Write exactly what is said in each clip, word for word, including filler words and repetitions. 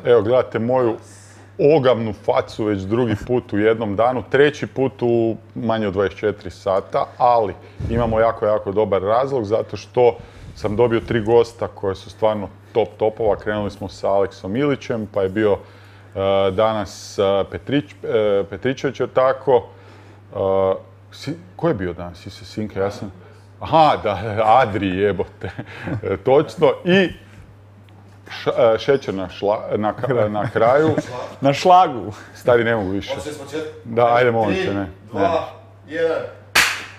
Evo, gledate moju ogavnu facu već drugi put u jednom danu, treći put u manje od dvadeset četiri sata, ali imamo jako, jako dobar razlog zato što sam dobio tri gosta koje su stvarno top topova. Krenuli smo sa Aleksom Ilićem, pa je bio uh, danas uh, Petrić, uh, Petričević, je tako. Uh, si, ko je bio danas? Ise Sinke, ja sam... Aha, da, Adri, jebote. Točno. I š, šećer na, šla, na, na kraju. Na šlagu. Stari, ne mogu više. Da, ajde, molim te, ne. dva, jedan.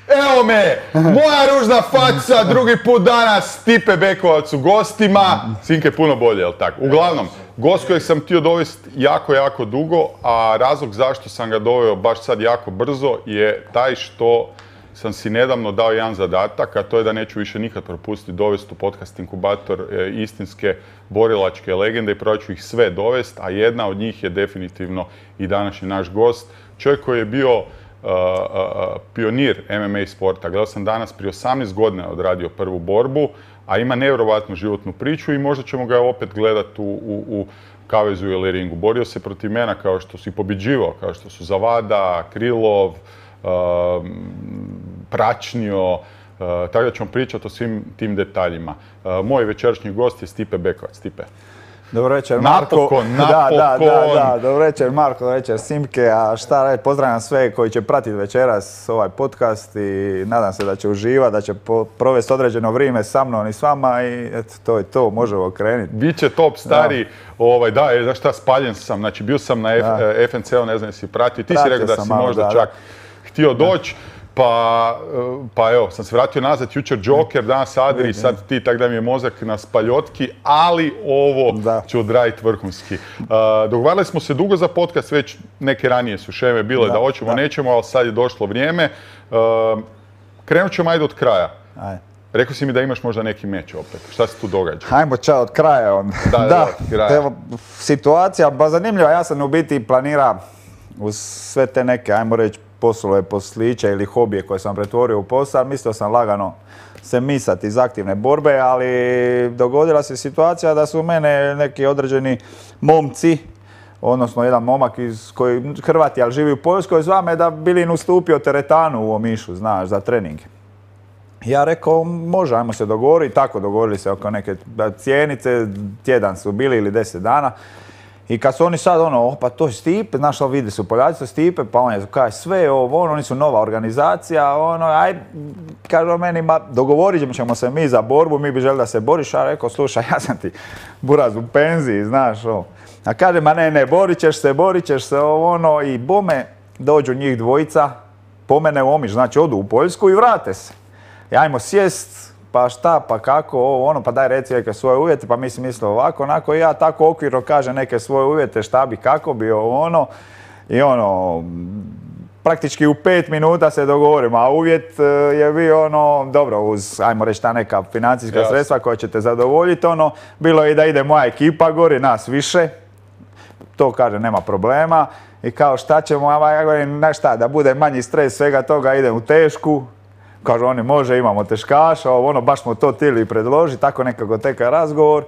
Evo me! Moja ružna faca, drugi put danas, Stipe Bekovac u gostima. Sinke je puno bolje, jel tako? Uglavnom, gost kojeg sam htio dovesti jako, jako dugo, a razlog zašto sam ga doveo baš sad jako brzo je taj što sam si nedavno dao jedan zadatak, a to je da neću više nikad propustiti dovesti u podcast inkubator e, istinske borilačke legende i probat ću ih sve dovesti, a jedna od njih je definitivno i današnji naš gost. Čovjek koji je bio uh, uh, pionir M M A sporta. Gledao sam danas, prije osamnaest godina odradio prvu borbu, a ima nevjerovatnu životnu priču i možda ćemo ga opet gledati u, u, u kavezu ili ringu. Borio se protiv mena kao što su i pobjeđivao, kao što su Zavada, Krilov, Uh, Pračnio, uh, tako da ćemo pričati o svim tim detaljima. Uh, moj večerašnji gost je Stipe Bekovac. Stipe. Dobro večer, Marko. Napokon, napokon. Da, da, da, dobro večer, Marko, dobro večer, Simke. A šta reći, pozdravljam sve koji će pratiti večeras ovaj podcast i nadam se da će uživati, da će provesti određeno vrijeme sa mnom i s vama i eto, to je to, možemo krenuti. Biće top, stari. Da, ovaj, da je, znaš šta, spaljen sam. Znači, bio sam na F N C-u, ne znam jesi pratio. Ti si rekao da si možda da, čak da. htio doći. Pa, pa evo, sam se vratio nazad, jučer Joker, danas Adri, sad ti, tako da mi je mozak na spaljotki, ali ovo da. ću odraditi vrhunski. Uh, dogovarali smo se dugo za podcast, već neke ranije su šeme bile da, da hoćemo, da. nećemo, ali sad je došlo vrijeme. Uh, krenut ćemo ajde od kraja. Ajde. Rekao si mi da imaš možda neki meč opet. Šta se tu događa? Hajmo čao od kraja onda. Da, da, da, od kraja. Evo, situacija, ba zanimljiva, ja sam u biti planira uz sve te neke, ajmo reći, poslove, posliće ili hobije koje sam pretvorio u posao, mislio sam lagano se misati iz aktivne borbe, ali dogodila se situacija da su mene neki određeni momci, odnosno jedan momak iz koji Hrvati, ali živi u Poljskoj, zva me da bi li ustupio teretanu u Omišu, znaš, za trening. Ja rekao, može, ajmo se dogovoriti, tako dogovorili se oko neke cijenice, tjedan su bili ili deset dana. I kad su oni sad ono, pa to je Stipe, znaš, vidi su Poljaci, to Stipe, pa on je kaj sve ovo, ono, oni su nova organizacija, ono, aj, kaže meni, ma, dogovorit ćemo se mi za borbu, mi bi želi da se boriš, a rekao, slušaj, ja sam ti buraz u penziji, znaš, ovo. A kaže, ma ne, ne, borit ćeš se, borit ćeš se, ovo, ono, i bome, dođu njih dvojica, po mene u Omiš, znači odu u Poljsku i vrate se. I ajmo sjest, pa šta, pa kako, ovo, ono, pa daj reci neke svoje uvjete, pa mi si mislio ovako, onako, i ja tako okvirno kažem neke svoje uvjete, šta bi, kako bi, ovo, ono, i ono, praktički u pet minuta se dogovorimo, a uvjet je bio ono, dobro, uz, ajmo reći, ta neka financijska yes. sredstva koja će te zadovoljiti, ono, bilo je i da ide moja ekipa gori, nas više, to kaže, nema problema, i kao šta ćemo, ja govorim, na šta, da bude manji stres svega toga, idem u tešku. Kažu oni, može, imamo teškaša, ono, baš smo to htjeli predložiti, tako nekako teka razgovor.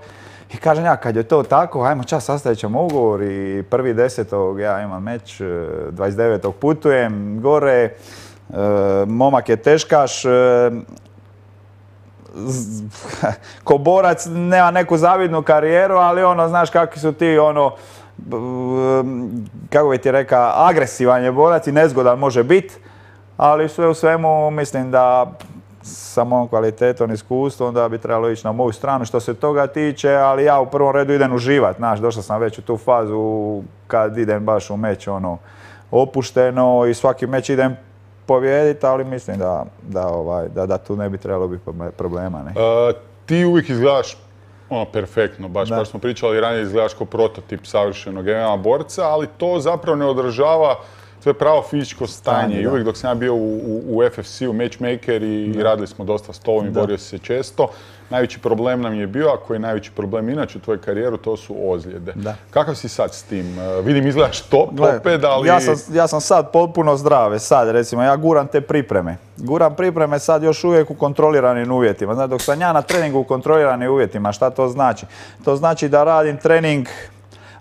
I kažem ja, kad je to tako, ajmo čas, sastavit ćemo ugovor i prvi desetog ja imam meč, dvadeset devetog putujem gore, e, momak je teškaš, e, ko borac nema neku zavidnu karijeru, ali ono, znaš kakvi su ti, ono, kako bi ti rekao, agresivan je borac i nezgodan može biti. Ali sve u svemu mislim da sa mojom kvalitetom i iskustvom da bi trebalo ići na moju stranu što se toga tiče, ali ja u prvom redu idem uživat, znaš, došao sam već u tu fazu kad idem baš u meč ono opušteno i svaki meč idem pobijediti, ali mislim da, da, ovaj, da, da tu ne bi trebalo biti problema. Ne? Uh, ti uvijek izgledaš ono, perfektno, baš, baš smo pričali ranije, izgledaš kao prototip savršenog M M A borca, ali to zapravo ne odražava to je pravo fizičko stanje. Stanje, I da. uvijek dok sam ja bio u, u, u F F C-u matchmaker i, i radili smo dosta s tobom i borio si se često, najveći problem nam je bio, a koji je najveći problem inače u tvojoj karijeru, to su ozljede. Da. Kakav si sad s tim? Uh, vidim, izgledaš top Gle, opet, ali... Ja sam, ja sam sad potpuno zdrave, sad recimo, ja guram te pripreme. Guram pripreme sad još uvijek u kontroliranim uvjetima. Znači, dok sam ja na treningu u kontroliranim uvjetima, šta to znači? To znači da radim trening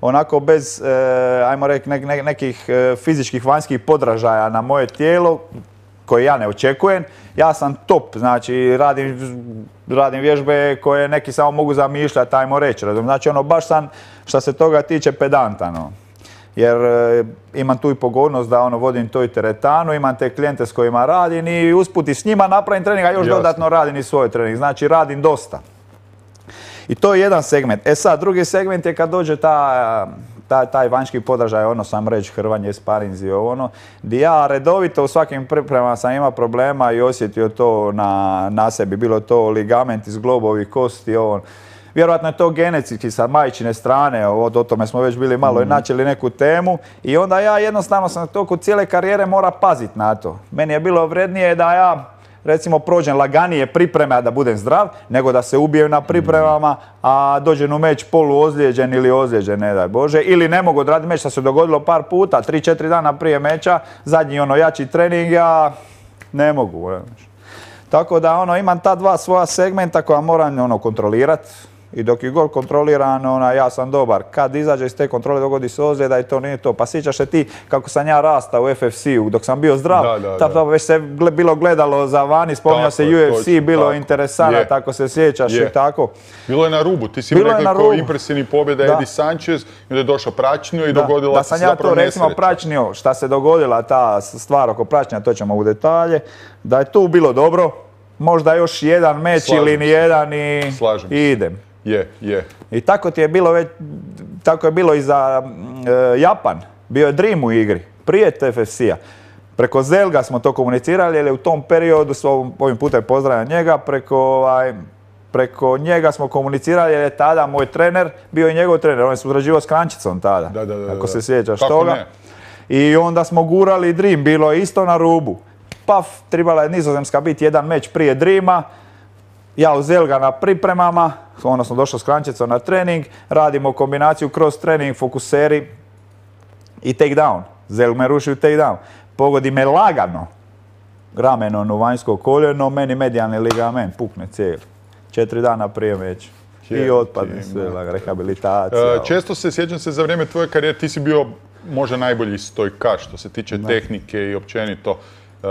onako bez, e, ajmo reći, ne, ne, nekih e, fizičkih vanjskih podražaja na moje tijelo, koje ja ne očekujem. Ja sam top, znači radim, radim vježbe koje neki samo mogu zamišljati, ajmo reći. Znači ono, baš sam, što se toga tiče, pedantan. No. Jer e, imam tu i pogodnost da ono, vodim to i teretanu, imam te klijente s kojima radim i usput i s njima napravim trening, a još Jasne. dodatno radim i svoj trening. Znači radim dosta. I to je jedan segment. E sad, drugi segment je kad dođe ta, ta, taj vanjski podražaj, ono sam reći, hrvanje, sparinzi, ono, gdje ja redovito u svakim pripremama sam imao problema i osjetio to na, na sebi. Bilo to ligament iz globovih kosti, ovo. Vjerojatno je to genetski sa majčine strane, o, o tome smo već bili malo mm. i načeli neku temu. I onda ja jednostavno sam to kod cijele karijere mora paziti na to. Meni je bilo vrednije da ja recimo prođem laganije pripreme, a da budem zdrav, nego da se ubijem na pripremama, a dođem u meč poluozlijeđen ili ozlijeđen, ne daj Bože. Ili ne mogu odraditi meč, što se dogodilo par puta, tri četiri dana prije meča, zadnji ono jači trening, ja ne mogu. Tako da ono, imam ta dva svoja segmenta koja moram ono, kontrolirati. I dok je gol kontroliran, ona, ja sam dobar. Kad izađe iz te kontrole, dogodi se ozljeda i to nije to. Pa sjećaš se ti kako sam ja rastao u F F C-u, dok sam bio zdrav, da, da, ta, ta, već se gle, bilo gledalo za vani, spominjao se U F C, točno, bilo interesantno, tako se sjećaš je. I tako. Bilo je na rubu, ti si mi rekli kao impresivni pobjeda Eddie Sanchez, i da je došao Pračnio i da, dogodila da se sam ja zapravo to recimo Pračnio, šta se dogodila ta stvar oko Pračnja, to ćemo u detalje, da je tu bilo dobro, možda još jedan meč Slažem ili nijedan i, i idem. Je, je. I tako ti je bilo već, tako je bilo i za e, Japan. Bio je Dream u igri, prije F F C-a. Preko Zelga smo to komunicirali, jer je u tom periodu, ovim putem pozdravljam njega, preko, ovaj, preko njega smo komunicirali, jer je tada moj trener bio i njegov trener. On je surađivao s Krančicom tada, da, da, da, ako da. se sjećaš Kako toga. Ne? I onda smo gurali Dream, bilo je isto na rubu. Paf, trebala je Nizozemska biti jedan meč prije Dreama. Ja u Zelga na pripremama, odnosno došao s Krančicom na trening, radimo kombinaciju cross trening, fokuseri i takedown. Zelg me ruši u takedown. Pogodi me lagano ramenom u vanjsko koljeno, meni medijalni ligament pukne cijeli. Četiri dana prije meča. I otpadne sve, rehabilitacija. Uh, često se, sjećam se za vrijeme tvoje karijere, ti si bio možda najbolji stojkaš što se tiče da. tehnike i općenito uh,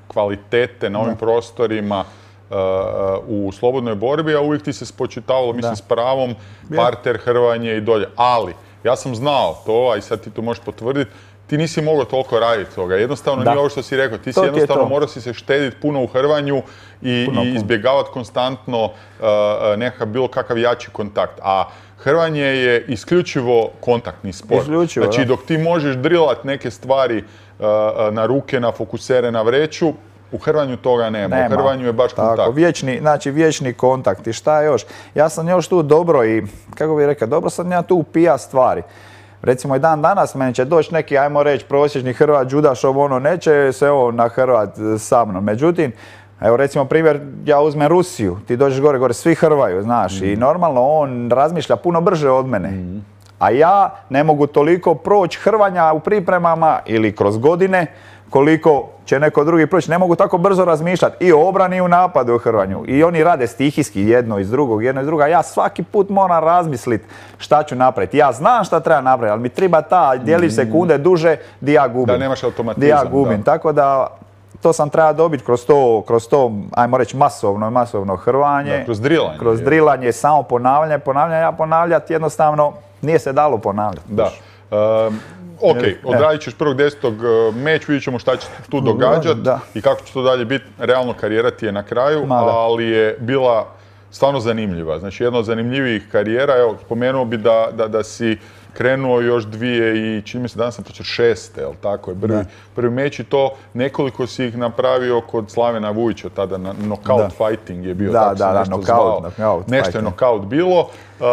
kvalitete na ovim da. prostorima. Uh, u slobodnoj borbi, a uvijek ti se spočitavalo, mislim da. s pravom, parter, hrvanje i dolje. Ali, ja sam znao to, a i sad ti to možeš potvrditi, ti nisi mogao toliko raditi toga. Jednostavno da. nije ovo što si rekao. Ti si to jednostavno morao si se štediti puno u hrvanju i, puno, i izbjegavati konstantno uh, nekakav bilo kakav jači kontakt. A hrvanje je isključivo kontaktni sport. Isključivo, znači, da. dok ti možeš drilat neke stvari uh, na ruke, na fokusere, na vreću, u hrvanju toga nema. nema. U hrvanju je baš kontakt. Tako, vječni, znači vječni kontakt. I šta još? Ja sam još tu dobro i, kako bih rekao, dobro sam ja tu upija stvari. Recimo i dan danas meni će doći neki, ajmo reći, prosječni Hrvat, Đudaš, ovo ono, neće se ovo na Hrvat sa mnom. Međutim, evo recimo primjer, ja uzmem Rusiju, ti dođeš gore, gore, svi hrvaju, znaš, mm. i normalno on razmišlja puno brže od mene. Mm. A ja ne mogu toliko proći hrvanja u pripremama ili kroz godine, koliko će neko drugi proći. Ne mogu tako brzo razmišljati i o obrani i u napadu u hrvanju. I oni rade stihijski jedno iz drugog, jedno iz druga. Ja svaki put moram razmisliti šta ću napraviti. Ja znam šta treba napraviti, ali mi treba ta djelić sekunde duže di ja gubim. Da nemaš automatizam. Di ja gubim. Da. Tako da to sam treba dobiti kroz to, kroz to, ajmo reći, masovno, masovno hrvanje. Da, kroz drilanje. Kroz drilanje, samo ponavljanje, ponavljanje. Ja ponavljati jednostavno nije se dalo ponavljati. Da. Um, Ok, odradit ćeš prvog desetog meč, vidjet ćemo šta će tu događati i kako će to dalje biti. Realno karijera ti je na kraju, ali je bila stvarno zanimljiva. Znači jedna od zanimljivijih karijera. Evo, spomenuo bi da, da, da si krenuo još dvije i čini mi se danas sam počeo šeste, jel tako je, prvi, prvi meč i to nekoliko si ih napravio kod Slavena Vujića, tada na knockout da. fighting je bio, da, tako da, se da, nešto knockout, zvao. Knockout nešto fighting. je knockout bilo uh,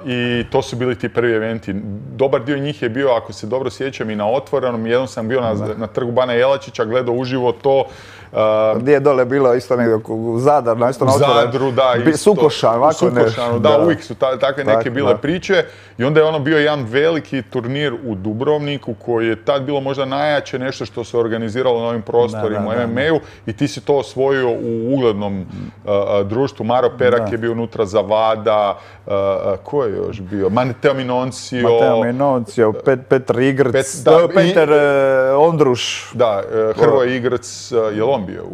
i to su bili ti prvi eventi. Dobar dio njih je bio, ako se dobro sjećam, i na otvorenom, jednom sam bio na, na trgu Bana Jelačića, gledao uživo to. Uh, Gdje je dole bilo isto negdje u Zadar, na isto na otvoren. U Zadru, da, isto. Sukošan, ovako Sukošanu, da, da, uvijek su ta, takve neke tak, bile da. priče. I onda je ono bio jedan veliki turnir u Dubrovniku koji je tad bilo možda najjače nešto što se organiziralo na ovim prostorima u em em a-u i ti si to osvojio u uglednom uh, društvu. Maro Perak da. je bio unutra, Zavada, uh, ko je još bio? Mateo Minoncio. Mateo Minoncio, Pet, Petr Igrc, Pet, da, Peter i, uh, Ondruš. Da, uh, Hrvoje Igrc, uh, je li on bio? U,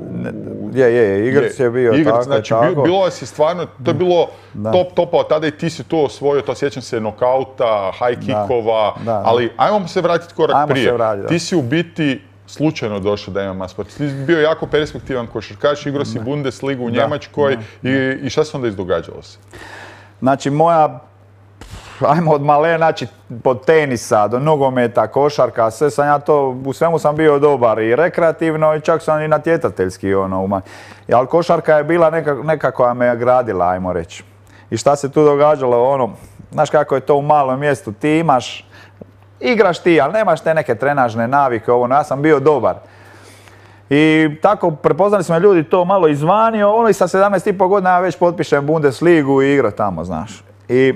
u, je, je, Igrc je, je bio Igrc, tako, znači, tako. Bilo si stvarno, to je bilo da. top topa od tada i ti si to osvojio, to sjećam se nokauta, high kickova, da, da, ali ajmo se vratiti korak ajmo prije. Vrati, ti si u biti slučajno došao da em em a sport. Ti si bio jako perspektivan košarkaš, igrao si Bundesligu u da, Njemačkoj da. I, i šta se onda izdogađalo se? Znači moja, ajmo od male, znači od tenisa do nogometa, košarka, sve sam ja to, u svemu sam bio dobar i rekreativno i čak sam i natjecateljski ono. Ali košarka je bila neka, neka koja me je gradila, ajmo reći. I šta se tu događalo, ono, znaš kako je to u malom mjestu, ti imaš, igraš ti, ali nemaš te neke trenažne navike, ovo, ja sam bio dobar. I tako prepoznali smo ljudi to malo izvanio, ono i sa sedamnaest i pol godina ja već potpišem Bundesligu i igra tamo, znaš. I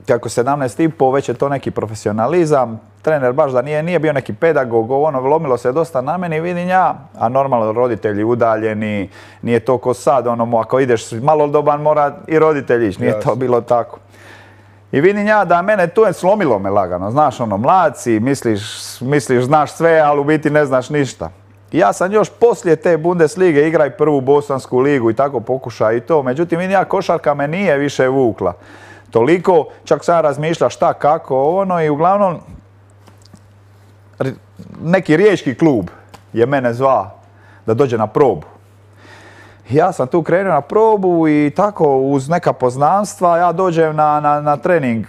kako sedamnaest i pol već je to neki profesionalizam, trener baš da nije, nije bio neki pedagog, ono, lomilo se dosta na meni, vidim ja, a normalno roditelji udaljeni, nije to ko sad, ono, ako ideš malodoban mora i roditelji ići, nije yes. to bilo tako. I vidim ja da mene tu je slomilo me lagano, znaš, ono, mlad si, misliš, misliš, znaš sve, ali u biti ne znaš ništa. I ja sam još poslije te Bundeslige igraj prvu bosansku ligu i tako pokušaj i to, međutim vidim ja košarka me nije više vukla. Toliko, čak sam razmišljao šta, kako, ono i uglavnom neki riječki klub je mene zvao da dođe na probu. Ja sam tu krenuo na probu i tako uz neka poznanstva ja dođem na, na, na trening.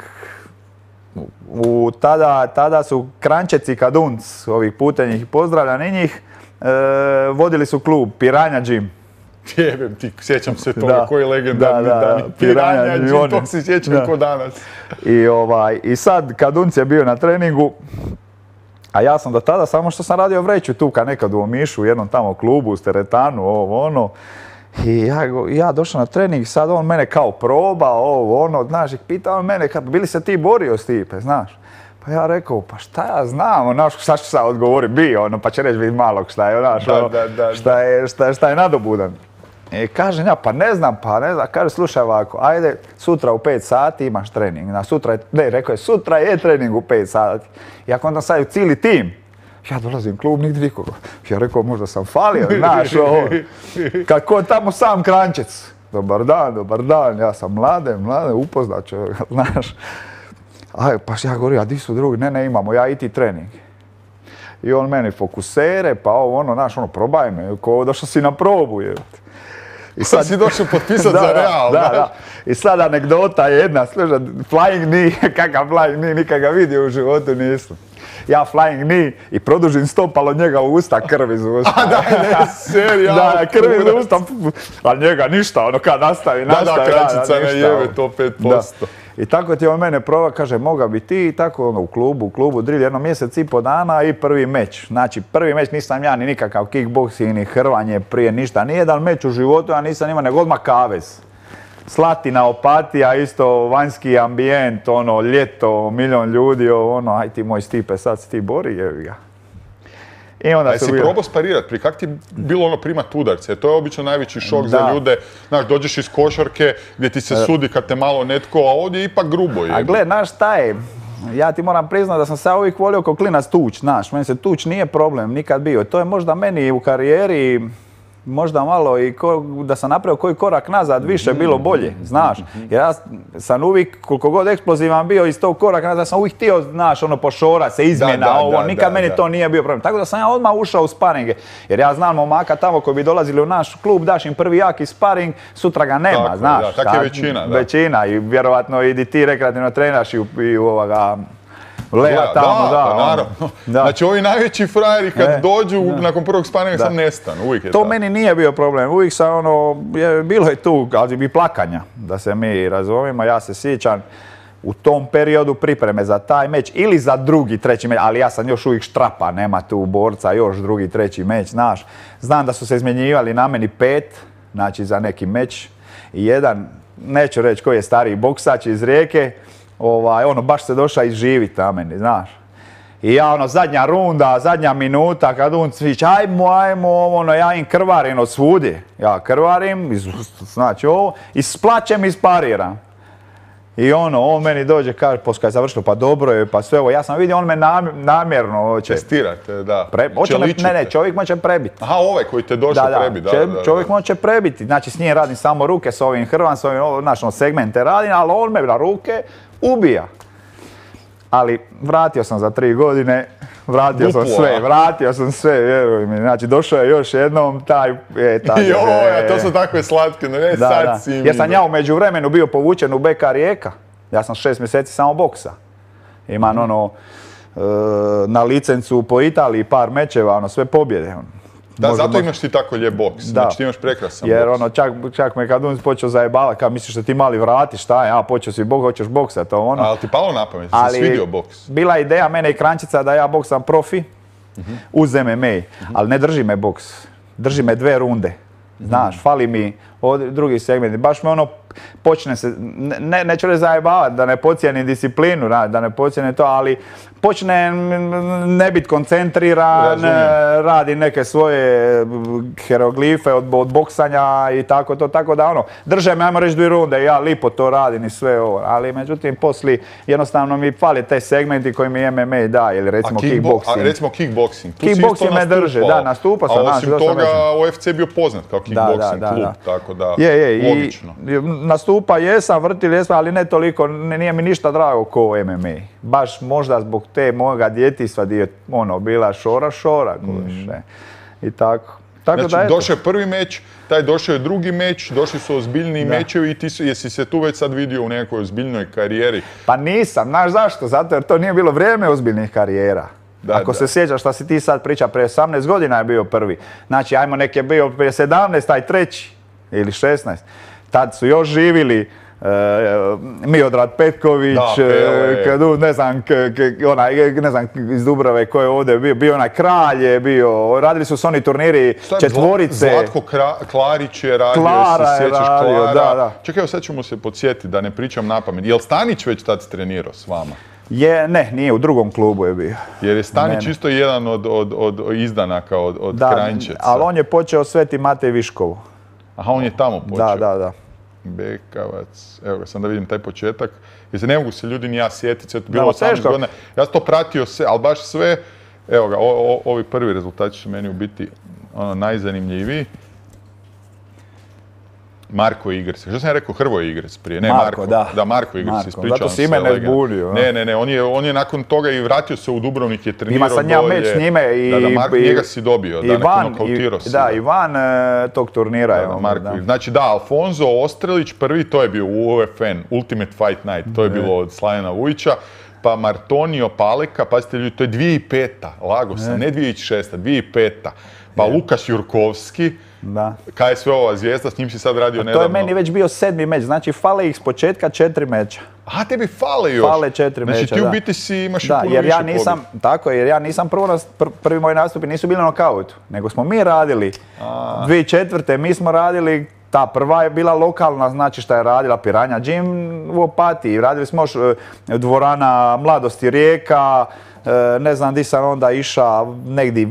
U, tada, tada su Kranjčeci Kadunc, ovih putenjih, pozdravljam i njih, e, vodili su klub Piranja Gym. Jebem ti, sjećam se toga, da, koji legendarni da, da, dani. Piranja Gym, to se sjećam da. Ko danas. I, ovaj, I sad Kadunc je bio na treningu, a ja sam do tada samo što sam radio vreću tu kad nekad u Omišu, u jednom tamo klubu, u teretanu, ovo ono. I ja, ja došao na trening, sad on mene kao proba, ovo ono, znaš, i pitao on mene, kad bili se ti borio Stipe, znaš. Pa ja rekao, pa šta ja znam, znaš, šta ću sad odgovoriti, bi, ono, pa će reći vid malog šta je, znaš, da, ono, da, da, šta, je, šta, šta je nadobudan. I kažem ja, pa ne znam, pa ne znam, kaže, slušaj ovako, ajde, sutra u pet sati imaš trening, na sutra je, ne, rekao je, sutra je trening u pet sati. I ako onda sad cijeli tim, ja dolazim u klub, nigdje nikoga. Ja rekao, možda sam falio, znaš, ovo, kako tamo sam Kranjčec. Dobar dan, dobar dan, ja sam mlade, mlade, upoznat čovjek, znaš. Aj, pa ja govorim, a di su drugi? Ne, ne, imamo, ja i ti trening. I on meni fokusere, pa ovo, ono, znaš, ono, probaj me, ko došao si na probu, je. I sad si došao potpisati za Real, da, da. I sad anegdota jedna, slušaj, flying knee, kakav flying knee, nikad ga vidio u životu nisam. Ja flying knee i produžim stopalo njega u usta, krv iz usta. A da, ne, serija. Da, krv iz usta, ali njega ništa, ono kad nastavi, nastavi. Da, da, Kranjčica ne jebe to pet posto. I tako ti on mene proba, kaže, moga bi ti i tako ono, u klubu, u klubu drill, jedno mjesec i po dana i prvi meč. Znači, prvi meč nisam ja ni nikakav kickboxing, ni hrvanje prije, ništa. Nijedan meč u životu ja nisam imao, nego odmah kavez. Slatina, Opatija, isto vanjski ambijent, ono, ljeto, milion ljudi, ono, aj ti moj Stipe, sad se ti bori, jevi ga. I onda si bio... probao sparirat, pri kak ti bilo ono primat udarce? To je obično najveći šok da. Za ljude. Znaš, dođeš iz košarke gdje ti se sudi kad te malo netko, a ovdje je ipak grubo. Je. A gle, znaš šta je? Ja ti moram priznati da sam se uvijek volio kao klinac tuć, znaš. Meni se tuć nije problem, nikad bio. To je možda meni u karijeri možda malo i ko, da sam napravio koji korak nazad, više bilo bolje, znaš. Jer ja sam uvijek, koliko god eksplozivan bio iz tog koraka nazad, sam uvijek htio, znaš, ono, pošora se, izmjena, da, da, ovo, da, nikad da, meni da. to nije bio problem. Tako da sam ja odmah ušao u sparinge, jer ja znam momaka tamo koji bi dolazili u naš klub, daš im prvi jaki sparing, sutra ga nema, Tako, znaš. da, tak je većina, da. Većina i vjerovatno i ti rekreativno trenaš i u, i u ovoga... Lea Da, tamo, da, da, pa ono. naravno. Da. Znači ovi najveći frajeri kad E, dođu da. nakon prvog sparinga Da. sam nestanu, uvijek je To tako. meni nije bio problem, uvijek sam ono, je, bilo je tu, ali i plakanja, da se mi razumijemo, ja se sjećam u tom periodu pripreme za taj meč ili za drugi, treći meč, ali ja sam još uvijek štrapa, nema tu borca, još drugi, treći meč, znaš. Znam da su se izmjenjivali na meni pet, znači za neki meč i jedan, neću reći koji je stariji boksač iz Rijeke, ovaj, ono, baš se došao izživit na meni, znaš. I ja ono, zadnja runda, zadnja minuta, kad on cvić, ajmo, ajmo, ono, ja im krvarim od svudje. Ja krvarim, iz, znači ovo, i s plaćem ispariram. I ono, on meni dođe, kaže, poslije kad je završilo, pa dobro je, pa sve ovo. Ja sam vidio, on me nam, namjerno hoće. Testirate, da. Pre, hoće me, Čeličite. ne, ne, čovjek me će prebiti. Aha, ovaj koji te došao Da, da, prebi, da, če- da, da. čovjek me će prebiti. Znači, s njim radim samo ruke, s ovim hrvan, s ovim, ovo, znaš, ono, segmente radim, ali on me na ruke ubija. Ali vratio sam za tri godine, vratio sam Duplo, sve, a? vratio sam sve, vjeruj mi. Znači, došao je još jednom taj, e, taj, Joj, a to su takve slatke, no ne da, sad da. si mi. Jer sam ja u međuvremenu bio povučen u B K Rijeka. Ja sam šest mjeseci samo boksa. Imam ono, e, na licencu po Italiji par mečeva, ono, sve pobjede. ono. Da, Možda- zato imaš ti tako lijep boks. Da. Znači ti imaš prekrasan Jer boks. ono, čak, čak me kad on počeo zajebavati, kao misliš da ti mali vrati, šta je, a počeo si bok, hoćeš boksat, to ono. Ali ti palo na pamet, ti se Ali svidio boks. bila je ideja mene i Krančica da ja boksam profi uz M M A, ali ne drži me boks, drži me dve runde. Znaš, fali mi od drugi segment. Baš me ono, počne se, ne, neću reći zajebavati, da ne podcijenim disciplinu, da da ne podcijenim to, ali počne ne biti koncentriran, Razumijem. radi neke svoje hieroglife od, od boksanja i tako to, tako da ono, drže me, ajmo reći, dvije runde, ja lipo to radim i sve ovo, ali međutim, poslije jednostavno mi fali te segmenti koji mi M M A da, ili recimo A, kickbo- kickboxing. a recimo kickboxing. Tu si Kickboxing isto me drže, nastupao. da, nastupao sam, A znaš, osim dosta toga, meča. U F C je bio poznat kao kickboxing da, klub, da. tako da, Je, je, logično. i nastupa jesam, vrtili jesam, ali ne toliko, ne- nije mi ništa drago ko M M A. Baš možda zbog te mojega djetinjstva gdje je ono, bila šora, šora, kužiš, ne. I tako. Tako da, Znači, eto. došao je prvi meč, taj došao je drugi meč, došli su ozbiljniji Da. mečevi i ti su, jesi se tu već sad vidio u nekoj ozbiljnoj karijeri? Pa nisam, znaš zašto? Zato jer to nije bilo vrijeme ozbiljnih karijera. Da, Ako da. se sjećaš šta si ti sad priča, prije osamnaest godina je bio prvi. Znači, ajmo nek je bio prije sedamnaest, taj treći ili šesnaest. Tad su još živili e, Miodrag Petković, Da, Pele. e, kad, ne znam, k- k- onaj, ne znam iz Dubrave ko je ovdje bio, bio onaj Kralj je bio, radili su se oni turniri Šta je, četvorice. Zla- Zlatko Kra- Klarić je radio, Klara se je sjećaš radio, Klara? da, da. Čekaj, evo sad ćemo se podsjetiti da ne pričam napamet. Jel Stanić već tad trenirao s vama? Je, ne, nije, u drugom klubu je bio. Jer je Stanić Ne, ne. isto jedan od, od, od izdanaka, od, od Da, Kranjčeca. ali on je počeo Sveti Matej Viškovu. Aha, on je tamo počeo. Da, da, da. Bekavac, evo ga, sam da vidim taj početak. Jer se ne mogu se ljudi ni ja sjetiti, sve to Da, bilo osamnaest teško. godina. Ja sam to pratio sve, ali baš sve, evo ga, o- o- ovi prvi rezultati su meni u biti ono, najzanimljiviji. Marko Igrec. Što sam ja rekao? Hrvoje Igrec prije, ne Marko, Marko. da. Da, Marko Igrec, Marko, ispričavam zato si se. ime ne legenda. zbunio, Ne, ne, ne, on je, on je nakon toga i vratio se u Dubrovnik, je trenirao Ima sam ja dolje. meč s njime i... Da, da, Marko, i- njega si dobio, da, Ivan, nakon nokautirao si. da, Ivan e, tog turnira je Da, da, on, Marko. da. Znači da, Alfonso Ostrelić prvi, to je bio U F N, Ultimate Fight Night, to je bilo od Slavena Vujića. Pa Martonio Paleka, pazite ljudi, to je dvije tisuće peta, lago sam, ne dvije tisuće šesta, dvije tisuće peta. Pa Lukas Jurkovski, Da. K S V-ova zvijezda, s njim si sad radio To nedavno. je meni već bio sedmi meč, znači fale ih s početka četiri meča. A tebi fale još. Fale četiri znači, meča, ti u da. biti si imaš Da, i puno jer ja više nisam, pobjeda. tako je, jer ja nisam prvo, nas- pr- prvi moji nastupi nisu bili na nokautu, nego smo mi radili. dvije tisuće četvrte mi smo radili, ta prva je bila lokalna, znači šta je radila Piranja Gym u Opatiji. Radili smo još e, dvorana Mladosti Rijeka, e, ne znam di sam onda išao negdje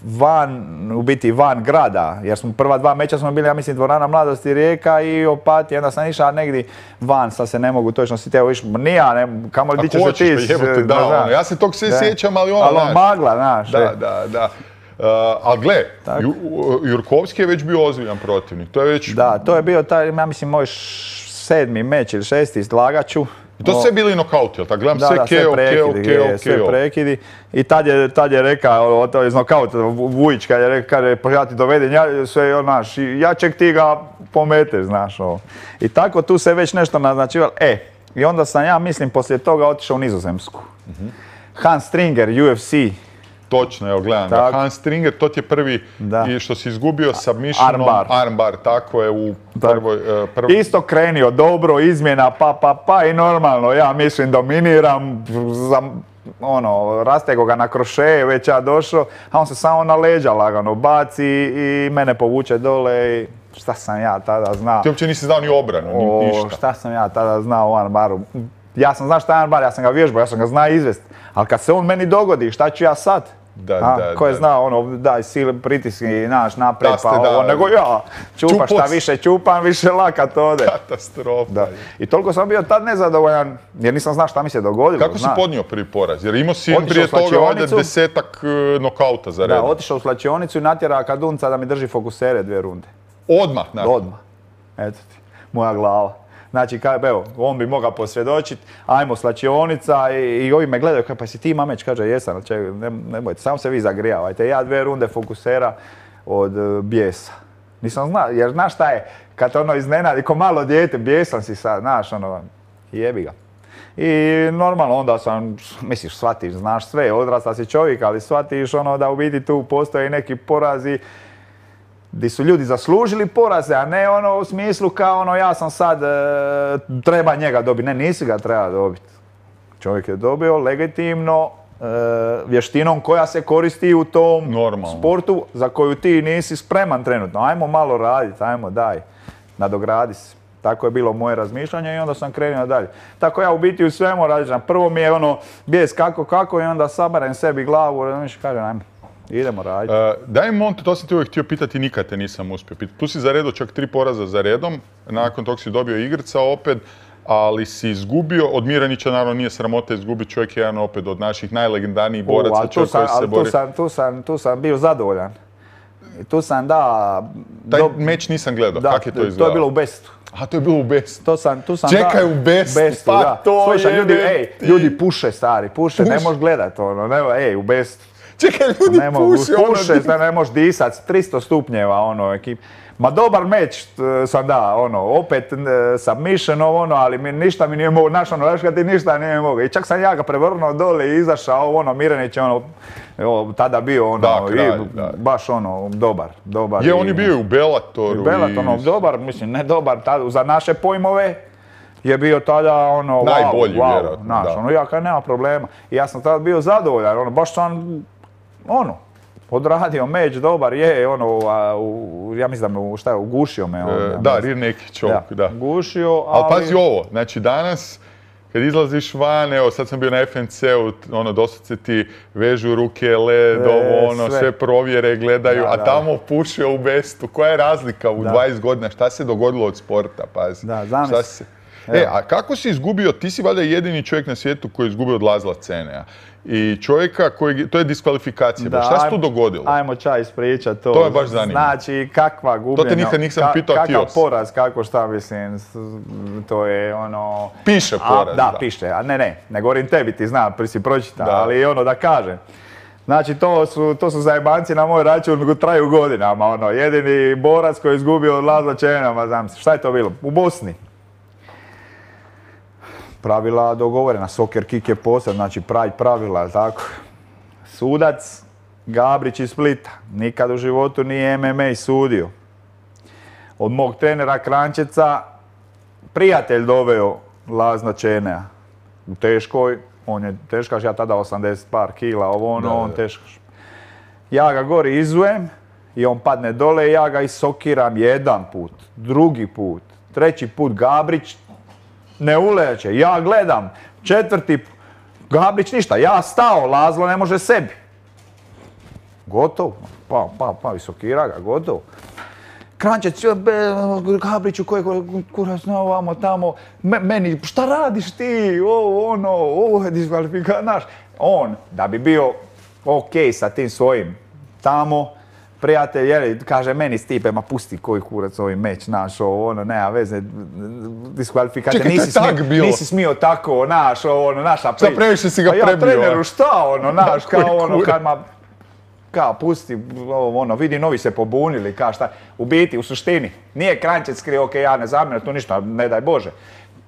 van, u biti van grada, jer smo prva dva meča smo bili, ja mislim, dvorana Mladosti Rijeka i Opatija, onda sam išao negdje van, sad se ne mogu točno sjetiti, evo iš, nija, ne, kamo li di ćeš Ako se ti... hoćeš, pa jebote, s- da, znaš. ono, ja se tog sve Da. sjećam, ali ono, Ali on znaš. magla, znaš. Da, e. da, da. Uh, ali gle, Ju, Jurkovski je već bio ozbiljan protivnik. To je već... Da, to je bio taj, ja mislim, moj sedmi meč ili šesti izlagaču. I to sve bili nokauti, jel' tako? Gledam da, sve da, keo, keo, keo, keo. Sve prekidi. I tad je, tad je rekao, to je iz nokauta, Vujić, kad je rekao, kaže, pa ja ti dovedem, ja, sve on, naš, jačeg ti ga pometeš, znaš, ovo. I tako tu se već nešto naznačivalo. E, i onda sam ja, mislim, poslije toga otišao u Nizozemsku. Mm-hmm. Hans Stringer, U F C. Točno, evo gledam ga. Hans Stringer, to ti je prvi da. I što si izgubio submissionom. Armbar. Armbar, tako je u prvoj... Uh, prvoj... Isto krenio, dobro, izmjena, pa, pa, pa i normalno, ja mislim dominiram, za, ono, rastego ga na krošeje, već ja došao, a on se samo na leđa lagano baci i mene povuče dole i šta sam ja tada znao. Ti uopće nisi znao ni obranu, ni ništa. O, šta sam ja tada znao u armbaru. Ja sam znao šta je armbar, ja sam ga vježbao, ja sam ga znao izvesti, ali kad se on meni dogodi, šta ću ja sad? Da, a, da, ko je da. znao, ono, daj sil, pritiski naš naprijed, pa da, ovo, nego ja, čupa šta više čupam, više lakat ode. Katastrofa. Da. I toliko sam bio tad nezadovoljan, jer nisam znao šta mi se dogodilo. Kako zna. si podnio prvi poraz? Jer imao si Otišao prije toga ovdje desetak uh, nokauta za redom. Da, otišao u slačionicu i natjera Kadunca da mi drži fokusere dvije runde. Odmah, nakon? Odmah. Eto ti, moja glava. Znači, kaj, evo, on bi mogao posvjedočiti, ajmo slačionica i, i ovi me gledaju, kaj, pa si ti mameć, kaže, jesam, če, ne, ne bojte, samo se vi zagrijavajte, ja dvije runde fokusera od uh, bijesa. Nisam znao, jer znaš šta je, kad ono iznenadi, ko malo dijete, bijesan si sad, znaš, ono, jebi ga. I normalno onda sam, misliš, shvatiš, znaš sve, odrasta si čovjek, ali shvatiš ono da u biti tu postoje neki porazi gdje su ljudi zaslužili poraze, a ne ono u smislu kao ono ja sam sad, e, treba njega dobiti. Ne, nisi ga treba dobiti. Čovjek je dobio legitimno e, vještinom koja se koristi u tom Normalno. sportu za koju ti nisi spreman trenutno. Ajmo malo raditi, ajmo daj, nadogradi se. Tako je bilo moje razmišljanje i onda sam krenuo dalje. Tako ja u biti u svemu radim. Prvo mi je ono bijes kako kako i onda saberem sebi glavu i kažem ajmo. Idemo raditi. Uh, daj Monte, to sam ti uvijek htio pitati, nikad te nisam uspio pitati. Tu si zaredo čak tri poraza za redom, nakon tog si dobio igrca opet, ali si izgubio, od Miranića naravno nije sramota izgubiti, čovjek je jedan opet od naših najlegendarnijih boraca, čovjek koji se bori. Tu sam, tu, sam, tu sam bio zadovoljan. I tu sam da... Taj do... meč nisam gledao, da, kako je to izgledalo? To je bilo u Bestu. A to je bilo u Bestu. To sam, tu sam Čekaj, da, u Bestu, Bestu pa da. to Slušaj, je... Ljudi, ej, ljudi puše, stari, puše, Puš. Ne možeš gledati ono, ne, ej, u Bestu. Čekaj, ljudi ne puše, ono... Puše, da ne možeš disat, tristo stupnjeva, ono, ekip. Ma dobar meč sam da, ono, opet submission, ono, ali mi, ništa mi nije mogo, znaš, ono, znaš kad ti ništa nije mogo. I čak sam ja ga prevrnuo dole i izašao, ono, Miranić je, ono, o, tada bio, ono, da, kraj, i, da. baš, ono, dobar, dobar. Je, on je bio u Bellatoru. U Bellatoru, ono, dobar, mislim, ne dobar, tada, za naše pojmove je bio tada, ono, najbolji, wow, wow, vjerojatno, znaš, da. ono, ja kad nema problema. I ja sam tada bio zadovoljan, ono, baš sam, ono, odradio meč, dobar je, ono, a, u, ja mislim da me, šta je, ugušio me. On, e, da, rear naked choke, da. Ugušio, ali... Ali pazi ovo, znači danas, kad izlaziš van, evo sad sam bio na F N C-u, ono, doslovce ti vežu ruke, led, e, ovo, ono, sve. sve provjere gledaju, da, a tamo da. pušio u Bestu. Koja je razlika u da. dvadeset godina? Šta se dogodilo od sporta, pazi? Da, zamisli. E, a kako si izgubio, ti si valjda jedini čovjek na svijetu koji je izgubio od Lazla Cenea. I čovjeka koji, to je diskvalifikacija, da, šta se tu dogodilo? Ajmo čaj ispričat to. To me baš zanima. Znači, kakva gubljenja. To te nikad nisam ka, pitao, kakav poraz, kako šta mislim, to je ono... Piše poraz, a, da. Da, piše, a ne, ne, ne govorim tebi, ti znam, prvi si pročita, ali ono da kažem. Znači, to su, to su zajebanci na moj račun, traju godinama, ono, jedini borac koji je izgubio od Lazla Cenea, znam se, šta je to bilo? U Bosni. Pravila dogovorena, soccer kick je posad, znači pride pravila, tako. Sudac Gabrić iz Splita, nikad u životu nije M M A sudio. Od mog trenera Kranjčeca prijatelj doveo Lazla Cenea. U teškoj, on je teškaš, ja tada osamdeset par kila, ovo ono, da, on teškaš. Ja ga gori izujem i on padne dole i ja ga isokiram jedan put, drugi put, treći put Gabrić ne uleće, ja gledam, četvrti, Gabrić ništa, ja stao, Lazlo ne može sebi. Gotov, pa, pa, pa, visokira ga, gotov. Kranjčec, Gabriću, koji kurac znao vamo tamo, meni, šta radiš ti, ovo, ono, ovo je diskvalifikacija, znaš. On, da bi bio ok sa tim svojim tamo, prijatelj, jeli, kaže meni Stipe, ma pusti koji kurac ovaj meč, naš, ovo, ono, nema veze, diskvalifikacija, nisi, smio, nisi smio tako, naš, ovo, ono, naša priča. Šta previše si ga prebio? Ja treneru, šta, ono, naš, kao ono, kad ma, kao, pusti, ovo, ono, vidi, novi se pobunili, kao šta, u biti, u suštini, nije Kranjčec krije, ok, ja ne zamjeram, tu ništa, ne daj Bože,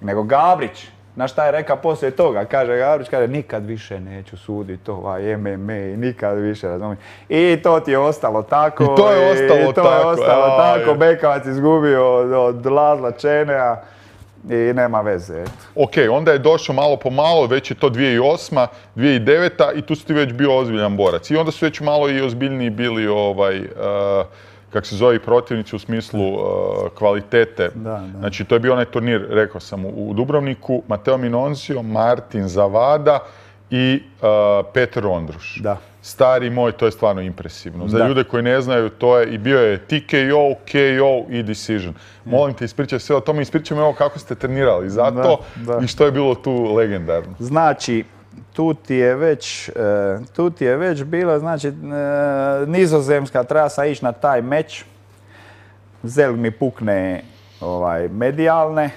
nego Gabrić. Znaš šta je rekao poslije toga? Kaže Gabrić, kaže nikad više neću suditi ovaj M M A, nikad više, razumijem. I to ti je ostalo tako. I to je ostalo i to tako. je ostalo a, tako. Je. Bekavac izgubio od, od Lazla Čenea i nema veze. Eto. Ok, onda je došao malo po malo, već je to dvije tisuće osma, dvije tisuće deveta i tu si ti već bio ozbiljan borac. I onda su već malo i ozbiljniji bili ovaj... Uh, kak se zove, protivnici u smislu uh, kvalitete. Da, da. Znači, to je bio onaj turnir, rekao sam, u, u Dubrovniku, Matteo Minonzio, Martin Zavada i uh, Petar Ondruš. Da. Stari moj, to je stvarno impresivno. Za da. ljude koji ne znaju, to je i bio je T K O, K O i decision. Molim te, ispričaj sve o tome, ispričaj mi ovo kako ste trenirali za to da, da. I što je bilo tu legendarno. Znači, tu ti je već, tu ti je već bilo, znači, nizozemska, treba sam ići na taj meč. Zelg mi pukne ovaj, medijalne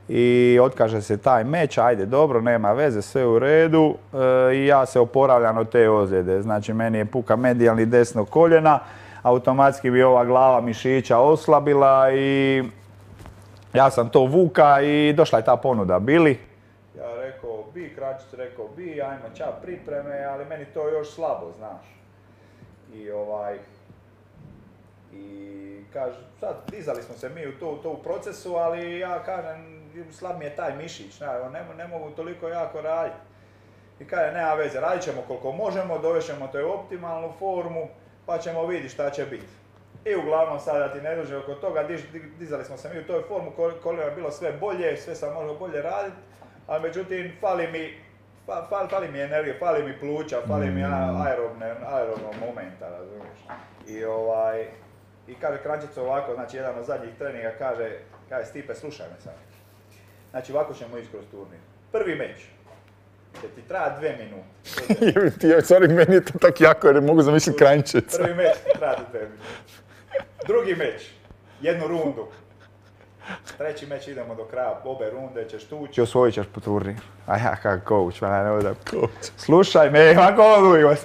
i otkaže se taj meč, ajde dobro, nema veze, sve u redu i ja se oporavljam od te ozljede. Znači, meni je puka medijalni desno koljena, automatski bi ova glava mišića oslabila i ja sam to vuka i došla je ta ponuda, Bili. Ja rekao bi, Kranjčec rekao bi, ajmo ča pripreme, ali meni to još slabo, znaš. I ovaj, i kaže, sad dizali smo se mi u to, to u procesu, ali ja kažem, slab mi je taj mišić, ne, ne mogu toliko jako raditi. I kaže, nema veze, radit ćemo koliko možemo, dovešćemo te u optimalnu formu, pa ćemo vidjeti šta će biti. I uglavnom sada ti ne duže oko toga, diz, dizali smo se mi u toj formu, koliko je bilo sve bolje, sve sam mogao bolje raditi. Ali međutim, fali mi, fali, fali mi energije, fali mi pluća, fali mi aerobne, aerobnog momenta, razumiješ. I ovaj, i kaže Kranjčec ovako, znači jedan od zadnjih treninga kaže, kaže Stipe, slušaj me sad. Znači ovako ćemo ići kroz turnir. Prvi meč, će ti traja dve minute. Ti, sorry, meni je to tako jako jer ne mogu zamisliti Kranjčeca. Prvi meč ti traja dve minute. Drugi meč, jednu rundu. Treći meč idemo do kraja, obe runde ćeš tući, osvojit ćeš po turnir. A ja kao coach, ma ne da coach. Slušaj me, ovako odluj,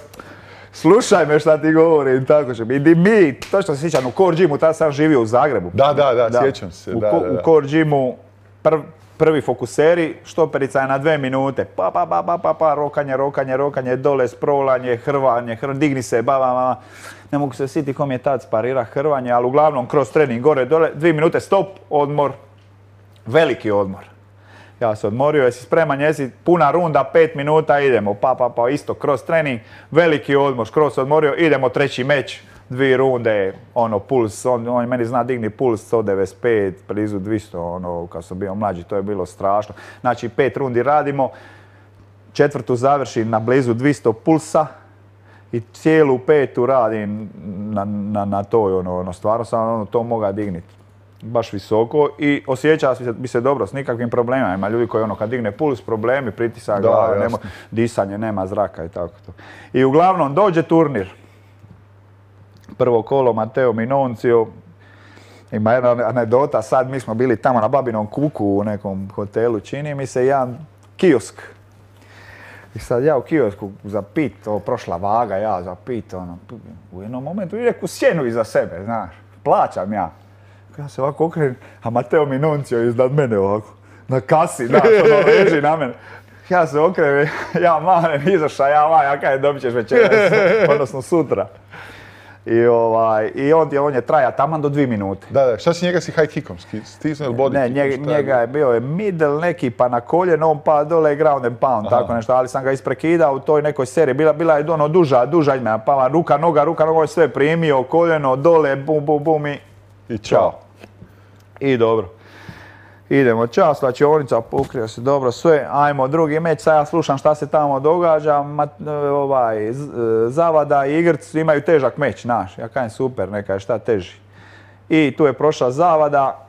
slušaj me šta ti govorim, tako će biti. I mi, točno se sjećam, u Core Gymu, tada sam živio u Zagrebu. Da, da, da, da. Sjećam se. U, da, da, da, da. u Core Gymu prv, prvi fokuseri, štoperica je na dve minute. Pa, pa, pa, pa, pa, pa, rokanje, rokanje, rokanje, dole, sprovlanje, hrvanje, hr, digni se, ba, ba, ba. Ne mogu se sjetiti kom je tad sparira hrvanje, ali uglavnom kroz trening gore, dole, dvije minute stop, odmor, veliki odmor. Ja se odmorio, jesi spreman, jesi puna runda, pet minuta, idemo, pa, pa, pa, isto kroz trening, veliki odmor, skroz se odmorio, idemo treći meč, dvije runde, ono, puls, on, on meni zna digni puls sto devedeset pet, blizu dvjesto, ono, kad sam bio mlađi, to je bilo strašno. Znači, pet rundi radimo, četvrtu završim na blizu dvjesto pulsa, i cijelu petu radim na, na, na toj, ono, ono, stvarno sam ono, to mogao digniti baš visoko i osjeća bi se, bi se dobro s nikakvim problemima. Ima ljudi koji ono, kad digne puls, problemi, pritisak glave, nema, disanje, nema zraka i tako to. I uglavnom dođe turnir. Prvo kolo Matteo Minonzio. Ima jedna anegdota, sad mi smo bili tamo na Babinom kuku u nekom hotelu, čini mi se, jedan kiosk. I sad ja u kiosku za pit, ovo prošla vaga, ja za pit, ono, u jednom momentu i neku sjenu iza sebe, znaš, plaćam ja. Ja se ovako okrenem, a Matteo Minonzio iznad mene ovako, na kasi, znaš, ono, leži na mene. Ja se okrenem, ja manem, izaša, ja manem, ja kaj dobit ćeš večeras, odnosno sutra. I, ovaj, i on, je, on je traja taman do dvije minute. Da, da, šta si njega si high kickom stisnuo ili body ne, kickom? Ne, njega je bio je middle neki pa na koljeno, on pa dole ground and pound, aha, tako nešto, ali sam ga isprekidao u toj nekoj seriji, bila, bila je ono duža, duža izmjena, pa ruka, noga, ruka, noga, sve primio, koljeno, dole, bum, bum, bum i, i čao. I dobro. Idemo, čao, slačionica, pokrio se dobro sve, ajmo drugi meč, sad ja slušam šta se tamo događa, mat, ovaj, Zavada i Igrc imaju težak meč, naš, ja kažem super, neka je šta teži. I tu je prošla Zavada,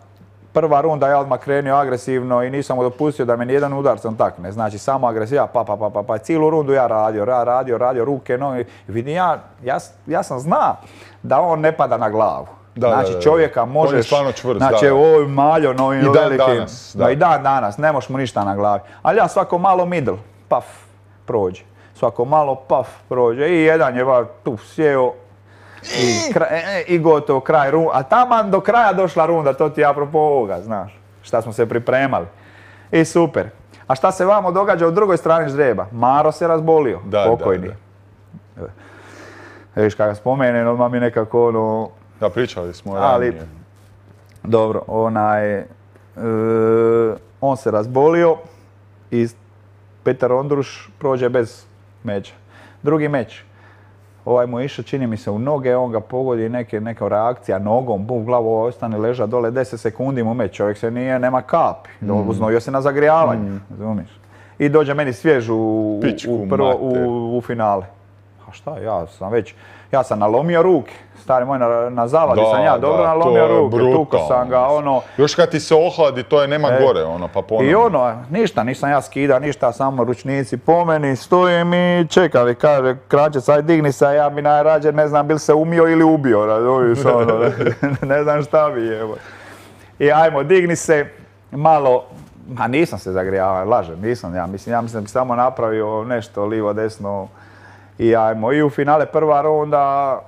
prva runda ja odmah krenio agresivno i nisam mu dopustio da me nijedan udarcom takne. Znači samo agresiva, pa, pa, pa, pa, pa, cijelu rundu ja radio, ra, radio, radio, ruke, noge. Vidim ja, ja, ja sam zna da on ne pada na glavu. Da, znači da, da. čovjeka možeš, on je stvarno čvrst, znači ovo maljo, no i dan velikim, danas, da. No, i dan danas, ne možeš mu ništa na glavi. Ali ja svako malo middle, paf, prođe. Svako malo, paf, prođe. I jedan je va tu sjeo i, kraj, e, i gotovo, kraj runda. A taman do kraja došla runda, to ti je apropo ovoga, znaš, šta smo se pripremali. I super. A šta se vamo događa u drugoj strani ždrijeba? Maro se razbolio, da, pokojni. Da, da. Viš kada spomenem, odmah mi nekako ono... Da, pričali smo ali, ranije. Dobro, onaj... E, on se razbolio i Petar Ondruš prođe bez meča. Drugi meč. Ovaj mu je išao, čini mi se, u noge, on ga pogodi, neke, neka reakcija nogom, bum, glavu ostane leža dole, deset sekundi mu meč, čovjek se nije, nema kapi, mm. uznojio se na zagrijavanje, mm. razumiješ. I dođe meni svjež u, u, prvo, u, u finale. A šta, ja sam već, ja sam nalomio ruke, stari moj, na, na zavadi da, sam ja dobro da, nalomio ruke, tuko sam ga, ono... Još kad ti se ohladi, to je nema e, gore, ono, pa ponovno. I ono, ništa, nisam ja skida, ništa, samo ručnici po meni, stojim i čekam i kaže, Kranjčec, aj digni se, a ja bi najrađe, ne znam, bil se umio ili ubio, razumiješ, ono, ne, ne znam šta bi, evo. I ajmo, digni se, malo, a nisam se zagrijavao, lažem, nisam, ja mislim, ja mislim da bi samo napravio nešto livo, desno, i ajmo, i u finale prva runda,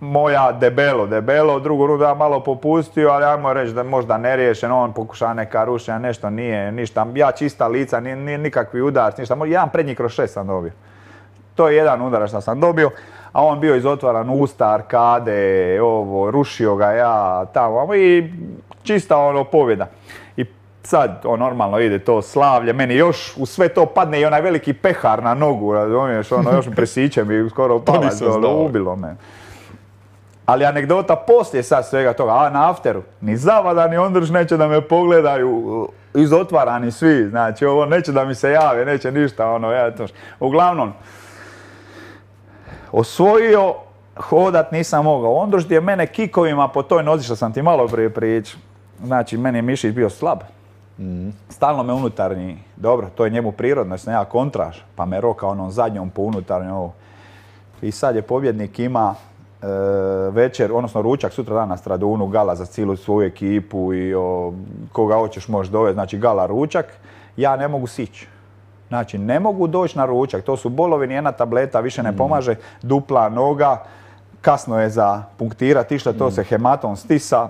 moja debelo, debelo, drugu rundu ja malo popustio, ali ajmo reći da možda neriješen, on pokušava neka rušenja, nešto nije, ništa, ja čista lica, nije, nije nikakvi udarac, ništa, jedan prednji kroz šest sam dobio. To je jedan udarac što sam dobio, a on bio izotvaran usta, arkade, ovo, rušio ga ja tamo i čista ono pobjeda. I sad, on normalno ide to slavlje, meni još u sve to padne i onaj veliki pehar na nogu, razumiješ, ono, još mi presiće mi skoro palac dole, ubilo me. Ali anegdota poslije sad svega toga, a na afteru, ni Zavada ni Ondruš neće da me pogledaju, izotvarani svi, znači ovo neće da mi se jave, neće ništa, ono, ja to. Uglavnom, osvojio, hodat nisam mogao. Ondruš je mene kikovima po toj nozi što sam ti malo prije pričao. Znači, meni je mišić bio slab. Mm. Stalno me unutarnji, dobro, to je njemu prirodno, jer sam ja kontraš, pa me roka onom zadnjom po unutarnjom ovo. I sad je pobjednik ima e, večer, odnosno ručak sutra dan na Stradunu, gala za cijelu svoju ekipu i o, koga hoćeš možeš dovesti, znači gala ručak. Ja ne mogu sići. Znači, ne mogu doći na ručak, to su bolovi, nijedna tableta više ne pomaže, dupla noga, kasno je za punktirati, išta to se hematom stisa.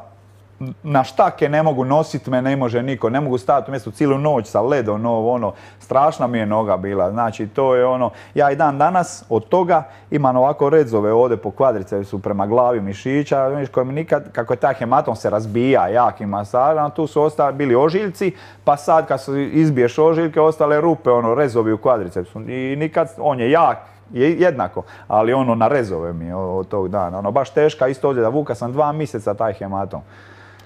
Na štake ne mogu nositi me, ne može niko, ne mogu staviti u mjestu cijelu noć sa ledom, ovo, ono, strašna mi je noga bila, znači to je ono, ja i dan danas od toga imam ovako redzove ovdje po kvadricepsu prema glavi mišića, vidiš, koji mi nikad, kako je taj hematom se razbija jakim masažama, tu su ostali bili ožiljci, pa sad kad su izbiješ ožiljke, ostale rupe, ono, rezovi u kvadricepsu i nikad, on je jak, je jednako, ali ono na rezove mi je od tog dana, ono baš teška, isto ovdje da vuka sam dva mjeseca taj hematom.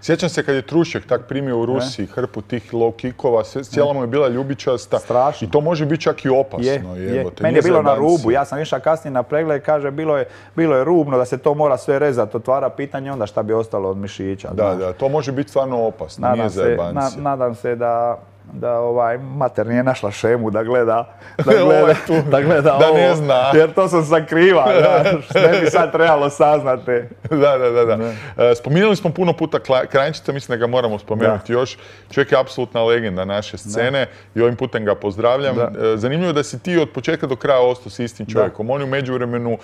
Sjećam se kad je Trušek tak primio u Rusiji ne? hrpu tih low kickova, cijela mu je bila ljubičasta. Strašno. I to može biti čak i opasno. Je, je. Meni je bilo na rubu, ja sam išao kasnije na pregled, kaže bilo je, bilo je rubno da se to mora sve rezati, otvara pitanje onda šta bi ostalo od mišića. Da, znaš. Da, to može biti stvarno opasno, nadam nije zajebancija. Na, nadam se da, da ovaj mater nije našla šemu da gleda, da gleda, da, gleda da ovo, ne zna. Jer to sam sakriva, da, ne bi sad trebalo saznati. Da, da, da. da. Ne. Spominjali smo puno puta Kranjčica, mislim da ga moramo spomenuti da. još. Čovjek je apsolutna legenda naše scene da. i ovim putem ga pozdravljam. Da. Zanimljivo da si ti od početka do kraja ostao s istim čovjekom. Da. On je u međuvremenu,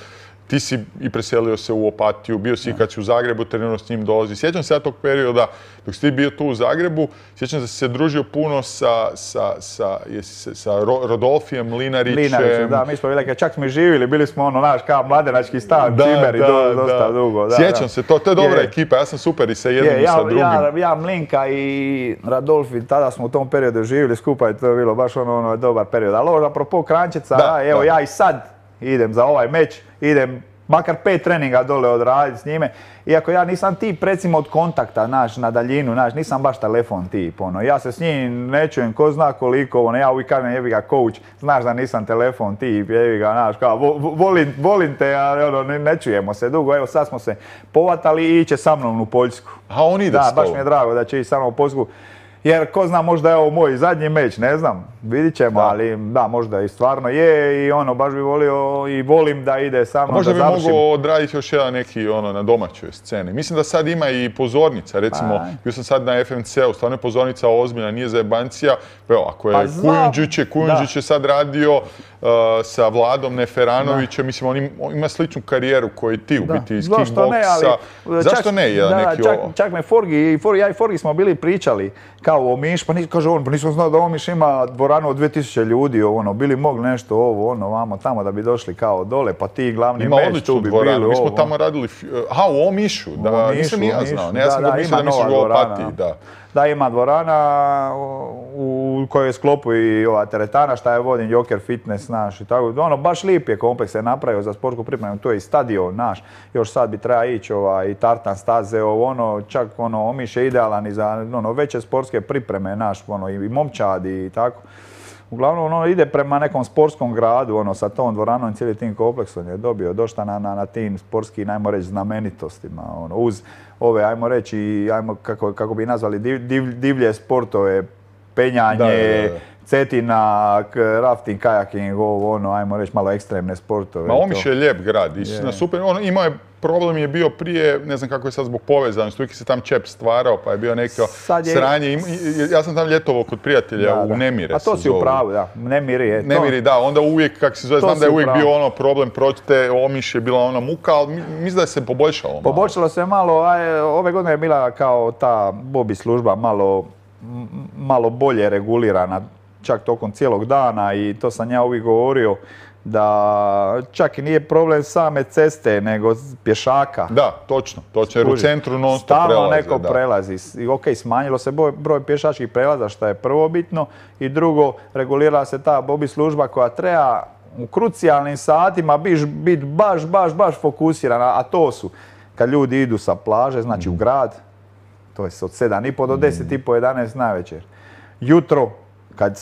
ti si i preselio se u Opatiju, bio si i kad si u Zagrebu, trenirao s njim dolazi. Sjećam se ja tog perioda, dok si ti bio tu u Zagrebu, sjećam da si se družio puno sa, sa, sa, jesi, sa Rodolfijem Linarićem. Linarićem, da, mi smo bili, čak smo i živjeli, bili smo ono, naš, kao mladenački stan, Cimeri, do, dosta da. dugo. Da, sjećam da. se, to, to je dobra je. ekipa, ja sam super i sa jednim je, i sa ja, drugim. Ja, ja, Mlinka i Radolfi, tada smo u tom periodu živjeli skupa i to je bilo baš ono, ono dobar period. Ali apropo Kranjčica, da, evo da. ja i sad idem za ovaj meč, idem makar pet treninga dole odraditi s njime. Iako ja nisam tip recimo od kontakta, znaš, na daljinu, znaš, nisam baš telefon tip, ono. Ja se s njim ne čujem, ko zna koliko, ono, ja uvijek kažem, jebi ga, coach, znaš da nisam telefon tip, jebi ga, znaš, kao, vo, volim, volim te, ali ono, ne, ne čujemo se dugo, evo sad smo se povatali i iće sa mnom u Poljsku. A on ide da, s tobom? baš mi je drago da će ići sa mnom u Poljsku. Jer ko zna, možda je ovo moj zadnji meč, ne znam, vidit ćemo, da. Ali da, možda i stvarno je i ono, baš bi volio i volim da ide sa mnom, možda da završim. Možda bi mogao odraditi još jedan neki ono na domaćoj sceni. Mislim da sad ima i pozornica, recimo, pa. Bio sam sad na F M C-u, stvarno je pozornica ozbiljna, nije za jebancija. Evo, ako je pa Kujundžić, je, Kujundžić je sad radio uh, sa Vladom Neferanovićem, da. Mislim, on ima, on ima sličnu karijeru koji ti u da. Biti iz kickboksa. Ne, ali, zašto čak, ne? Jedan da, neki čak, čak me Forgi, Forgi, ja i Forgi smo bili pričali kao Omiš, pa nis, kaže on, pa nisam znao da Omiš ima dvoranu od dvije tisuće ljudi, ono, bili mogli nešto ovo, ono, vamo, tamo da bi došli kao dole, pa ti glavni ima meć tu bi bili ovo. Mi smo tamo radili, aha, u Omišu, da, u Omišu, nisam ni ja znao, ne, ja sam da, da, mislio da misliš u Opatiji, da. Da, ima dvorana u kojoj je sklopu i ova teretana, šta je vodim, Joker Fitness naš i tako. Ono, baš lijep je kompleks, se napravio za sportsku pripremu, to je i stadion naš. Još sad bi treba ići ovaj, i tartan staze, ono, čak ono, Omiš je idealan i za ono, veće sportske pripreme naš, ono, i momčadi i tako. Uglavnom, ono, ide prema nekom sportskom gradu, ono, sa tom dvoranom i cijeli tim kompleksom je dobio došta na, na, na tim sportskim, ajmo reći, znamenitostima, ono, uz ove, ajmo reći, ajmo, kako, kako bi nazvali, div, div, divlje sportove, penjanje, da, da, da. Cetina, rafting, kajaking, ovo, ono, ajmo reći, malo ekstremne sportove. Ma Omiš je lijep grad, istina, super, ono, imao je, problem je bio prije, ne znam kako je sad zbog povezanosti, uvijek se tam čep stvarao, pa je bio neko je... sranje. Ja sam tam ljetovao kod prijatelja da, u da. Nemire. A to si u pravu, da. Nemiri je to. Nemiri, da. Onda uvijek, kako se zove, to znam da je uvijek bio ono problem proći te Omiš je bila ona muka, ali mislim da se poboljšalo malo. Poboljšalo se malo, a ove godine je bila kao ta Bobi služba malo, malo bolje regulirana, čak tokom cijelog dana i to sam ja uvijek govorio. Da čak i nije problem same ceste, nego pješaka. Da, točno, točno, jer u centru non stop prelaze. Stalno neko da. prelazi. I ok, smanjilo se broj, broj pješačkih prelaza, što je prvo bitno. I drugo, regulirala se ta Bobi služba koja treba u krucijalnim satima biti baš, baš, baš fokusirana. A to su, kad ljudi idu sa plaže, znači mm. u grad, to je od sedam i po do deset i po, jedanaest navečer. Jutro, kad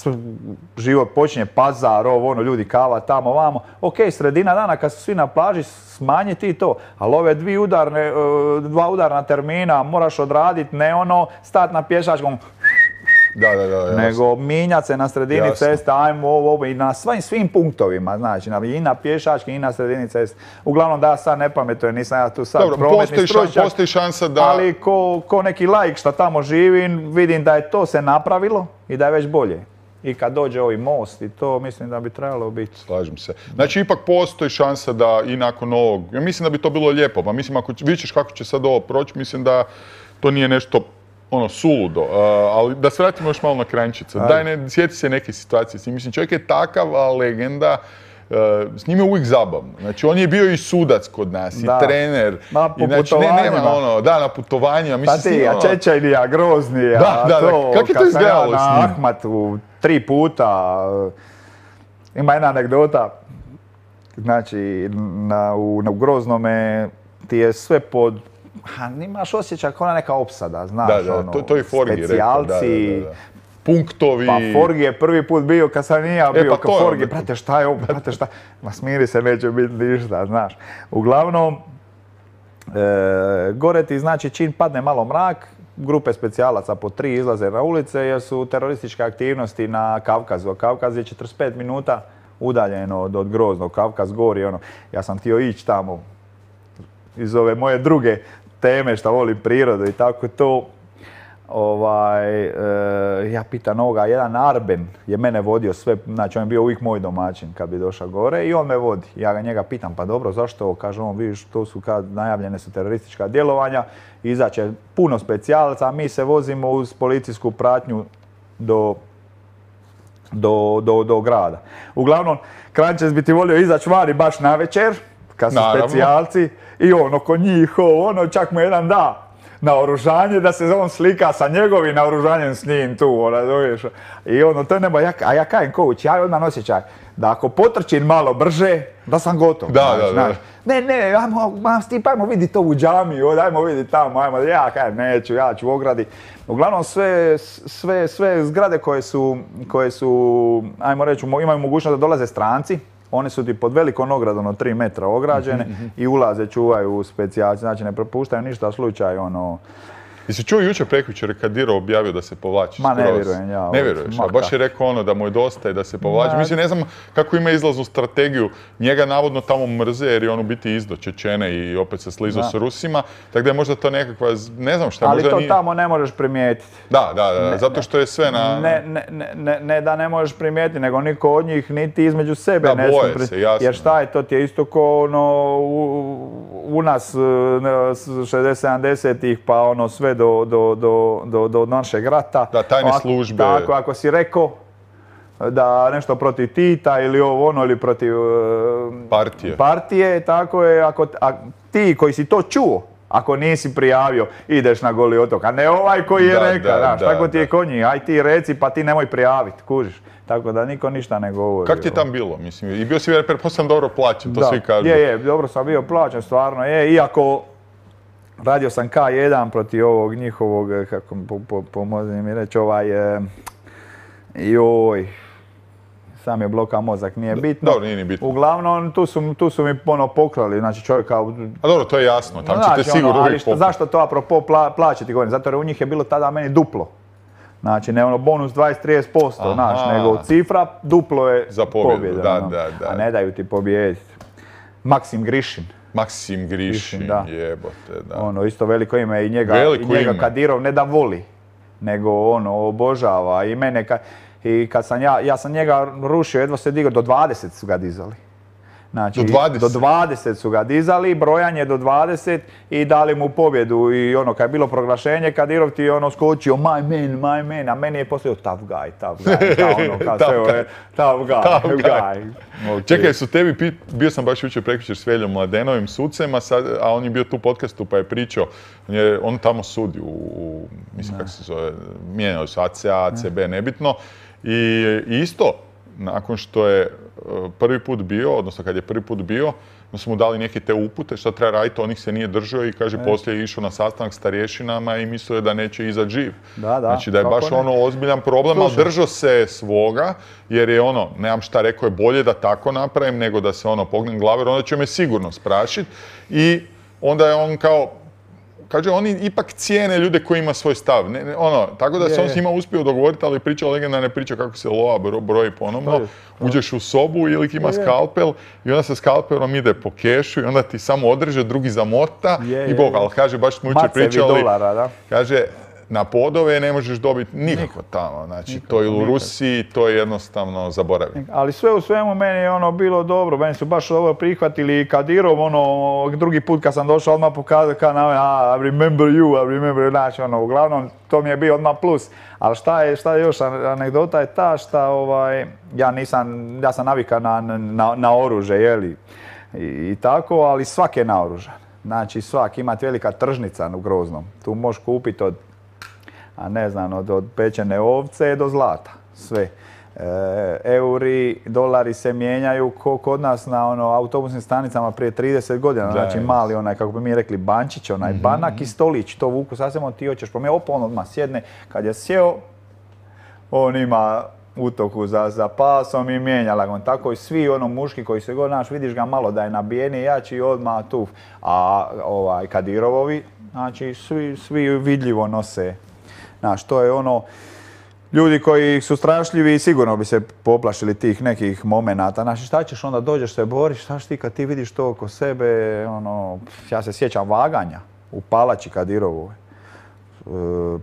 život počinje, pazar, ovo, ono, ljudi kava tamo, vamo. Ok, sredina dana kad su svi na plaži, smanji ti to. Ali ove dvije udarne, dva udarna termina moraš odraditi, ne ono, stat na pješačkom, da, da, da, jasno. Nego minjat se na sredini jasno. Ceste, ajmo ovo, ovo, i na svim, svim punktovima, znači, i na pješački, i na sredini ceste. Uglavnom da ja sad ne pametujem, nisam ja tu sad dobro, prometni stručnjak, postoji šansa da... ali ko, ko neki laik što tamo živi, vidim da je to se napravilo i da je već bolje. I kad dođe ovaj most i to, mislim da bi trebalo biti. Slažem se. Znači, ipak postoji šansa da i nakon ovog, ja mislim da bi to bilo lijepo, pa mislim, ako vidiš kako će sad ovo proći, mislim da to nije nešto ono, suludo, uh, ali da se vratimo još malo na Kranjčica. Daj, ne, sjeti se neke situacije s njim. Mislim, čovjek je takav legenda, uh, s njim je uvijek zabavno. Znači, on je bio i sudac kod nas, da. I trener. Na, po I, znači, ne, nema ono, da, na putovanjima. Pa ti, a Čečajnija, Groznija, da, da, to, kako je to izgledalo ja s njim? Na Ahmatu tri puta. Ima jedna anegdota, znači, na, u, na, u Groznome ti je sve pod... Ha, nimaš osjećaj kao neka opsada, znaš, da, da, ono, to, to je Forgi specijalci, rekao, da, da, da. Punktovi. Pa Forgi je prvi put bio kad sam nije bio, e, pa kao Forgi, brate šta je ovo, brate šta, ma smiri se, neće biti ništa, znaš. Uglavnom, e, gore ti znači čim padne malo mrak, grupe specijalaca po tri izlaze na ulice jer su terorističke aktivnosti na Kavkazu. Kavkaz je četrdeset pet minuta udaljeno od, od Groznog, Kavkaz gori, ono, ja sam htio ići tamo iz ove moje druge teme što volim prirodu i tako to. Ovaj, e, ja pitan ovoga, jedan Arben je mene vodio sve, znači on je bio uvijek moj domaćin kad bi došao gore i on me vodi. Ja ga njega pitam, pa dobro, zašto ovo? Kaže on, vidiš, to su kad najavljene su teroristička djelovanja, izaće puno specijalaca, a mi se vozimo uz policijsku pratnju do, do, do, do grada. Uglavnom, Kranjčec bi ti volio izaći vani baš na večer, kad su naravno specijalci, i on oko njih, ono, čak mu jedan da naoružanje, da se on slika sa njegovim naoružanjem s njim tu, ona, zoveš. I ono, to je nebo, ja, a ja kajem coach, ja odmah osjećaj, da ako potrčim malo brže, da sam gotov. Da, da, da. Ne, ne, ajmo, ma, Stip, ajmo vidjeti to u džamiju, ajmo vidjeti tamo, ajmo, ja kajem, neću, ja ću u ogradi. Uglavnom sve, sve, sve zgrade koje su, koje su, ajmo reći, imaju mogućnost da dolaze stranci, one su ti pod velikom ogradom od tri metra ograđene mm-hmm. i ulaze, čuvaju specijalci, znači ne propuštaju ništa slučaj, ono... Jesi čuo jučer prekjučer kad Diro objavio da se povlači Ma skroz? ne vjerujem ja. Ne vjeruješ, a baš je rekao ono da mu je dosta i da se povlači. Mislim, ne znam kako ima izlaznu strategiju. Njega navodno tamo mrze jer je on u biti izdo Čečene i opet se slizao s Rusima. Tako da je možda to nekakva, ne znam šta, ali možda to nije... tamo ne možeš primijetiti. Da, da, da, ne, zato što je sve na... Ne, ne, ne, ne da ne možeš primijetiti, nego niko od njih niti između sebe da, ne boje pri... se, jasno. Jer šta je, to ti je isto ko ono, u, u nas šezdeset sedamdesetih pa ono sve do, do, do Do, do našeg rata. Da, tajne ako, službe. Tako, ako si rekao da nešto protiv Tita ili ovo ono ili protiv uh, partije. partije, tako je, ako a, ti koji si to čuo, ako nisi prijavio, ideš na Goli otok, a ne ovaj koji je da, rekao, da, znaš, da, tako ti je da. kod njih, aj ti reci pa ti nemoj prijaviti, kužiš. Tako da niko ništa ne govori. Kako ti je tam bilo? Mislim, i bio si pretpostavljam dobro plaćen, to da, svi kažu. Je, je, dobro sam bio plaćen, stvarno je, iako radio sam K jedan protiv ovog njihovog, kako po, po, pomozi mi reći, ovaj, e, joj, sam je bloka mozak, nije bitno. Dobro, nije ni bitno. Uglavnom, tu su, tu su mi ono pokrali, znači čovjek kao... A dobro, to je jasno, tam znači, ćete sigurno ono, ali uvijek što, pokrati. zašto to apropo pla, plaće ti govorim? Zato jer u njih je bilo tada meni duplo. Znači, ne ono bonus dvadeset do trideset posto, znaš, nego cifra duplo je za pobjedu, pobjeda, da, ono, da, da. A ne daju ti pobijediti. Maksim Grišin. Maksim Grišin, Grišin, da. jebote, da. Ono, isto veliko ime i njega, Veliko i njega ime. Kadirov ne da voli, nego ono, obožava i mene, ka, i kad sam ja, ja sam njega rušio, jedva se digao, do dvadeset su ga dizali. Znači, Do dvadeset? do dvadeset su ga dizali, brojanje do dvadeset i dali mu pobjedu i ono, kad je bilo proglašenje, Kadirov ti je ono skočio, my man, my man, a meni je poslije tough guy, tough guy, kao ono, kao Tough sve ove, tough guy, Tough guy. guy. Okay. Čekaj, su tebi, pi- bio sam baš jučer prekjučer s Veljom Mladenovim sucem, a, sad, a on je bio tu u podcastu pa je pričao, on, je, on tamo sudi u, u mislim kako se zove, mijenjali su A C A, A C B, nebitno. I, i isto, nakon što je uh, prvi put bio, odnosno kad je prvi put bio, onda su mu dali neke te upute šta treba raditi, on ih se nije držao i kaže e. poslije je išao na sastanak s starješinama i mislio je da neće izaći živ. Da, da. Znači da je baš ne? ono ozbiljan problem, ali držao se svoga jer je ono, nemam šta rekao, je bolje da tako napravim nego da se ono pognem glave, jer onda će me sigurno sprašiti i onda je on kao, kaže, oni ipak cijene ljude koji ima svoj stav. Ne, ne, ono, tako da se on s njima uspio dogovoriti, ali priča legendarne priče kako se lova bro, broji ponovno. Uđeš u sobu ili ima skalpel i onda se skalpelom ide po kešu i onda ti samo odreže, drugi zamota je, i bog, ali kaže, baš smo jučer pričali, dolara, da. kaže, na podove ne možeš dobiti nikako tamo, znači nikako, to je u nikako. Rusiji, to je jednostavno zaboravljeno. Ali sve u svemu meni je ono bilo dobro, meni su baš dobro prihvatili i Kadirov, ono, drugi put kad sam došao odmah pokazao kao na I remember you, I remember you, znači ono, uglavnom to mi je bio odmah plus. Ali šta je, šta je još, anegdota je ta šta, ovaj, ja nisam, ja sam navikan na, na, na oružje, jeli, i, i tako, ali svak je naoružan. Znači svak, imate velika tržnica u Groznom, tu možeš kupiti od a ne znam, od, od pečene ovce do zlata, sve. E, euri, dolari se mijenjaju ko kod nas na ono, autobusnim stanicama prije trideset godina, znači mali onaj, kako bi mi rekli, bančić, onaj mm-hmm. banak i stolić, to vuku sasvim, ti hoćeš promijeniti, opa on odmah sjedne, kad je sjeo, on ima utoku za, za pasom i mijenja lagon. Tako i svi ono muški koji se god naš, vidiš ga malo da je nabijeni jači odmah tu. A ovaj, Kadirovovi, znači svi, svi vidljivo nose. Znaš, to je ono, ljudi koji su strašljivi sigurno bi se poplašili tih nekih momenata. Znači, šta ćeš onda, dođeš se boriš, šta ti kad ti vidiš to oko sebe, ono, ja se sjećam vaganja u palači Kadirovoj.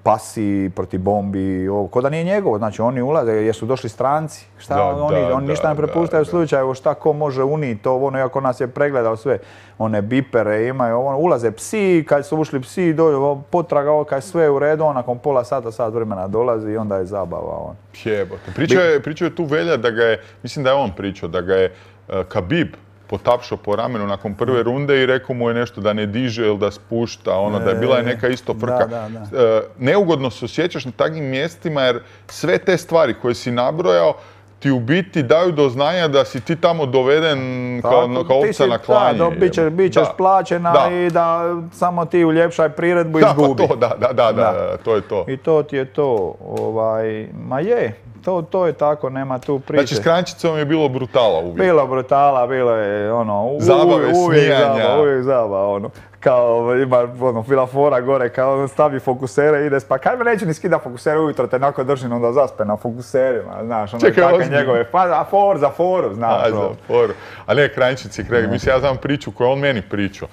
Pasi protiv bombi, ovo, ko da nije njegovo, znači oni ulaze jer su došli stranci, šta da, oni, da, oni ništa da, ne prepuštaju slučaju, šta ko može uniti, to ono, iako nas je pregledao sve, one bipere imaju, ono, ulaze psi, kad su ušli psi, dođu, potraga, ovo, kad je sve u redu, on nakon pola sata, sat vremena dolazi i onda je zabava. On. Jebote, pričao je, pričao je tu Velja da ga je, mislim da je on pričao, da ga je uh, Khabib potapšao po ramenu nakon prve runde i rekao mu je nešto da ne diže ili da spušta, ono, da je bila je neka isto frka. Da, da, da. Neugodno se osjećaš na takvim mjestima jer sve te stvari koje si nabrojao ti u biti daju do znanja da si ti tamo doveden kao, Tako, kao ti ovca si- na klanje. Da, bit ćeš, bit ćeš Da. plaćena Da. i da samo ti uljepšaj priredbu i Da, izgubi. pa to, da, da, da, da, Da. da, to je to. I to ti je to. Ovaj, ma je, to, to je tako, nema tu priče. Znači s Kranjčicom je bilo brutala uvijek. Bilo brutala, bilo je ono, u- Zabave, uvijek smijanja. zaba, uvijek zaba, ono. Kao ima ono, bila fora gore, kao ono, stavi fokusere, ide spa. Kaj me neće ni skida fokusere ujutro, te onako držim onda zaspe na fokuserima, znaš, ono Čekaj, takve ozbiljno? njegove, pa za for, za foru, znaš. A, ono. za foru. A ne, Kranjčici, Kreg. Mislim, ja znam priču koju on meni pričao.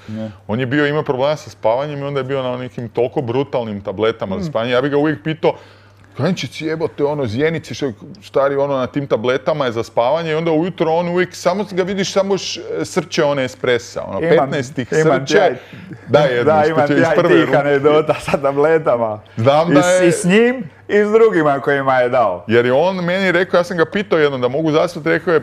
On je bio, imao problema sa spavanjem i onda je bio na nekim toliko brutalnim tabletama Mm. za spavanje. Ja bih ga uvijek pitao, Kranjčici jebote, ono, zjenici, što je stari ono na tim tabletama je za spavanje i onda ujutro on uvijek, samo ga vidiš, samo š- srče one espresa, ono, Imam- petnaest ih imam srče. ja i- Da, jedno, Da, što imam će iz ja i prve tih ruke. anegdota sa tabletama. Znam I, da s- je- I s njim i s drugima kojima je dao. Jer je on meni rekao, ja sam ga pitao jednom da mogu zaspati, rekao je,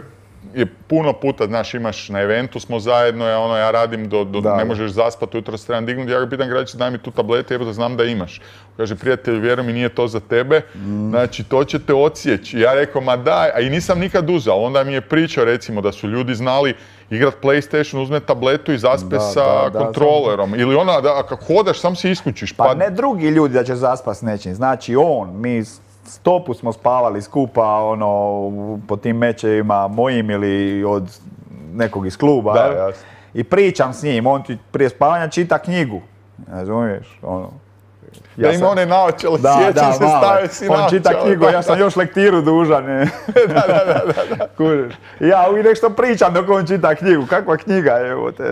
je puno puta, znaš, imaš na eventu smo zajedno, ja, ono, ja radim, do, do, Da, ne da. možeš zaspati, ujutro se trebam dignuti, ja ga pitam, građe, daj mi tu tablete, jebote, znam da imaš. Kaže, prijatelj, vjeruj mi, nije to za tebe, Mm. znači, to će te odsjeći. Ja rekao, ma daj, a i nisam nikad uzao, onda mi je pričao, recimo, da su ljudi znali igrat PlayStation, uzme tabletu i zaspe Da, sa da, da, kontrolerom. Ili ona, da, kako hodaš, sam se iskućiš. Pa ne drugi ljudi da će zaspat s nečim, znači on, mi stopu smo spavali skupa, ono, po tim mečevima mojim ili od nekog iz kluba. Da, jel? jasno. I pričam s njim, on ti prije spavanja čita knjigu, razumiješ, ono. Ja ima one naočale, Da, sjećam da, se, malo. stavio si On čita naočale, knjigu, da, ja sam još lektiru dužan. Ne? da, da, da, da. Kužiš. Ja uvijek nešto pričam dok on čita knjigu. Kakva knjiga je, evo te,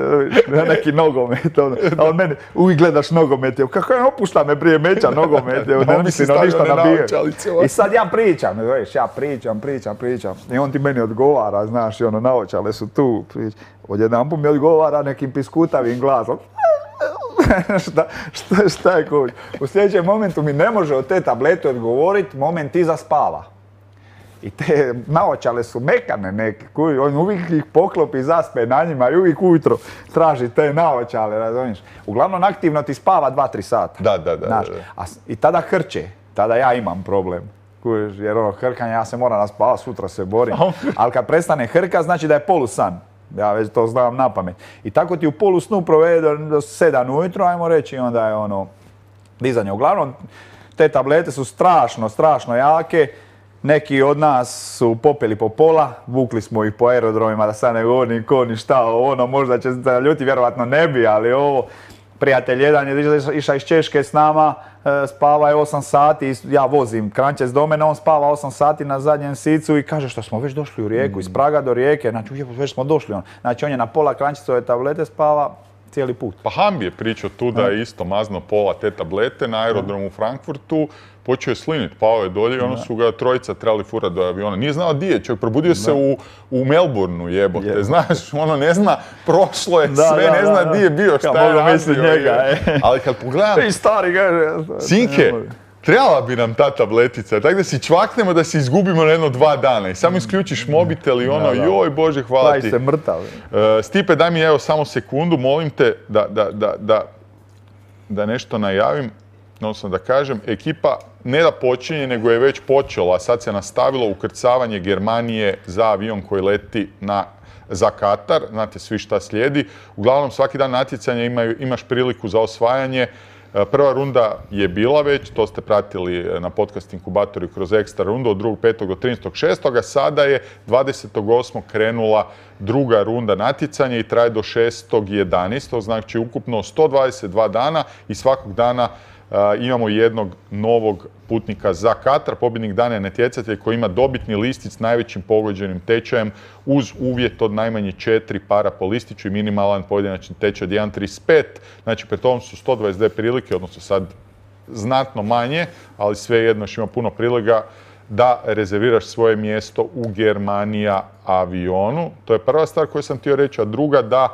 neki nogomet. Ono. A on meni, uvijek gledaš nogomet. Evo, kako je, opušta me prije meča nogomet. Evo, Da, on ne bi si mislim na stavio ništa one nabije. naočalice, ovako. I sad ja pričam, znaš, ja pričam, pričam, pričam. I on ti meni odgovara, znaš, i ono, naočale su tu. Prič. Odjedanput mi odgovara nekim piskutavim glasom. šta, šta, šta je kuć? U sljedećem momentu mi ne može od te tablete odgovoriti, moment iza spava. I te naočale su mekane neke, kuj, on uvijek ih poklopi i zaspe na njima i uvijek ujutro traži te naočale, razumiješ? Uglavnom aktivno ti spava dva tri sata. Da, da, da, Znaš, da, da. a s- I tada hrče, tada ja imam problem. Kužiš, jer ono hrkanje, ja se moram naspavati, sutra se borim. Ali kad prestane hrka, znači da je polusan. Ja već to znam na pamet. I tako ti u polusnu provede do, do sedam ujutro, ajmo reći, i onda je ono dizanje. Uglavnom, te tablete su strašno, strašno jake. Neki od nas su popeli po pola, vukli smo ih po aerodromima, da sad ne govorim ko ni šta, ono možda će se ljuti, vjerovatno ne bi, ali ovo, prijatelj jedan je išao- išao iz Češke s nama, e, spava je osam sati, i ja vozim Kranjčec do mene, on spava osam sati na zadnjem sicu i kaže što smo već došli u Rijeku, iz Praga do Rijeke, znači ujebo, već smo došli. On. Znači on je na pola Kranjčecove tablete spava cijeli put. Pa Hambi je pričao tu da je isto mazno pola te tablete na aerodromu u Frankfurtu, počeo je slinit, pao je dolje i ono su ga trojica trebali furati do aviona. Nije znao di je, čovjek probudio se u, u Melbourneu, jebote, Jebote. znaš, ono ne zna, prošlo je Da, sve, da, ne da, zna da. di je bio, šta Ka je mogu radio. mislit njega, je. e. Ali kad pogledam, I stari kaže... Sinke, trebala bi nam ta tabletica, tako da si čvaknemo da se izgubimo na jedno dva dana i samo isključiš mobitel i ono, Da, da. joj Bože, hvala Pravi ti. se mrtav. E, Stipe, daj mi evo samo sekundu, molim te da, da, da, da, da nešto najavim, odnosno da kažem, ekipa ne da počinje, nego je već počela, a sad se nastavilo ukrcavanje Germanije za avion koji leti na, za Katar, znate svi šta slijedi. Uglavnom svaki dan natjecanja imaju, imaš priliku za osvajanje. E, Prva runda je bila već, to ste pratili na podcast inkubatoru kroz ekstra rundu od drugog petog do trinaestog šestog Sada je dvadesetog osmog krenula druga runda natjecanja i traje do šestog jedanaestog Znači ukupno sto dvadeset dva dana i svakog dana uh, imamo jednog novog putnika za Katar. Pobjednik dana je natjecatelj koji ima dobitni listić s najvećim pogođenim tečajem uz uvjet od najmanje četiri para po listiću i minimalan pojedinačni tečaj od jedan zarez trideset pet. Znači, pred tom su sto dvadeset dvije prilike, odnosno sad znatno manje, ali svejedno još ima puno prilika da rezerviraš svoje mjesto u Germanija avionu. To je prva stvar koju sam htio reći, a druga da uh,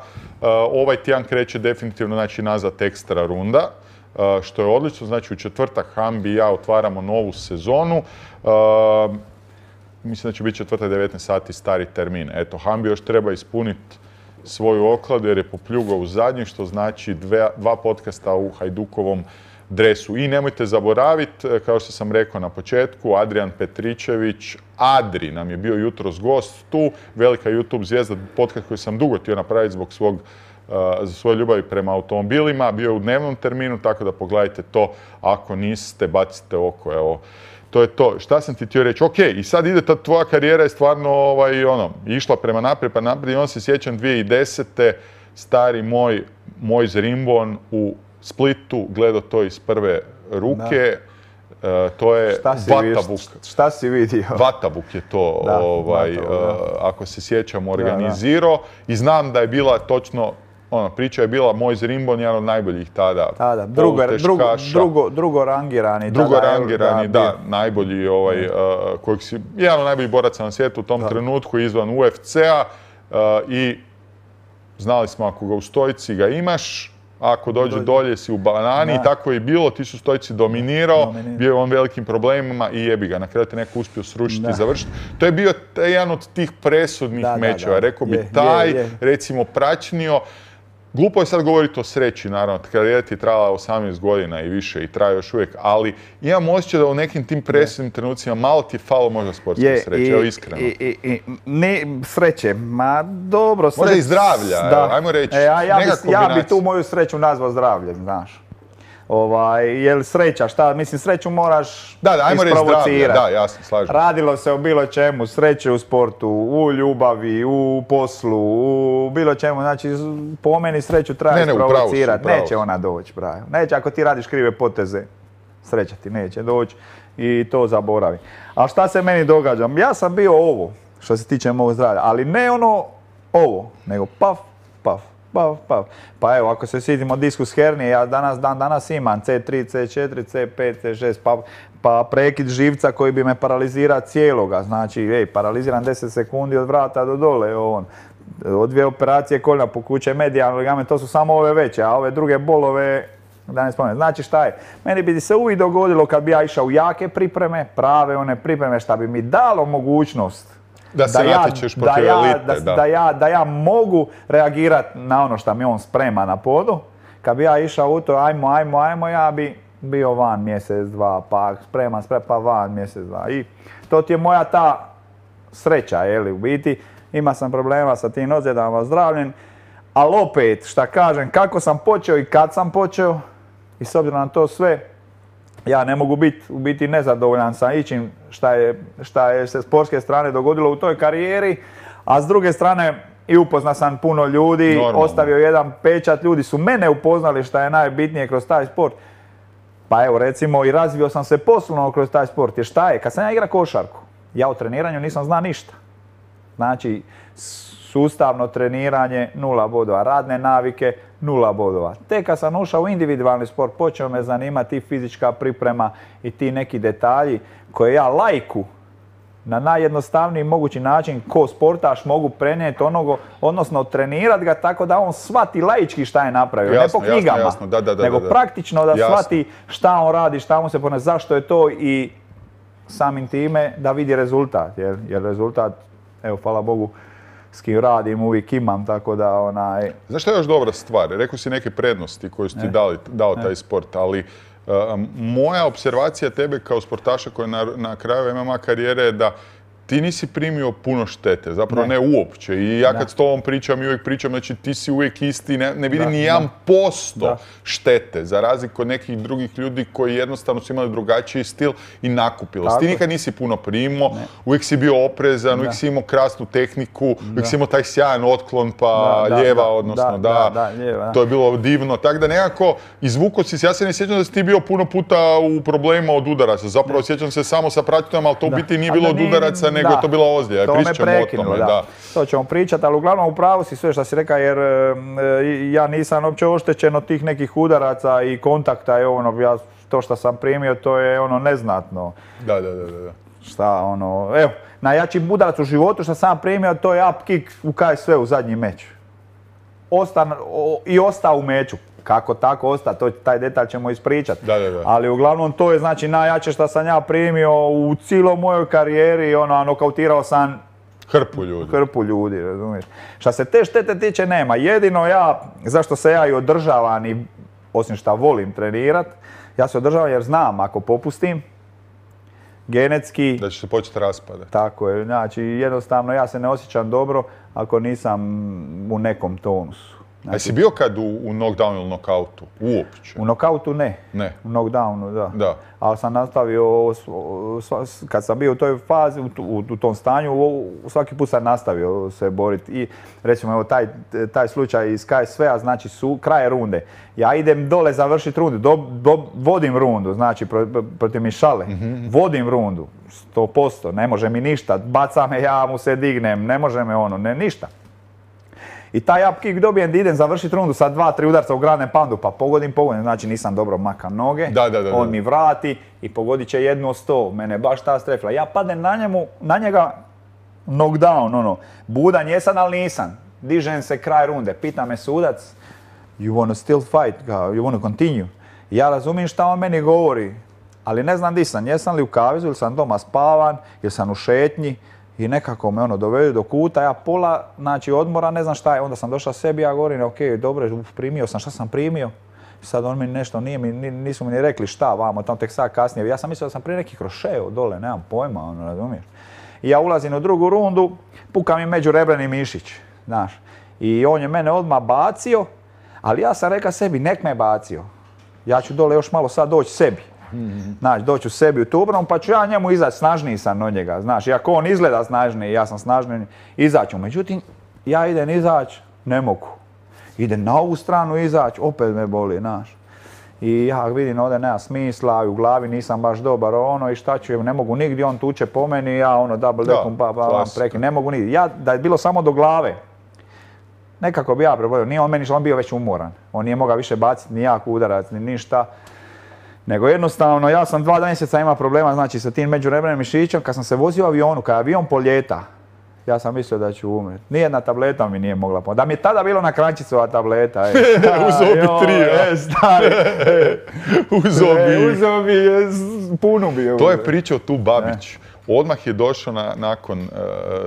ovaj tjedan kreće definitivno znači, nazad ekstra runda. Uh, što je odlično, znači u četvrtak Hambi i ja otvaramo novu sezonu. Uh, mislim da će biti četvrtak devetnaest sati stari termin. Eto, Hambi još treba ispuniti svoju okladu jer je popljugao u zadnji, što znači dve, dva podcasta u Hajdukovom dresu. I nemojte zaboraviti, kao što sam rekao na početku, Adrian Petričević, Adri nam je bio jutros gost tu, velika YouTube zvijezda, podcast koji sam dugo htio napraviti zbog svog za svoje ljubavi prema automobilima, bio je u dnevnom terminu, tako da pogledajte to, ako niste, bacite oko, evo. To je to. Šta sam ti htio reći? Ok, i sad ide ta tvoja karijera je stvarno ovaj, ono, išla prema naprijed, pa naprijed i on se sjećam dvije tisuće desete. stari moj, moj Zrimbon u Splitu, gledao to iz prve ruke. Uh, to je Vatabuk. Šta si vidio? Vatabuk je to, da, ovaj, Vatabuk, uh, ako se sjećam, organizirao. I znam da je bila točno, ona priča je bila moj Zrimbon, jedan od najboljih tada. Tada, drugo, drugo, drugo, drugo rangirani. Drugo tada, rangirani, da, da najbolji, ovaj, uh, kojeg si, jedan od najboljih boraca na svijetu u tom da. trenutku izvan U F C-a uh, i znali smo ako ga u stojci ga imaš, ako dođe dolje, dolje si u banani da. I tako je bilo, ti su stojci dominirao, Dominir. bio je on velikim problemima i jebi ga, na kraju te neko uspio srušiti da. i završiti. To je bio jedan od tih presudnih da, mečeva, da, da. rekao bi je, taj, je, je. recimo praćnio. Glupo je sad govoriti o sreći, naravno, karijera ti je trajala osamnaest godina i više i traje još uvijek, ali imam osjećaj da u nekim tim presudnim trenucima malo ti je falo možda sportske sreće, evo iskreno. I, i, i, ne sreće, ma dobro sreće. Možda i zdravlja, da. evo, ajmo reći, e, a ja, bi, ja bi tu moju sreću nazvao zdravljem, znaš. Ovaj, jel sreća, šta, mislim sreću moraš da, da, ajmo reći zdravlje, da, jasno, slažem. Radilo se o bilo čemu, sreće u sportu, u ljubavi, u poslu, u bilo čemu, znači po meni sreću treba isprovocirati, neće ona doći, pravi. Neće ako ti radiš krive poteze, sreća ti neće doći i to zaboravi. A šta se meni događa? Ja sam bio ovo, što se tiče mog zdravlja, ali ne ono ovo, nego paf, paf. Pa, pa, pa evo, ako se sjetimo diskus hernije, ja danas, dan danas imam C tri, C četiri, C pet, C šest, pa, pa prekid živca koji bi me paralizirao cijeloga. Znači, ej, paraliziran deset sekundi od vrata do dole, on. Od dvije operacije koljena pokuće, medijalni ligament, to su samo ove veće, a ove druge bolove, da ne spomenem. Znači šta je? Meni bi se uvijek dogodilo kad bi ja išao u jake pripreme, prave one pripreme, šta bi mi dalo mogućnost Da se natječeš protiv elite, da. Da, da, ja, da ja mogu reagirati na ono što mi on sprema na podu. Kad bi ja išao u to, ajmo, ajmo, ajmo, ja bi bio van mjesec, dva, pa spreman, spreman, pa van mjesec, dva. I to ti je moja ta sreća, jeli, u biti. Ima sam problema sa tim ozljedama zdravljem, ali opet, šta kažem, kako sam počeo i kad sam počeo, i s obzirom na to sve, ja ne mogu biti u biti nezadovoljan sa ičim šta je, šta je se sportske strane dogodilo u toj karijeri, a s druge strane i upozna sam puno ljudi, normalno. Ostavio jedan pečat, ljudi su mene upoznali šta je najbitnije kroz taj sport. Pa evo recimo i razvio sam se poslovno kroz taj sport, jer šta je, kad sam ja igrao košarku, ja o treniranju nisam znao ništa. Znači, sustavno treniranje nula bodova, radne navike nula bodova. Tek kad sam ušao u individualni sport, počeo me zanimati i fizička priprema i ti neki detalji koje ja lajku na najjednostavniji mogući način ko sportaš mogu prenijeti onoga, odnosno trenirati ga tako da on shvati laički šta je napravio. Jasno, ne po knjigama, jasno, jasno. Da, da, da, nego da, da. praktično da jasno. shvati šta on radi, šta mu se pone, zašto je to i samim time da vidi rezultat. Jer, jer rezultat, evo, hvala Bogu, s kim radim, uvijek imam, tako da onaj... Znaš što je još dobra stvar? Rekao si neke prednosti koje su ti dali, dao taj sport, ali uh, moja observacija tebe kao sportaša koji na, na kraju M M A karijere je da ti nisi primio puno štete, zapravo ne, ne uopće. I ja kad da. s tobom pričam i uvijek pričam, znači ti si uvijek isti, ne, ne vidim da, ni jedan posto da. štete, za razliku od nekih drugih ljudi koji jednostavno su imali drugačiji stil i nakupilost. Ti nikad nisi puno primio, uvijek si bio oprezan, da. uvijek si imao krasnu tehniku, da. uvijek si imao taj sjajan otklon pa da, lijeva, da, odnosno da, da, da, da lijeva, to je bilo divno. Tako da nekako izvuko si se, ja se ne sjećam da si ti bio puno puta u problemima od udaraca, zapravo sjećam se samo sa praćutom, ali to u biti nije bilo od udaraca, nego je to bila ozljeda. To me prekinulo, da. da. To ćemo pričati, ali uglavnom u pravu si sve što si rekao, jer e, ja nisam uopće oštećen od tih nekih udaraca i kontakta i ono, ja, to što sam primio, to je ono neznatno. Da, da, da, da. Šta, ono, evo, najjači udarac u životu što sam primio, to je up kick u K S V u zadnji meč. Ostan, o, I ostao u meču. Kako tako osta, to, taj detalj ćemo ispričati. Da, da, da. Ali uglavnom to je znači najjače što sam ja primio u cijeloj mojoj karijeri, ono, nokautirao sam hrpu ljudi. Hrpu ljudi, razumiješ. Što se te štete tiče nema. Jedino ja, zašto se ja i održavam i osim što volim trenirat, Ja se održavam jer znam ako popustim, genetski... Da će se početi raspadati. Tako je, znači jednostavno ja se ne osjećam dobro ako nisam u nekom tonusu. Znači, a jesi bio kad u, u knockdownu ili knockoutu? Uopće? U knockoutu ne. Ne. U knockdownu, da. Da. Ali sam nastavio, kad sam bio u toj fazi, u, u, u tom stanju, svaki put sam nastavio se boriti. I recimo, evo, taj, taj slučaj iz K S V-a, znači su kraj runde. Ja idem dole završiti rundu, do, do, vodim rundu, znači pro, protiv Mišale. Mm-hmm. Vodim rundu, sto posto, ne može mi ništa. Baca me, ja mu se dignem, ne može me ono, ne ništa. I taj up kick dobijem da idem završiti rundu sa dva, tri udarca u Grand Poundu, pa pogodim, pogodim, znači nisam dobro makam noge, da, da, da, on da. mi vrati i pogodit će jednu od sto, mene baš ta strefla. Ja padnem na njemu, na njega knockdown, ono, budan jesam, ali nisam. Dižem se kraj runde, pita me sudac, you wanna still fight, you wanna continue. Ja razumijem šta on meni govori, ali ne znam di sam, jesam li u kavezu ili sam doma spavan, ili sam u šetnji. I nekako me ono dovedu do kuta, ja pola, znači odmora, ne znam šta je, onda sam došao sebi, ja govorim, ok, dobro, primio sam, šta sam primio? Sad on mi nešto, nije mi, nisu mi ni rekli šta, vamo, tamo tek sad kasnije, ja sam mislio da sam prije neki krošeo dole, nemam pojma, ono, razumiješ? I ja ulazim u drugu rundu, puka mi međurebreni mišić, znaš, i on je mene odmah bacio, ali ja sam rekao sebi, nek me bacio, ja ću dole još malo sad doći sebi. Mm-hmm. Znači, doću sebi u tu obranu, pa ću ja njemu izaći, snažniji sam od njega, znaš, iako on izgleda snažniji, ja sam snažniji, izaću. Međutim, ja idem izaći, ne mogu. Idem na ovu stranu izaći, opet me boli, znaš. I ja vidim, ovdje nema smisla, u glavi nisam baš dobar, ono, i šta ću, ne mogu nigdje, on tuče po meni, ja ono, double deckom, pa, pa, pa, preki, ne mogu nigdje. Ja, da je bilo samo do glave, nekako bi ja prebolio, nije on meni, on bio već umoran. On nije mogao više baciti ni jak udarac, ni ništa. Nego jednostavno, ja sam dva mjeseca imao problema, znači, sa tim međurebrenim mišićem. Kad sam se vozio u avionu, kad avion poljeta, ja sam mislio da ću umreti. Nijedna tableta mi nije mogla pomoći. Da mi je tada bilo na krančicova tableta. Uzeo bi tri, a? Stari. Uzeo bi. Uzeo bi, puno bi. To je pričao tu Babić. Odmah je došao na, nakon uh,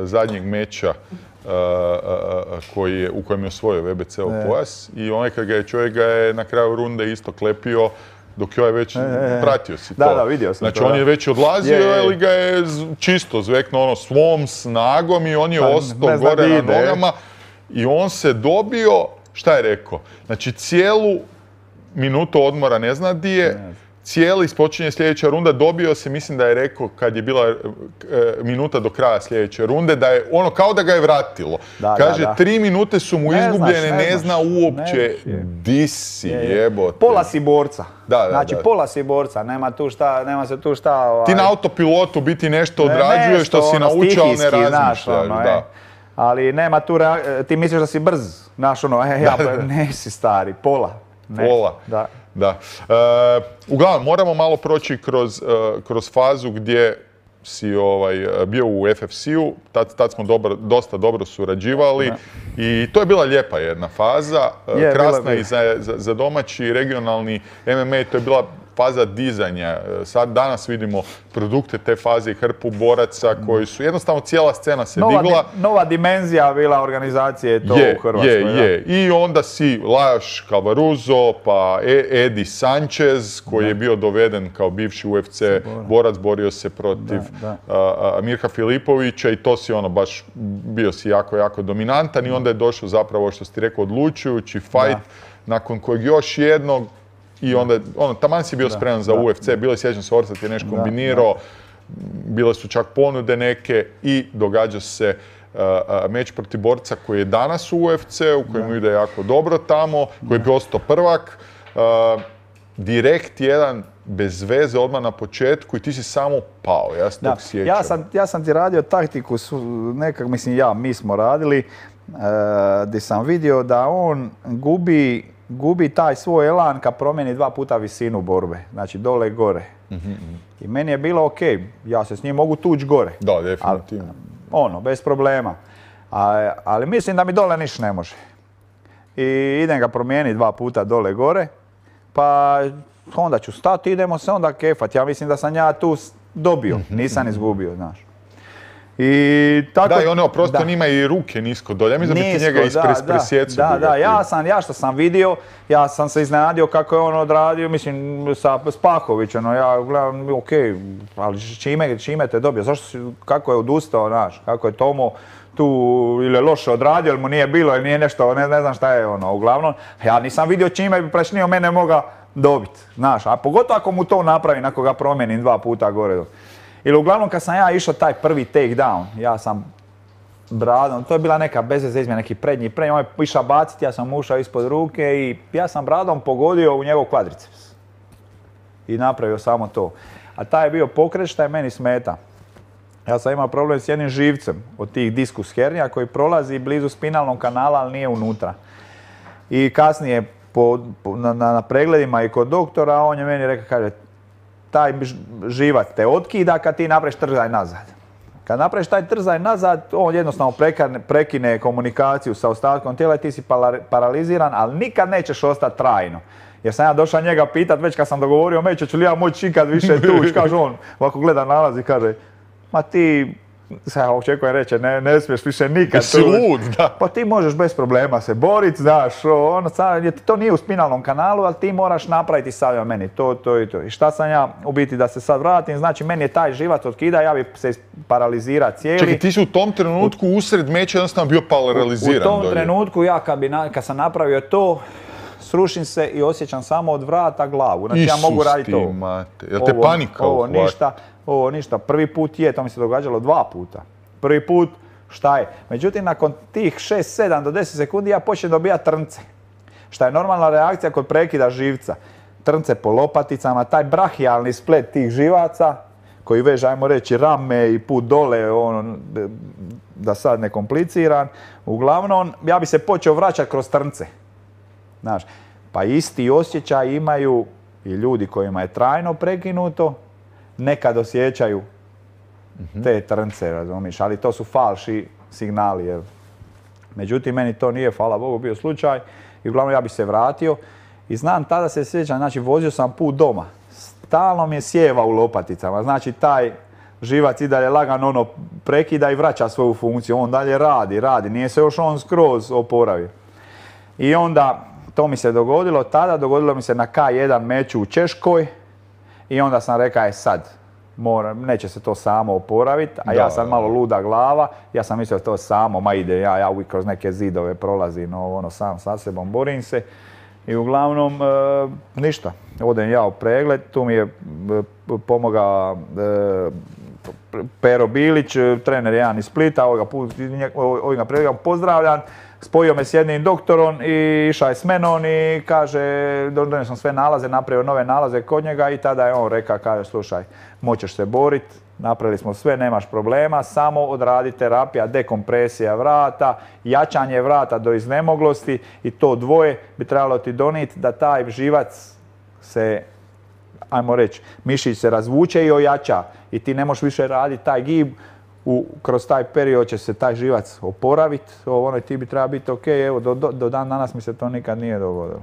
zadnjeg meča uh, uh, koji je, u kojem je osvojio V B C-ov pojas. I onaj kad ga je čovjek ga je na kraju runde isto klepio. Dok joj je već, e, pratio si to. Da, da, vidio sam znači, to. on je već odlazio, je, je. ali ga je čisto zveknuo ono svom snagom i on je pa, ostao gore na ide. nogama. I on se dobio, šta je rekao? Znači, cijelu minutu odmora ne zna di je, ne. cijeli ispočinje sljedeća runda, dobio se, mislim da je rekao kad je bila e, minuta do kraja sljedeće runde, da je ono kao da ga je vratilo. Da, kaže, da, da. tri minute su mu ne izgubljene, znaš, ne, ne zna uopće di si, jebote. Pola si borca. Da, da, znači, da. pola si borca, nema tu šta, nema se tu šta... Ovaj... Ti na autopilotu biti nešto odrađuješ ne, što si ono, naučio, ali ne razmišljaš. Ono, da. E. Ali nema tu, rea... ti misliš da si brz, znaš ono, e, ja, da, da. ne si stari, pola. Ne. Pola. Da. Da. E, uglavnom, moramo malo proći kroz, uh, kroz fazu gdje si ovaj, bio u F F C-u, tad, tad smo dobro, dosta dobro surađivali da. I to je bila lijepa jedna faza, je, krasna bila, i za, za, za domaći regionalni M M A, to je bila faza dizanja. Sad danas vidimo produkte te faze i hrpu boraca koji su, jednostavno cijela scena se nova digla. Di, nova dimenzija bila organizacije to je, u Hrvatskoj. Je, je. I onda si Lajos Calvaruso, pa Eddie Sanchez, koji da. je bio doveden kao bivši U F C borac, borio se protiv da, da. A, a, Mirka Filipovića i to si ono baš, bio si jako, jako dominantan i onda je došao zapravo, što si ti rekao, odlučujući fight, nakon kojeg još jednog i onda, ono, taman si bio da, spreman za da, U F C, bilo je, sjećam se, Orsat je nešto kombinirao, bile su čak ponude neke i događa se uh, uh, meč protiv borca koji je danas u U F C-u, koji mu ide jako dobro tamo, koji je postao prvak. Uh, direkt jedan, bez veze, odmah na početku i ti si samo pao, ja se tog sjećam. Ja sam, ja sam ti radio taktiku, nekak, mislim ja, mi smo radili, uh, gdje sam vidio da on gubi gubi taj svoj elan kad promijeni dva puta visinu borbe, znači dole i gore. Mm-hmm. I meni je bilo ok, ja se s njim mogu tući gore. Da, definitivno. Ali, ono, bez problema. A, ali mislim da mi dole niš ne može. I idem ga promijeniti dva puta dole i gore, pa onda ću stati, idemo se onda kefat. Ja mislim da sam ja tu dobio, mm-hmm. nisam izgubio, znaš. I tako, da, i ono prosto da. Nima i ruke nisko dolje. Ja mislim da bi ti njega ispresjecao. Da, da, da, ja sam, ja što sam vidio, ja sam se iznenadio kako je on odradio, mislim, sa Spahovićem, no ja gledam, ok, ali čime, čime te dobio, zašto si, kako je odustao, znaš, kako je Tomo tu ili je loše odradio, ili mu nije bilo, ili nije nešto, ne, ne znam šta je ono, uglavnom, ja nisam vidio čime bi Prašnio mene moga dobiti, znaš, a pogotovo ako mu to napravim, ako ga promijenim dva puta gore. Ili uglavnom kad sam ja išao taj prvi take down, ja sam bradom, to je bila neka bezveze izmjena, neki prednji prednji, on je išao baciti, ja sam ušao ispod ruke i ja sam bradom pogodio u njegov kvadriceps. I napravio samo to. A taj je bio pokret šta je meni smeta. Ja sam imao problem s jednim živcem od tih diskus hernija koji prolazi blizu spinalnog kanala, ali nije unutra. I kasnije po, po, na, na pregledima i kod doktora, on je meni rekao, kaže, taj živac te otkida kad ti napraviš trzaj nazad. Kad napraviš taj trzaj nazad, on jednostavno prekine, prekine komunikaciju sa ostatkom tijela i ti si paraliziran, ali nikad nećeš ostati trajno. Jer sam ja došao njega pitat već kad sam dogovorio meće, ću li ja moći ikad više tući, kaže on, ovako gleda nalaz i kaže, ma ti, sad očekujem reći, ne, ne smiješ više nikad tući. lud, da. Pa ti možeš bez problema se boriti, znaš, ono, to nije u spinalnom kanalu, ali ti moraš napraviti savjeno meni to, to i to. I šta sam ja u biti da se sad vratim, znači meni je taj živac otkida, ja bi se paralizirao cijeli. Čekaj, ti si u tom trenutku usred meća jednostavno bio paraliziran. U, u tom dolje. trenutku ja kad, bi na, kad sam napravio to, srušim se i osjećam samo od vrata glavu. Znači Isus ja mogu raditi to. Mate. Jel te panika ovo ništa, ovo ništa. Prvi put je, to mi se događalo dva puta. Prvi put, šta je? Međutim, nakon tih šest, sedam do deset sekundi ja počnem dobijati trnce. Šta je normalna reakcija kod prekida živca. Trnce po lopaticama, taj brahijalni splet tih živaca, koji veže, ajmo reći, rame i put dole, ono, da sad ne kompliciram. Uglavnom, ja bi se počeo vraćati kroz trnce. Znaš, pa isti osjećaj imaju i ljudi kojima je trajno prekinuto, nekad osjećaju te trnce, razumiješ, ali to su falši signali. Jer. Međutim, meni to nije, hvala Bogu, bio slučaj i uglavnom ja bi se vratio i znam, tada se sjećam, znači vozio sam put doma, stalno mi je sjeva u lopaticama, znači taj živac i dalje lagano ono prekida i vraća svoju funkciju, on dalje radi, radi, nije se još on skroz oporavio. I onda to mi se dogodilo tada, dogodilo mi se na K jedan meču u Češkoj i onda sam rekao, je sad, mora, neće se to samo oporaviti, a da, ja sam malo luda glava, ja sam mislio to samo, ma ide, ja, ja uvijek kroz neke zidove prolazim, no, ono, sam sa sebom borim se i uglavnom e, ništa, odem ja u pregled, tu mi je e, pomogao e, Pero Bilić, trener jedan iz Splita, ovoga, ovoga pregleda, pozdravljam. Spojio me s jednim doktorom i išao je s menom i kaže, donio sam sve nalaze, napravio nove nalaze kod njega i tada je on rekao, kaže, slušaj, moćeš se boriti, napravili smo sve, nemaš problema, samo odradi terapija, dekompresija vrata, jačanje vrata do iznemoglosti i to dvoje bi trebalo ti donijeti da taj živac se, ajmo reći, mišić se razvuče i ojača i ti ne možeš više raditi taj gib. U, kroz taj period će se taj živac oporaviti, ono ti bi treba biti ok, evo do, do, do dan danas mi se to nikad nije dogodilo.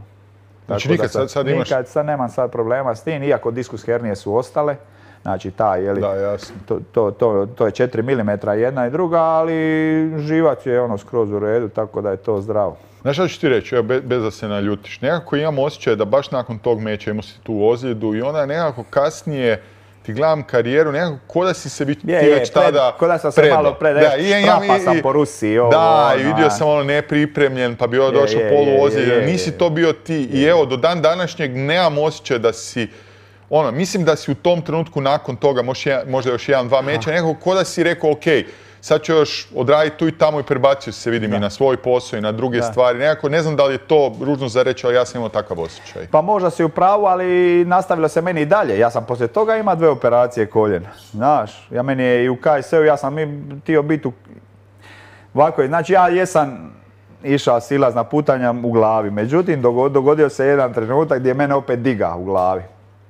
Znači nikad sad, sad imaš... Nikad sad nemam sad problema s tim, iako diskus hernije su ostale, znači taj, jeli, da, jasno. To, to, to, to je četiri milimetra jedna i druga, ali živac je ono skroz u redu, tako da je to zdravo. Znaš što ću ti reći, evo, bez, bez da se naljutiš, nekako imam osjećaj da baš nakon tog meča imao si tu ozljedu i onda nekako kasnije ti gledam karijeru, nekako ko da si se vi, je, ti je, već tada ko da sam se malo pred, strapa sam po Rusiji. Ovo, da, ono, i vidio sam ono nepripremljen, pa bi ovo došao polu ozljedan, nisi to bio ti. Je. I evo, do dan današnjeg nemam osjećaj da si, ono, mislim da si u tom trenutku nakon toga, možda još jedan, dva meča, nekako ko da si rekao, ok, sad ću još odraditi tu i tamo i prebacio se, vidim, da. I na svoj posao i na druge da. Stvari. Nekako, ne znam da li je to ružno za reći, ali ja sam imao takav osjećaj. Pa možda si u pravu, ali nastavilo se meni i dalje. Ja sam poslije toga imao dve operacije koljena. Znaš, ja meni je i u K S U, ja sam htio biti u... Ovako, znači ja jesam išao silazna putanja u glavi. Međutim, dogodio se jedan trenutak gdje je mene opet diga u glavi.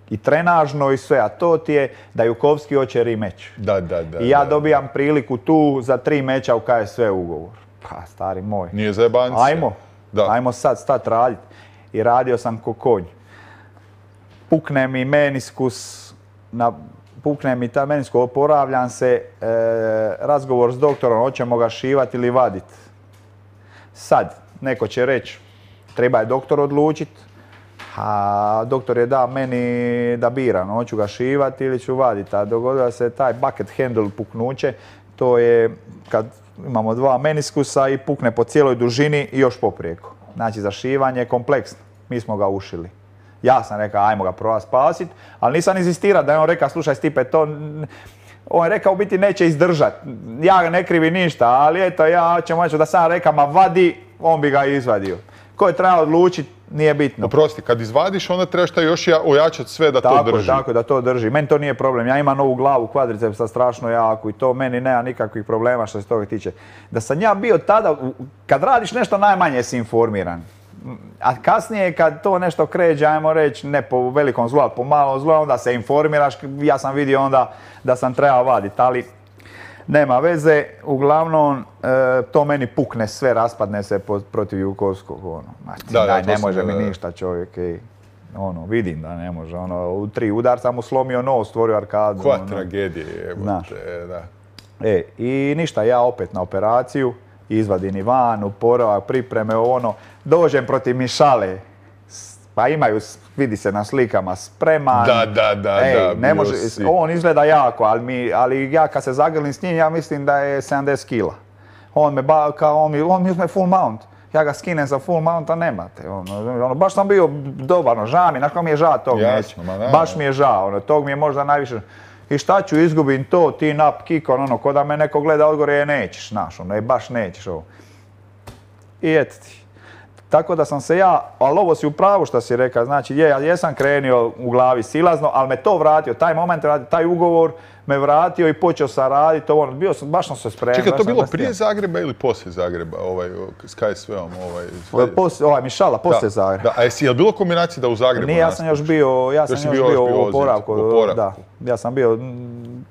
I trenažno i sve, a to ti je da Jukovski hoće rematch. Da, da, da. I ja da, dobijam da. priliku tu za tri meča u K S V ugovor. Pa, stari moj. Nije zajebancija. Ajmo, da. ajmo sad stat raditi. I radio sam ko konj. Pukne mi meniskus na pukne mi ta menisko, oporavljam se, e, razgovor s doktorom, hoćemo ga šivati ili vaditi. Sad, neko će reći, treba je doktor odlučiti, a doktor je dao meni da biram, hoću ga šivati ili ću vaditi. A dogodilo se taj bucket handle puknuće, to je kad imamo dva meniskusa i pukne po cijeloj dužini i još poprijeko. Znači, za šivanje je kompleksno. Mi smo ga ušili. Ja sam rekao, ajmo ga prova spasiti, ali nisam inzistirao da je on rekao, slušaj Stipe, to... On je rekao, u biti neće izdržati. Ja ne krivi ništa, ali eto, ja ćemo reći da sam rekao, ma vadi, on bi ga izvadio. Ko je trebao odlučiti, nije bitno. Oprosti, kad izvadiš, onda trebaš taj još ojačati sve da tako, to drži. Tako, da to drži. Meni to nije problem. Ja imam novu glavu, kvadricepsa strašno jaku i to meni nema nikakvih problema što se toga tiče. Da sam ja bio tada, kad radiš nešto, najmanje si informiran. A kasnije kad to nešto kreće, ajmo reći, ne po velikom zlu, ali po malom zlu, onda se informiraš. Ja sam vidio onda da sam trebao vaditi, ali nema veze. Uglavnom, e, to meni pukne sve, raspadne se po, protiv Jukovskog. Ono. Znači, da, da, ne može sam, mi da, ništa čovjek. I, ono, vidim da ne može. Ono, u tri udarca mu slomio nos, stvorio arkadu. Koja ono. tragedija je. Da. E, i ništa, ja opet na operaciju. Izvadim i van, oporavak, pripreme, ono, dođem protiv Mišale, pa imaju, vidi se na slikama, spreman. Da, da, da, Ej, da. Ne može, on izgleda jako, ali, mi, ali ja kad se zagrlim s njim, ja mislim da je sedamdeset kila. On me, ba, kao, on mi, on mi uzme full mount. Ja ga skinem za full mounta, nemate. Ono, ono, baš sam bio dobar, no, žao mi, znaš kako mi je žao tog Jasno, neće. ma, da, baš mi je žao, ono, tog mi je možda najviše. I šta ću, izgubim to, ti nap kick, ono, ko da me neko gleda odgore, je nećeš, znaš, ono, je baš nećeš ovo. I eto ti. Tako da sam se ja, ali ovo si u pravu što si rekao, znači, je, ja jesam krenio u glavi silazno, ali me to vratio, taj moment, taj ugovor me vratio i počeo sam raditi, ono, bio sam, baš sam se spremio. Čekaj, to bilo prije Zagreba ili poslije Zagreba, ovaj, s K S V-om, ovaj? Poslije, ovaj, Mišala, poslije Zagreba. Da, a jesi, je li bilo kombinacije da u Zagrebu Nije, ja sam još bio, ja sam još, još bio, bio u oporavku, da. Ja sam bio,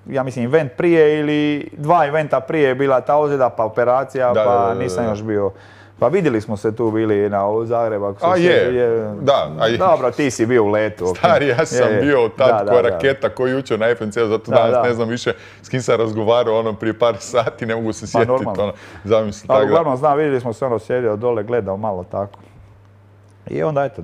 ja mislim, event prije ili dva eventa prije je bila ta ozljeda, pa operacija, da, pa da, da, da, nisam još bio. Pa vidjeli smo se tu bili na Zagrebu. A je, je, da. A je. Dobro, ti si bio u letu. Stari, ja sam je, bio tad da, koja da, raketa, koji jučer na F N C-u, zato da, danas da. ne znam više s kim sam razgovarao ono prije par sati, ne mogu se sjetiti. Pa, ono, zamisli, ali uglavnom znam, vidjeli smo se ono sjedio dole, gledao malo tako. I onda eto,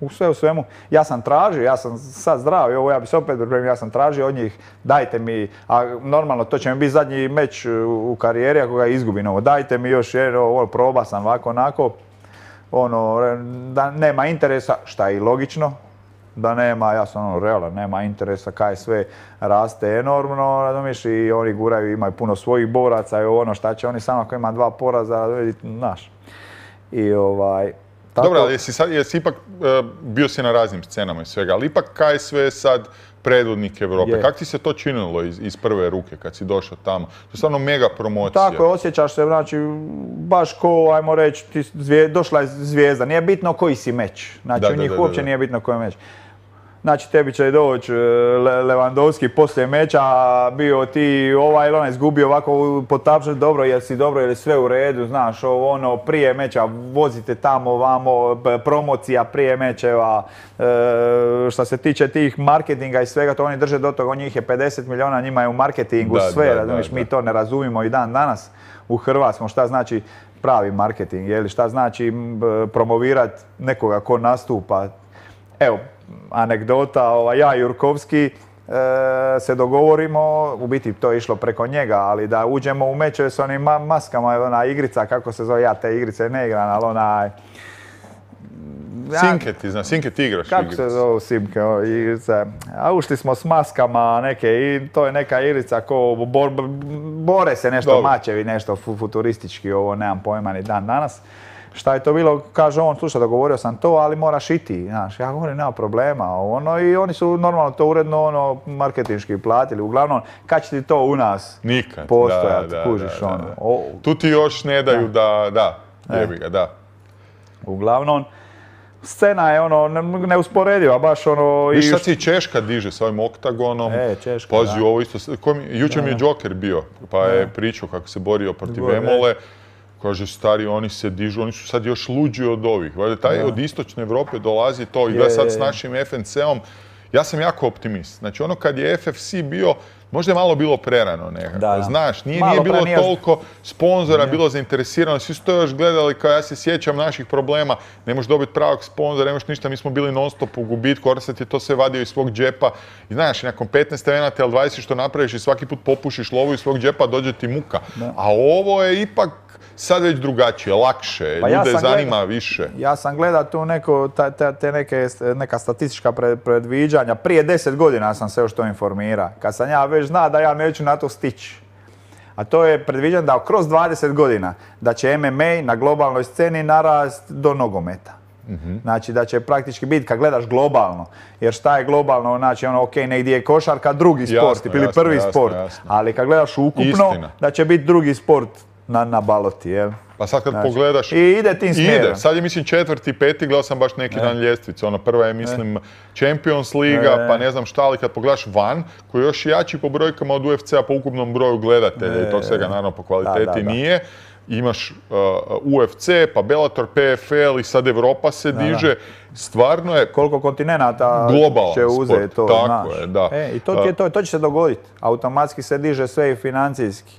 u sve u svemu, ja sam tražio, ja sam sad zdrav i ovo ja bi se opet pripremio, ja sam tražio od njih, dajte mi, a normalno to će mi biti zadnji meč u karijeri ako ga izgubim ovo, dajte mi još jedno, ovo proba sam ovako onako, ono, da nema interesa, šta je i logično, da nema, ja sam ono realan, nema interesa, K S V raste enormno, razumiješ, i oni guraju, imaju puno svojih boraca i ono šta će oni samo ako ima dva poraza, znaš, i ovaj, tako. Dobro, ali jesi, sad, jesi ipak, uh, bio si na raznim scenama i svega, ali ipak K S V je sad predvodnik Europe. Je. Kako ti se to činilo iz, iz prve ruke kad si došao tamo? To je stvarno mega promocija. Tako je, osjećaš se, znači, baš ko, ajmo reći, ti zvije, došla je zvijezda. Nije bitno koji si meč. Znači, da, u njih da, da, uopće da, da. nije bitno koji je meč. Znači, tebi će doći Le Lewandowski poslije meča, bio ti ovaj ili onaj izgubio ovako potapšati, dobro, jel si dobro, jel sve u redu, znaš, ono, prije meča vozite tamo, vamo, promocija prije mečeva, e, što se tiče tih marketinga i svega, to oni drže do toga, njih je pedeset milijuna, njima je u marketingu da, sve, razumiješ, mi to ne razumijemo i dan danas u Hrvatskom, šta znači pravi marketing, jel, šta znači promovirati nekoga ko nastupa. Evo, anegdota, ovaj, ja i Jurkovski e, se dogovorimo, u biti to je išlo preko njega, ali da uđemo u mečeve s onim ma maskama, ona igrica, kako se zove, ja te igrice ne igram, ali onaj... Simke ti zna, Simke ti igraš kako igrice. Kako se zove Simke, igrice? A ušli smo s maskama neke i to je neka igrica ko bor, bore se nešto Dobre. mačevi, nešto futuristički, ovo nemam pojma ni dan danas. Šta je to bilo, kaže on, slušaj, dogovorio sam to, ali moraš i ti, znaš, ja govorim, nema problema, ono, i oni su normalno to uredno, ono, marketinški platili, uglavnom, kad će ti to u nas Nikad, postojati, da, da, kužiš, da, da, ono. da. O, tu ti još ne daju da, da, da jebi ga, da. Uglavnom, scena je ono, neusporediva, baš ono... Viš sad si Češka diže s ovim oktagonom, e, Češka, pazi ovo isto, jučer mi je Joker bio, pa je pričao kako se borio protiv Emole. Kaže, stari, oni se dižu, oni su sad još luđi od ovih. Taj od istočne Europe dolazi to i da sad s našim F N C-om, Ja sam jako optimist. Znači ono kad je F F C bio, možda je malo bilo prerano nekako. Da, da. Znaš, nije, Malo nije bilo prenijaš- toliko sponzora, bilo zainteresirano. Svi su to još gledali, kao ja se sjećam naših problema. Ne možeš dobiti pravog sponzora, ne možeš ništa. Mi smo bili non stop u gubitku, Orsat je to sve vadio iz svog džepa. I znaš, nakon petnaest evenata ili dvadeset što napraviš i svaki put popušiš lovu iz svog džepa, dođe ti muka. Da. A ovo je ipak sad već drugačije, lakše, Pa ja ljude sam zanima gleda- više. Ja sam gledao tu neko, ta- ta- te neke, neka statistička pre- predviđanja. Prije deset godina sam se još to informira. Kad sam ja već zna da ja neću na to stići. A to je predviđeno da kroz dvadeset godina da će M M A na globalnoj sceni narast do nogometa. Znači da će praktički biti kad gledaš globalno. Jer šta je globalno, znači ono ok, negdje je košarka drugi Jasno, sport ili jasno, prvi jasno, sport. jasno. Ali kad gledaš ukupno, Istina. da će biti drugi sport na, na baloti, jel? Pa sad kad Znači, pogledaš... i ide tim smjerom. Ide, sad je mislim četvrti, peti, gledao sam baš neki dan ljestvicu. Ono, prva je mislim Champions Liga, E. pa ne znam šta, ali kad pogledaš van, koji je još jači po brojkama od U F C-a po ukupnom broju gledatelja i tog svega, naravno po kvaliteti Da, da, da. nije. Imaš uh, U F C, pa Bellator, P F L i sad Europa se diže. Stvarno je Koliko kontinenata globalan će uzeti sport, to, tako znaš. je, da. E, I to, ti je to, to će se dogoditi. Automatski se diže sve i financijski.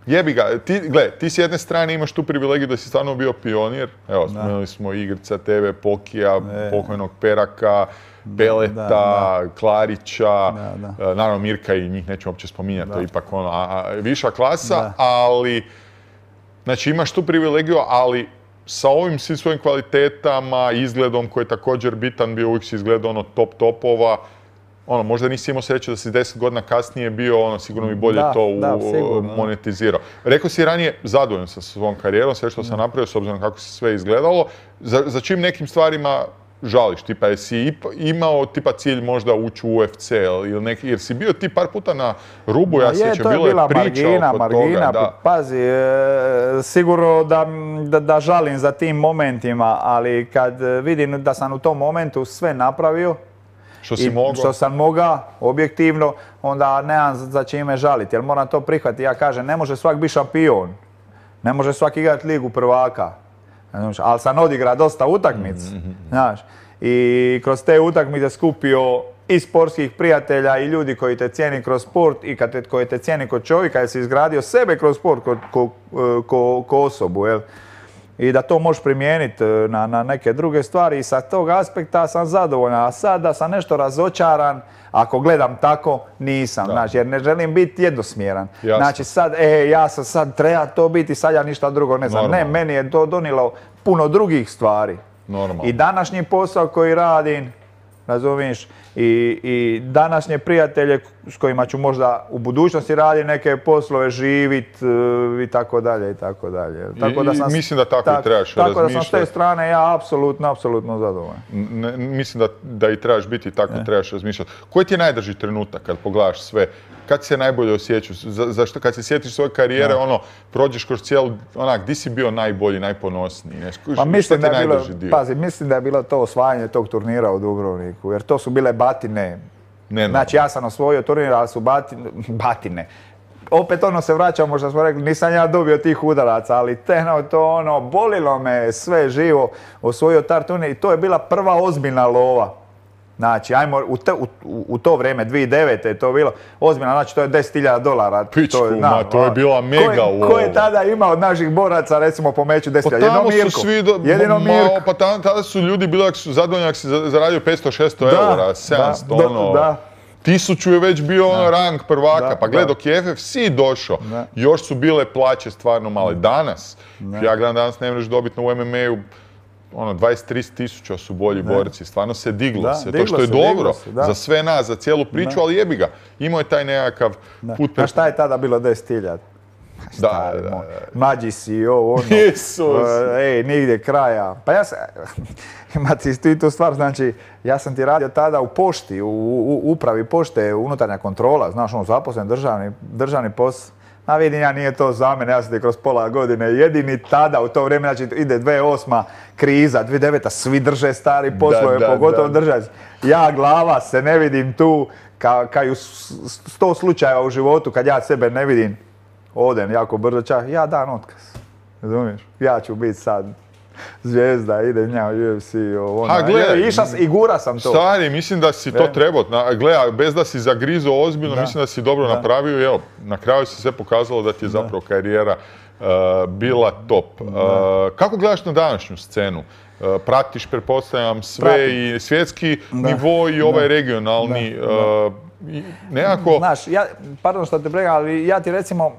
Jebi ga, ti, gle, ti s jedne strane imaš tu privilegiju da si stvarno bio pionir. Evo, spomenuli smo Igrica, T V, Pokija, pokojnog Peraka, Beleta, da, Klarića, Da, da. e, naravno Mirka i njih nećemo uopće spominjati, to je ipak ono, a, a, viša klasa, Da. ali, znači imaš tu privilegiju, ali sa ovim svim svojim kvalitetama, izgledom koji je također bitan, bio uvijek si izgleda ono top topova, ono, možda nisi imao sreće da si deset godina kasnije bio, ono, sigurno bi bolje Da, to u, da, sigurno, da. monetizirao. Rekao si ranije, zadovoljan sam sa svom karijerom, sve što sam napravio, s obzirom kako se sve izgledalo. Za, za čim nekim stvarima žališ? Tipa, jesi ipa- imao tipa cilj možda ući u U F C ili neki, jer si bio ti par puta na rubu, ja Ma se je, sjećam, to je bilo je bila priča margina, oko margina, toga. Da. pazi, e, sigurno da, da, da žalim za tim momentima, ali kad vidim da sam u tom momentu sve napravio, Što si i mogao? što sam mogao, objektivno, onda nemam za za čime žaliti, jer moram to prihvatiti. Ja kažem, ne može svak biti šampion, ne može svak igrati ligu prvaka, znaš, ali sam odigrao dosta utakmica, znaš, i kroz te utakmice skupio i sportskih prijatelja i ljudi koji te cijeni kroz sport i kad te, koji te cijeni kod čovjeka, jer si izgradio sebe kroz sport ko, ko, ko, ko osobu, jel? I da to možeš primijeniti na, na neke druge stvari i sa tog aspekta sam zadovoljan. A sad da sam nešto razočaran, ako gledam tako, nisam. Da. Znači, jer ne želim biti jednosmjeran. Jasno. Znači sad, e, ja sam sad, treba to biti, sad ja ništa drugo ne znam. Normalno. Ne, meni je to donijelo puno drugih stvari. Normalno. I današnji posao koji radim, razumiješ, i, i današnje prijatelje s kojima ću možda u budućnosti raditi neke poslove, živit e, i tako dalje i tako dalje. Tako I- i mislim da tako i trebaš Tako da sam s te razmišljati. strane ja apsolutno, apsolutno zadovoljan. Ne, mislim da, da i trebaš biti i tako trebaš razmišljati. Koji ti je najdrži trenutak kad pogledaš sve? Kad se najbolje osjećaš? Za, zašto kad se sjetiš svoje karijere, ono, prođeš kroz cijelu, onak, di si bio najbolji, najponosniji? Ne? Skuš, Pa mislim šta ti da je bilo, najdrži dio? pazi, mislim da je bilo to osvajanje tog turnira u Dubrovniku, jer to su bile batine. Ne, Znači ja sam osvojio turnir, ali su batine, batine. Opet ono se vraća, možda smo rekli, nisam ja dobio tih udaraca, ali tehno to ono, bolilo me sve živo, osvojio tar turnir i to je bila prva ozbiljna lova. Znači, ajmo, u, te, u, u to vrijeme, dvije tisuće devete je to bilo ozbiljno, znači to je deset hiljada dolara. Pičku, to je, ma, znam, to je bila mega ko je, ko je lova. tada imao od naših boraca, recimo po meču deset Pa hiljada? Jedino tamo Mirko. su svi, do, Jedino ma, Mirko. pa tada, tada su ljudi bili ako su zadovoljni ako si za- zaradio petsto šesto Da, eura, sedamsto, da, ono, da. tisuću je već bio ono rang prvaka, Da, pa gle, da. dok je F F C došao, Da. još su bile plaće stvarno male. Danas, ja gledam danas ne možeš dobiti na U M M A-u, ono, dvadeset do trideset tisuća su bolji borci, stvarno se diglo Da, se, to diglo što je se, diglo dobro se, da. za sve nas, za cijelu priču, ali jebi ga, imao je taj nekakav Da. put A šta je tada bilo deset hiljada? Da, Stari da, moj, da. mlađi si, ovo, ono. Isus. E, Ej, nigdje kraja. Pa ja sam, ima ti ti tu stvar, znači, ja sam ti radio tada u pošti, u, u upravi pošte, unutarnja kontrola, znaš, ono, zaposlen državni, državni posao. A vidim, ja nije to za mene, ja sam ti kroz pola godine jedini tada u to vrijeme, znači ide dvije tisuće osma kriza, dvije tisuće deveta svi drže stari poslove, da, pogotovo da. držac. Ja glava se ne vidim tu, ka, ka i u s- sto slučajeva u životu kad ja sebe ne vidim, odem jako brzo čak, ja dan otkaz. Razumiješ? Ja ću biti sad zvijezda, ide nja u U F C. Ono. Ha, gledaj, Iša, i gura sam to. Stari, mislim da si to trebao. Gledaj, bez da si zagrizo ozbiljno, da. Mislim da si dobro da. napravio. Evo, na kraju se sve pokazalo da ti je zapravo karijera uh, bila top. Uh, kako gledaš na današnju scenu? Uh, pratiš, pretpostavljam, sve Pratim. i svjetski da. nivo i ovaj da. regionalni. Da. Uh, nekako... Znaš, ja, pardon što te pregam, ali ja ti recimo,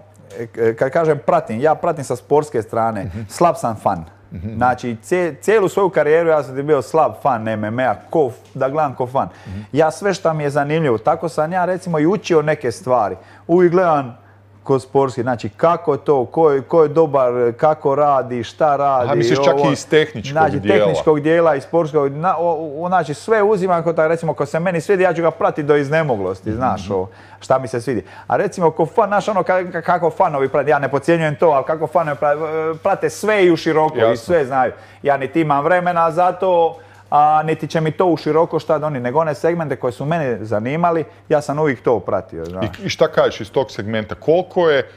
kad kažem pratim, ja pratim sa sportske strane, mm-hmm. slab sam fan. Mm-hmm. Znači, cijelu svoju karijeru ja sam ti bio slab fan M M A, ko, da gledam ko fan. Mm-hmm. Ja sve što mi je zanimljivo, tako sam ja recimo i učio neke stvari. Uvijek gledam kod sportski, znači kako to, ko je, ko je dobar, kako radi, šta radi. A misliš čak ovo, i iz tehničkog znači, dijela? Znači, tehničkog dijela i sportskog, na, o, o, znači sve uzimam, ko, recimo, ko se meni svidi, ja ću ga pratiti do iznemoglosti, mm-hmm. znaš, o, šta mi se svidi. A recimo, ko fan, znaš ono, kako fanovi prate, ja ne podcjenjujem to, ali kako fanovi prate, prate sve i u široko, Jasno. i sve znaju. Ja niti imam vremena za to, a niti će mi to u široko šta da oni, nego one segmente koje su mene zanimali, ja sam uvijek to pratio. Znaš. I, I šta kažeš iz tog segmenta? Koliko je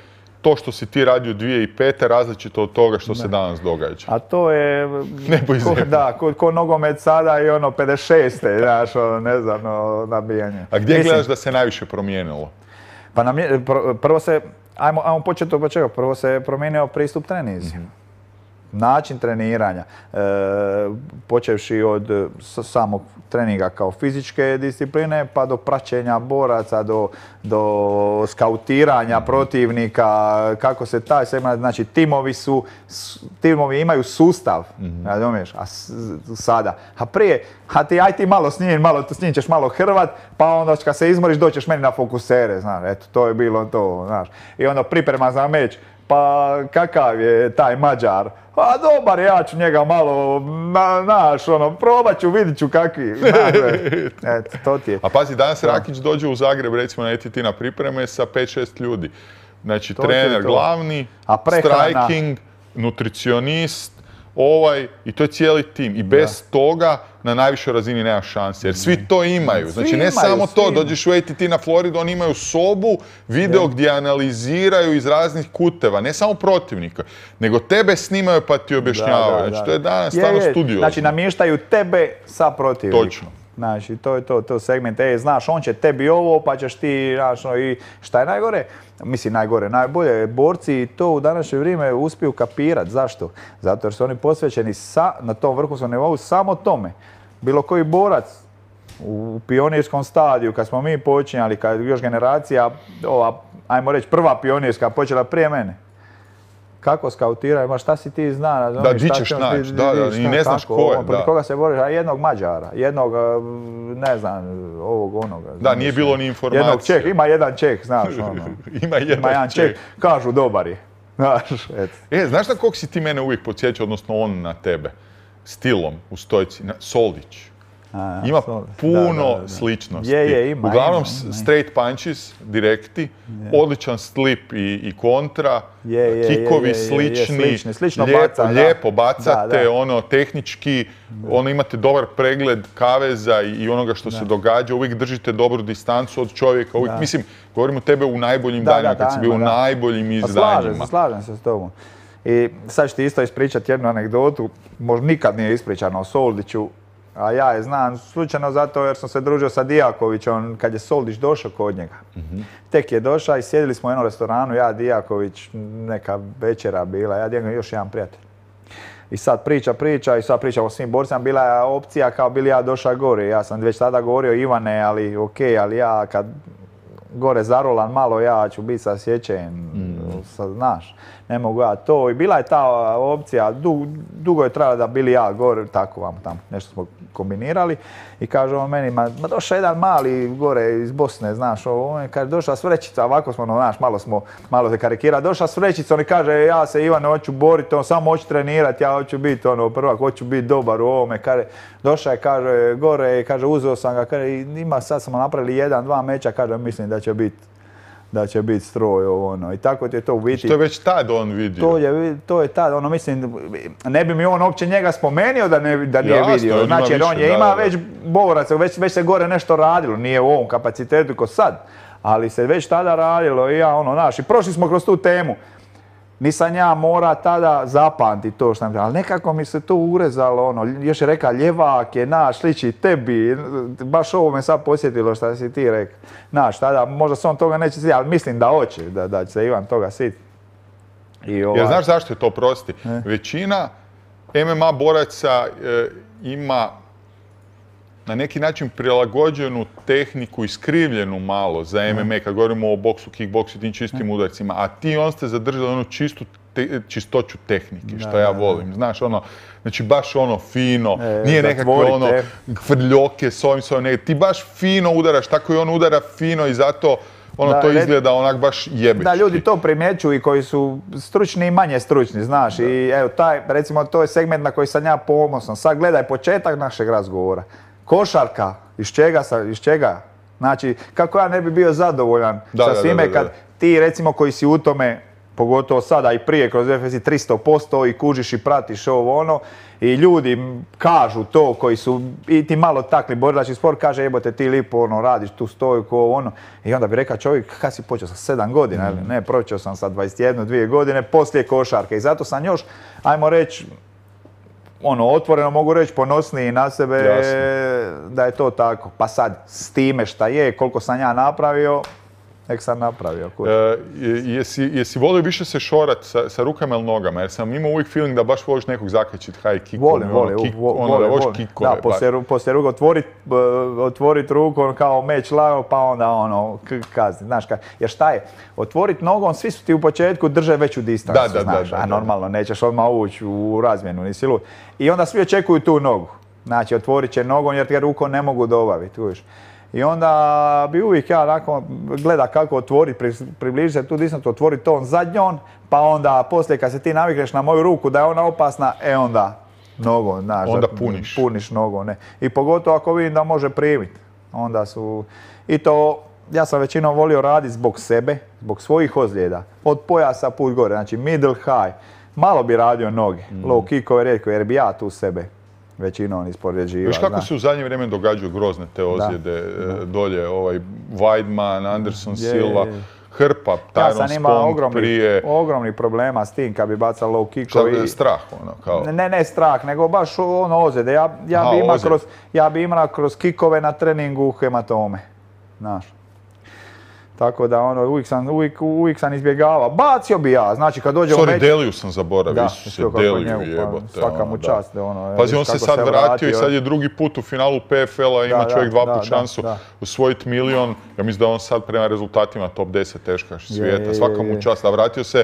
to što si ti radio dvije tisuće pete različito od toga što ne. se danas događa? A to je... Nebo iz ko, da, ko, ko nogomet sada i ono pedeset šeste znaš, ono, ne znam, ono, nabijanje. A gdje Mislim, gledaš da se najviše promijenilo? Pa nam je, pr, prvo se, ajmo, ajmo početi od počega, prvo se promijenio pristup trenizi. Mm-hmm. Način treniranja, e, počevši od samog treninga kao fizičke discipline pa do praćenja boraca, do, do skautiranja protivnika, kako se taj segment, znači timovi su, timovi imaju sustav, mm-hmm. razumiješ, a sada, a prije, a ti aj ti malo s njim, malo s njim ćeš malo hrvat, pa onda kad se izmoriš doćeš meni na fokusere, znaš, eto, to je bilo to, znaš, i onda priprema za meč, pa kakav je taj Mađar? Pa dobar, ja ću njega malo, znaš, ono, probat ću, vidit ću kakvi. Eto, to ti je. A pazi, danas Rakić dođe u Zagreb, recimo na E T T na pripreme sa pet šest ljudi. Znači, to trener glavni, striking, nutricionist, ovaj, i to je cijeli tim. I bez da. toga na najvišoj razini nema šanse, jer svi to imaju. Znači, svi ne imaju, samo to, dođeš u E T T na Floridu, oni imaju sobu, video yeah. gdje analiziraju iz raznih kuteva, ne samo protivnika, nego tebe snimaju pa ti objašnjavaju. Da, da, znači, da. to je danas je, stvarno studio. Znači, namještaju tebe sa protivnikom. Točno. Znači, to je to, to segment, e, znaš, on će tebi ovo, pa ćeš ti, znaš, no, i šta je najgore? Mislim, najgore, najbolje, borci to u današnje vrijeme uspiju kapirat. Zašto? Zato jer su oni posvećeni sa, na tom vrhunskom nivou samo tome. Bilo koji borac u pionirskom stadiju, kad smo mi počinjali, kad još generacija, ova, ajmo reći, prva pionirska počela prije mene. Kako skautiraju, ma šta si ti zna, razumiješ? Da, di ćeš naći, da, da, i ne znaš ko je, da. Protiv koga se boriš, a jednog Mađara, jednog, ne znam, ovog, onoga. Da, nije bilo ni informacije. Jednog Čeh, ima jedan Čeh, znaš, ono. ima jedan Čeh. Čeh. Kažu, dobar je. Znaš, eto. E, znaš na kog si ti mene uvijek podsjeća, odnosno on na tebe? Stilom, u stojci, Soldić. A, ima sorry. puno da, da, da. sličnosti. Je, je, ima, Uglavnom ima, ima. straight punches, direkti, je. odličan slip i, i kontra, je, je, kikovi je, je, slični, je, slični. Slično lijepo, baca, lijepo bacate, da, da. ono, tehnički, da. ono, imate dobar pregled kaveza i, i onoga što da. se događa, uvijek držite dobru distancu od čovjeka, uvijek, da. mislim, govorim o tebe u najboljim da, danima, da, kad si bio u najboljim izdanjima. Slažem se, slažem se s tobom. I sad ću ti isto ispričati jednu anegdotu, možda nikad nije ispričano o Soldiću, a ja je znam slučajno zato jer sam se družio sa Dijakovićem kad je Soldić došao kod njega. Mm-hmm. Tek je došao i sjedili smo u jednom restoranu, ja, Dijaković, neka večera bila, ja, Dijaković, još jedan prijatelj. I sad priča, priča i sad priča o svim borcima, bila je opcija kao bili ja došao gore. Ja sam već tada govorio Ivane, ali okej, okay, ali ja kad gore zarolan malo, ja ću biti sasječen, mm. znaš, ne mogu ja to. I bila je ta opcija, dugo, dugo je trajalo da bili ja gore, tako vam tamo, nešto smo kombinirali. I kaže on meni, ma, ma došao jedan mali gore iz Bosne, znaš, on kaže došla s vrećica, ovako smo, no, znaš, malo smo, malo se karikira, došla s vrećicom i kaže ja se Ivane hoću boriti, on samo hoću trenirati, ja hoću biti ono prvak, hoću biti dobar u ovome, kaže, došao je, kaže, gore i kaže, uzeo sam ga, kaže, ima, sad smo napravili jedan, dva meča, kaže, mislim da će biti da će biti stroj ono i tako ti je to u biti. Što je već tad on vidio? To je, to je tad, ono mislim, ne bi mi on uopće njega spomenio da, ne, da nije Jasno, vidio. Znači jer on je ima da, već boraca, već, već se gore nešto radilo, nije u ovom kapacitetu ko sad, ali se već tada radilo i ja ono, znaš, i prošli smo kroz tu temu. Nisam ja mora tada zapamti to što sam, ali nekako mi se to urezalo, ono, još je reka ljevak je naš, sliči tebi, baš ovo me sad posjetilo što si ti rekao. Naš, tada možda se on toga neće sjetiti, ali mislim da hoće, da, da će se Ivan toga sjetiti. Ovaj... Jer znaš zašto je to, prosti? E? Većina M M A boraca e, ima na neki način prilagođenu tehniku, iskrivljenu malo za M M A, kad govorimo o boksu, kickboksu i tim čistim udarcima, a ti on ste zadržali onu čistu te, čistoću tehnike, što da, ja volim. Znaš, ono, znači baš ono fino, e, nije nekakve ono frljoke s ovim, s ovim, ne, ti baš fino udaraš, tako i on udara fino i zato ono da, to izgleda onak baš jebečki. Da, ljudi to primjećuju i koji su stručni i manje stručni, znaš, da. I evo, taj, recimo, to je segment na koji sam ja ponosan. Sad gledaj početak našeg razgovora. Košarka, iz čega, sa, iz čega? Znači, kako ja ne bi bio zadovoljan da, sa svime da, da, da, kad ti, recimo, koji si u tome, pogotovo sada i prije kroz F S I tristo posto i kužiš i pratiš ovo ono, i ljudi kažu to koji su i ti malo takli borilački sport, kaže jebote ti lipo ono, radiš tu stojku, ono, i onda bi rekao čovjek kad si počeo sa sedam godina, mm. ne, počeo sam sa dvadeset jednu, dvije godine poslije košarke i zato sam još, ajmo reći, ono, otvoreno mogu reći, ponosniji na sebe. Jasno. Da je to tako. Pa sad, s time šta je, koliko sam ja napravio, nek sam napravio. E, jesi, jesi volio više se šorat sa, sa rukama ili nogama? Jer sam imao uvijek feeling da baš voliš nekog zakačit high kickove. Volim, volim. Ono, kick, vo, ono, volim, volim. Kickove, da, poslije, poslije ruku otvorit, otvorit ruku on kao meč lago, pa onda ono, kazni. Znaš, ka, jer šta je? Otvorit nogom, svi su ti u početku drže veću distancu, da, da, znaš. Da, da, a normalno, nećeš odmah ući u razmjenu, nisi lud. I onda svi očekuju tu nogu. Znači, otvorit će nogom jer ti rukom ne mogu dobaviti, vidiš. I onda bi uvijek ja onako gleda kako otvoriti, približi se tu distancu, otvori to on zadnjom, pa onda poslije kad se ti navikneš na moju ruku da je ona opasna, e onda nogom, znaš. Onda puniš. Puniš nogom, ne. I pogotovo ako vidim da može primiti. Onda su, i to, ja sam većinom volio raditi zbog sebe, zbog svojih ozljeda. Od pojasa put gore, znači middle high. Malo bi radio noge, mm. low kickove rijetko, jer bi ja tu sebe većinom ispoređiva. Viš kako se u zadnje vrijeme događaju grozne te ozljede da. dolje, ovaj Weidman, Anderson je, Silva, je, je. Hrpa, Tyron Spong prije. Ja sam imao ogromni, ogromni problema s tim kad bi bacao low kickovi. Šta, strah ono kao? Ne, ne strah, nego baš ono ozljede. Ja, ja, Aha, bi imao kroz, ja bi imao kroz kikove na treningu hematome. Znaš. Tako da ono, uvijek sam, uvijek, uvijek sam izbjegavao. Bacio bi ja, znači kad dođe Sorry, u meč... Deliju sam zaboravio, da, se Deliju jebote. Svaka mu čast. Da. Ono, Pazi, on se sad se vratio, vratio i sad je drugi put u finalu P F L-a, ima da, čovjek dva put šansu osvojiti milion. Ja mislim da on sad prema rezultatima top deset teškaš svijeta, svaka mu čast. A vratio se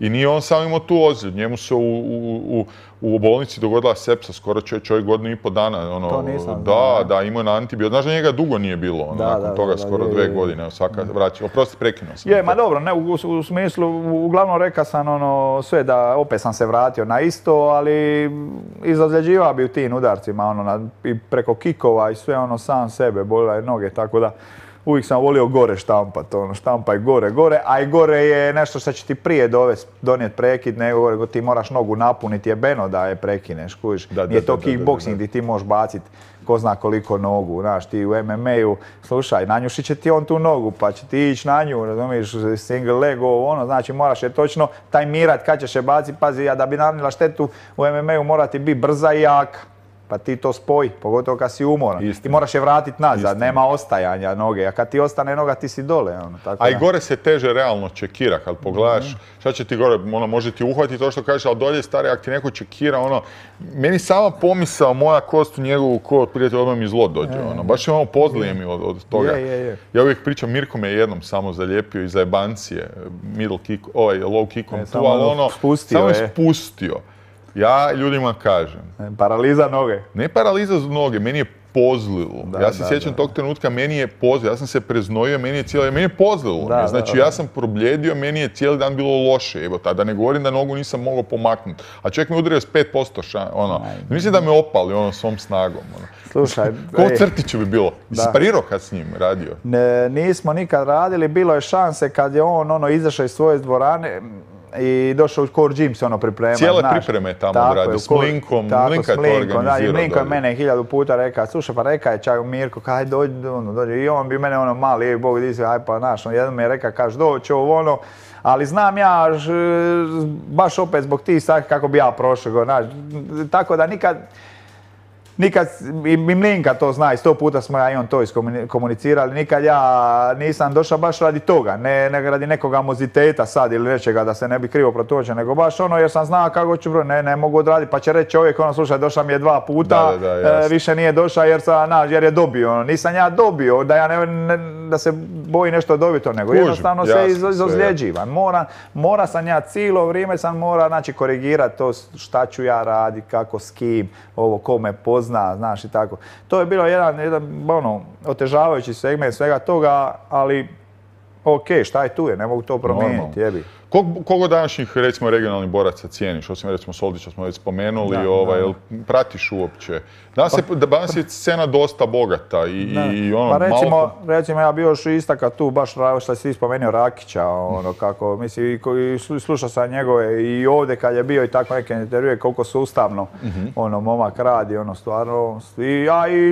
i nije on sam imao tu ozljed, njemu se u, u, u, u bolnici dogodila sepsa, skoro čovjek godinu i pol dana. Ono, to nisam. Da, da, imao je na antibiotik. Znaš da njega dugo nije bilo, ono, da, nakon da, toga da, skoro da, dve je, godine, svaka vraća. Oprosti, prekinuo sam. Je, ma dobro, ne, u, u smislu, uglavnom rekao sam ono, sve da opet sam se vratio na isto, ali izozljeđivao bi u tim udarcima, ono, na, i preko kikova i sve ono sam sebe, bolila je noge, tako da uvijek sam volio gore štampat, ono, štampaj gore, gore, a i gore je nešto što će ti prije dovesti, donijeti prekid, nego gore ti moraš nogu napuniti jebeno da je prekineš, kužiš. Nije to kickboxing gdje ti možeš baciti ko zna koliko nogu, znaš, ti u M M A-u, slušaj, nanjušit će ti on tu nogu, pa će ti ići na nju, razumiješ, single leg, ovo, ono, znači moraš je točno tajmirat kad ćeš je baciti, pazi, ja da bi nanijela štetu u M M A-u mora ti biti brza i jaka. Pa ti to spoji, pogotovo kad si umoran. Istina. Ti moraš je vratiti nazad, Istina. Nema ostajanja noge, a kad ti ostane noga ti si dole. Ono, tako a i gore se teže realno čekira, kad pogledaš, mm. šta će ti gore, ono, može ti uhvatiti to što kažeš, ali dolje stari, ako ti neko čekira, ono, meni sama pomisao moja kost u njegovu ko prijatelj odmah mi zlo dođe, e, ono, baš je ono pozlije mi od, od toga. Je, je, je. Ja uvijek pričam, Mirko me jednom samo zalijepio iza jebancije, middle kick, ovaj, low kickom e, tu, ali ono, spustio, samo je spustio. Ja ljudima kažem. Paraliza noge. Ne paraliza noge, meni je pozlilo. Da, ja se da, sjećam da, tog trenutka, meni je pozlilo. Ja sam se preznojio, meni je cijeli, meni je pozlilo. Da, znači, da, da. Ja sam probljedio, meni je cijeli dan bilo loše. Evo, da ne govorim da nogu nisam mogao pomaknuti. A čovjek me udario s pet posto šan, ono. Mislim da me opali, ono, svom snagom. Ono. Slušaj. Ko u Crtiću bi bilo? Sparirao kad s njim radio? Ne, nismo nikad radili, bilo je šanse kad je on, ono, izašao iz svoje dvorane. i došao u Core Gym se ono priprema. Cijele pripreme tamo odradio, s Mlinkom, Mlinka je to organizirao. I Mlinko je mene hiljadu puta rekao, slušaj pa rekao je čak Mirko, kaj dođi, ono, dođi. I on bi mene ono mali, je Bog di se, aj pa naš, on jedan mi je rekao, kaž doći ovo ono, ali znam ja, ž, baš opet zbog tih stvari kako bi ja prošao, znaš, tako da nikad, nikad, i Mlinka to zna, i sto puta smo ja i on to iskomunicirali, nikad ja nisam došao baš radi toga, ne, ne radi nekog amoziteta sad ili nečega da se ne bi krivo protučio, nego baš ono jer sam znao kako ću, ne, ne mogu odraditi, pa će reći čovjek ono, slušaj, došao mi je dva puta, da, da, da, e, više nije došao jer, sa, na, jer je dobio, ono, nisam ja dobio, da ja ne, ne, da se boji nešto dobiti, nego Kužim, jednostavno jasno, se iz, izozljeđivan, mora, mora sam ja cijelo vrijeme sam mora, znači, korigirati to šta ću ja raditi, kako, s kim, ovo, ko me pozna, znaš i tako. To je bilo jedan, jedan ono, otežavajući segment svega toga, ali ok, šta je tu je, ne mogu to promijeniti, jebi. Kog, kogo današnjih, recimo, regionalnih boraca cijeniš? Osim, recimo, Soldića smo već spomenuli, da, ovaj, da. Pratiš uopće? Danas je, danas je scena dosta bogata i, i ono, pa recimo, malo... recimo, ja bi još istaka tu, baš što si spomenuo Rakića, ono, kako, mislim, i slušao sam njegove i ovdje kad je bio i tako neke intervjue, koliko sustavno, mm-hmm. ono, momak radi, ono, stvarno, i, a, i,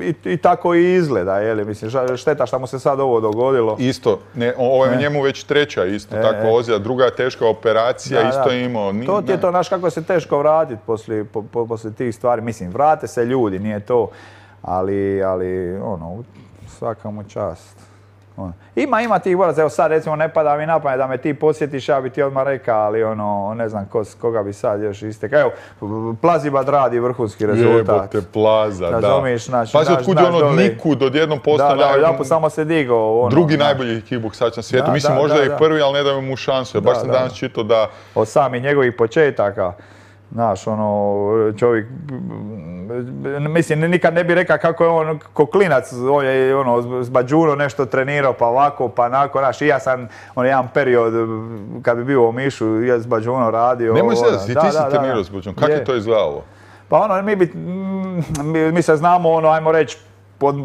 i, i tako i izgleda, jeli, mislim, šteta što mu se sad ovo dogodilo. Isto, ne, ovo je e. njemu već treća, isto, e, takva ozljeda. Druga teška operacija, da, isto je imao. Ni, to ti je to, znaš kako se teško vratiti poslije, po, po, poslije tih stvari. Mislim, vrate se ljudi, nije to, ali, ali ono, svaka mu čast. Ono. Ima, ima tih boraca, evo sad recimo ne pada mi na pamet da me ti posjetiš, ja bi ti odmah rekao, ali ono, ne znam ko, koga bi sad još istekao. Evo, Plazibad radi vrhunski rezultat. Jebote, Plaza, da. Razumiš, naš, Pazi, otkud je ono od nikud, odjednom postao da, da, da, samo se digao. Ono, drugi najbolji kickboksač na svijetu. Da, Mislim, da, možda da, je da. prvi, ali ne daju mu šansu. Ja baš sam danas čitao da... Od samih njegovih početaka. Znaš, ono, čovjek, mislim, nikad ne bi rekao kako je on, ko klinac, on je ono, s Bađuno nešto trenirao, pa ovako, pa onako, znaš, i ja sam, on jedan period, kad bi bio u Omišu, ja s Bađuno radio. Nemoj se, ti, ti si trenirao s Bađunom, kako je to izgledalo? Pa ono, mi, bi, mi, mi se znamo, ono, ajmo reći, od,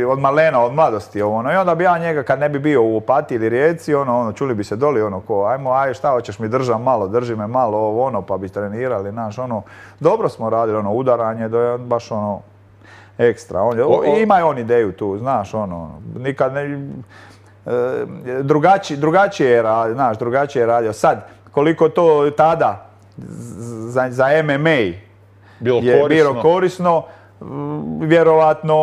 od malena, od mladosti, ono, i onda bi ja njega, kad ne bi bio u Opatiji ili Rijeci, ono, ono, čuli bi se doli, ono, ko, ajmo, aj, šta hoćeš mi držam malo, drži me malo, ovo, ono, pa bi trenirali, znaš, ono, dobro smo radili, ono, udaranje, do je baš, ono, ekstra, on, o, o, ima je on ideju tu, znaš, ono, nikad ne, e, drugačije, drugačije je radio, znaš, drugačije je radio, sad, koliko to tada za, za M M A bilo je korisno. bilo korisno, vjerovatno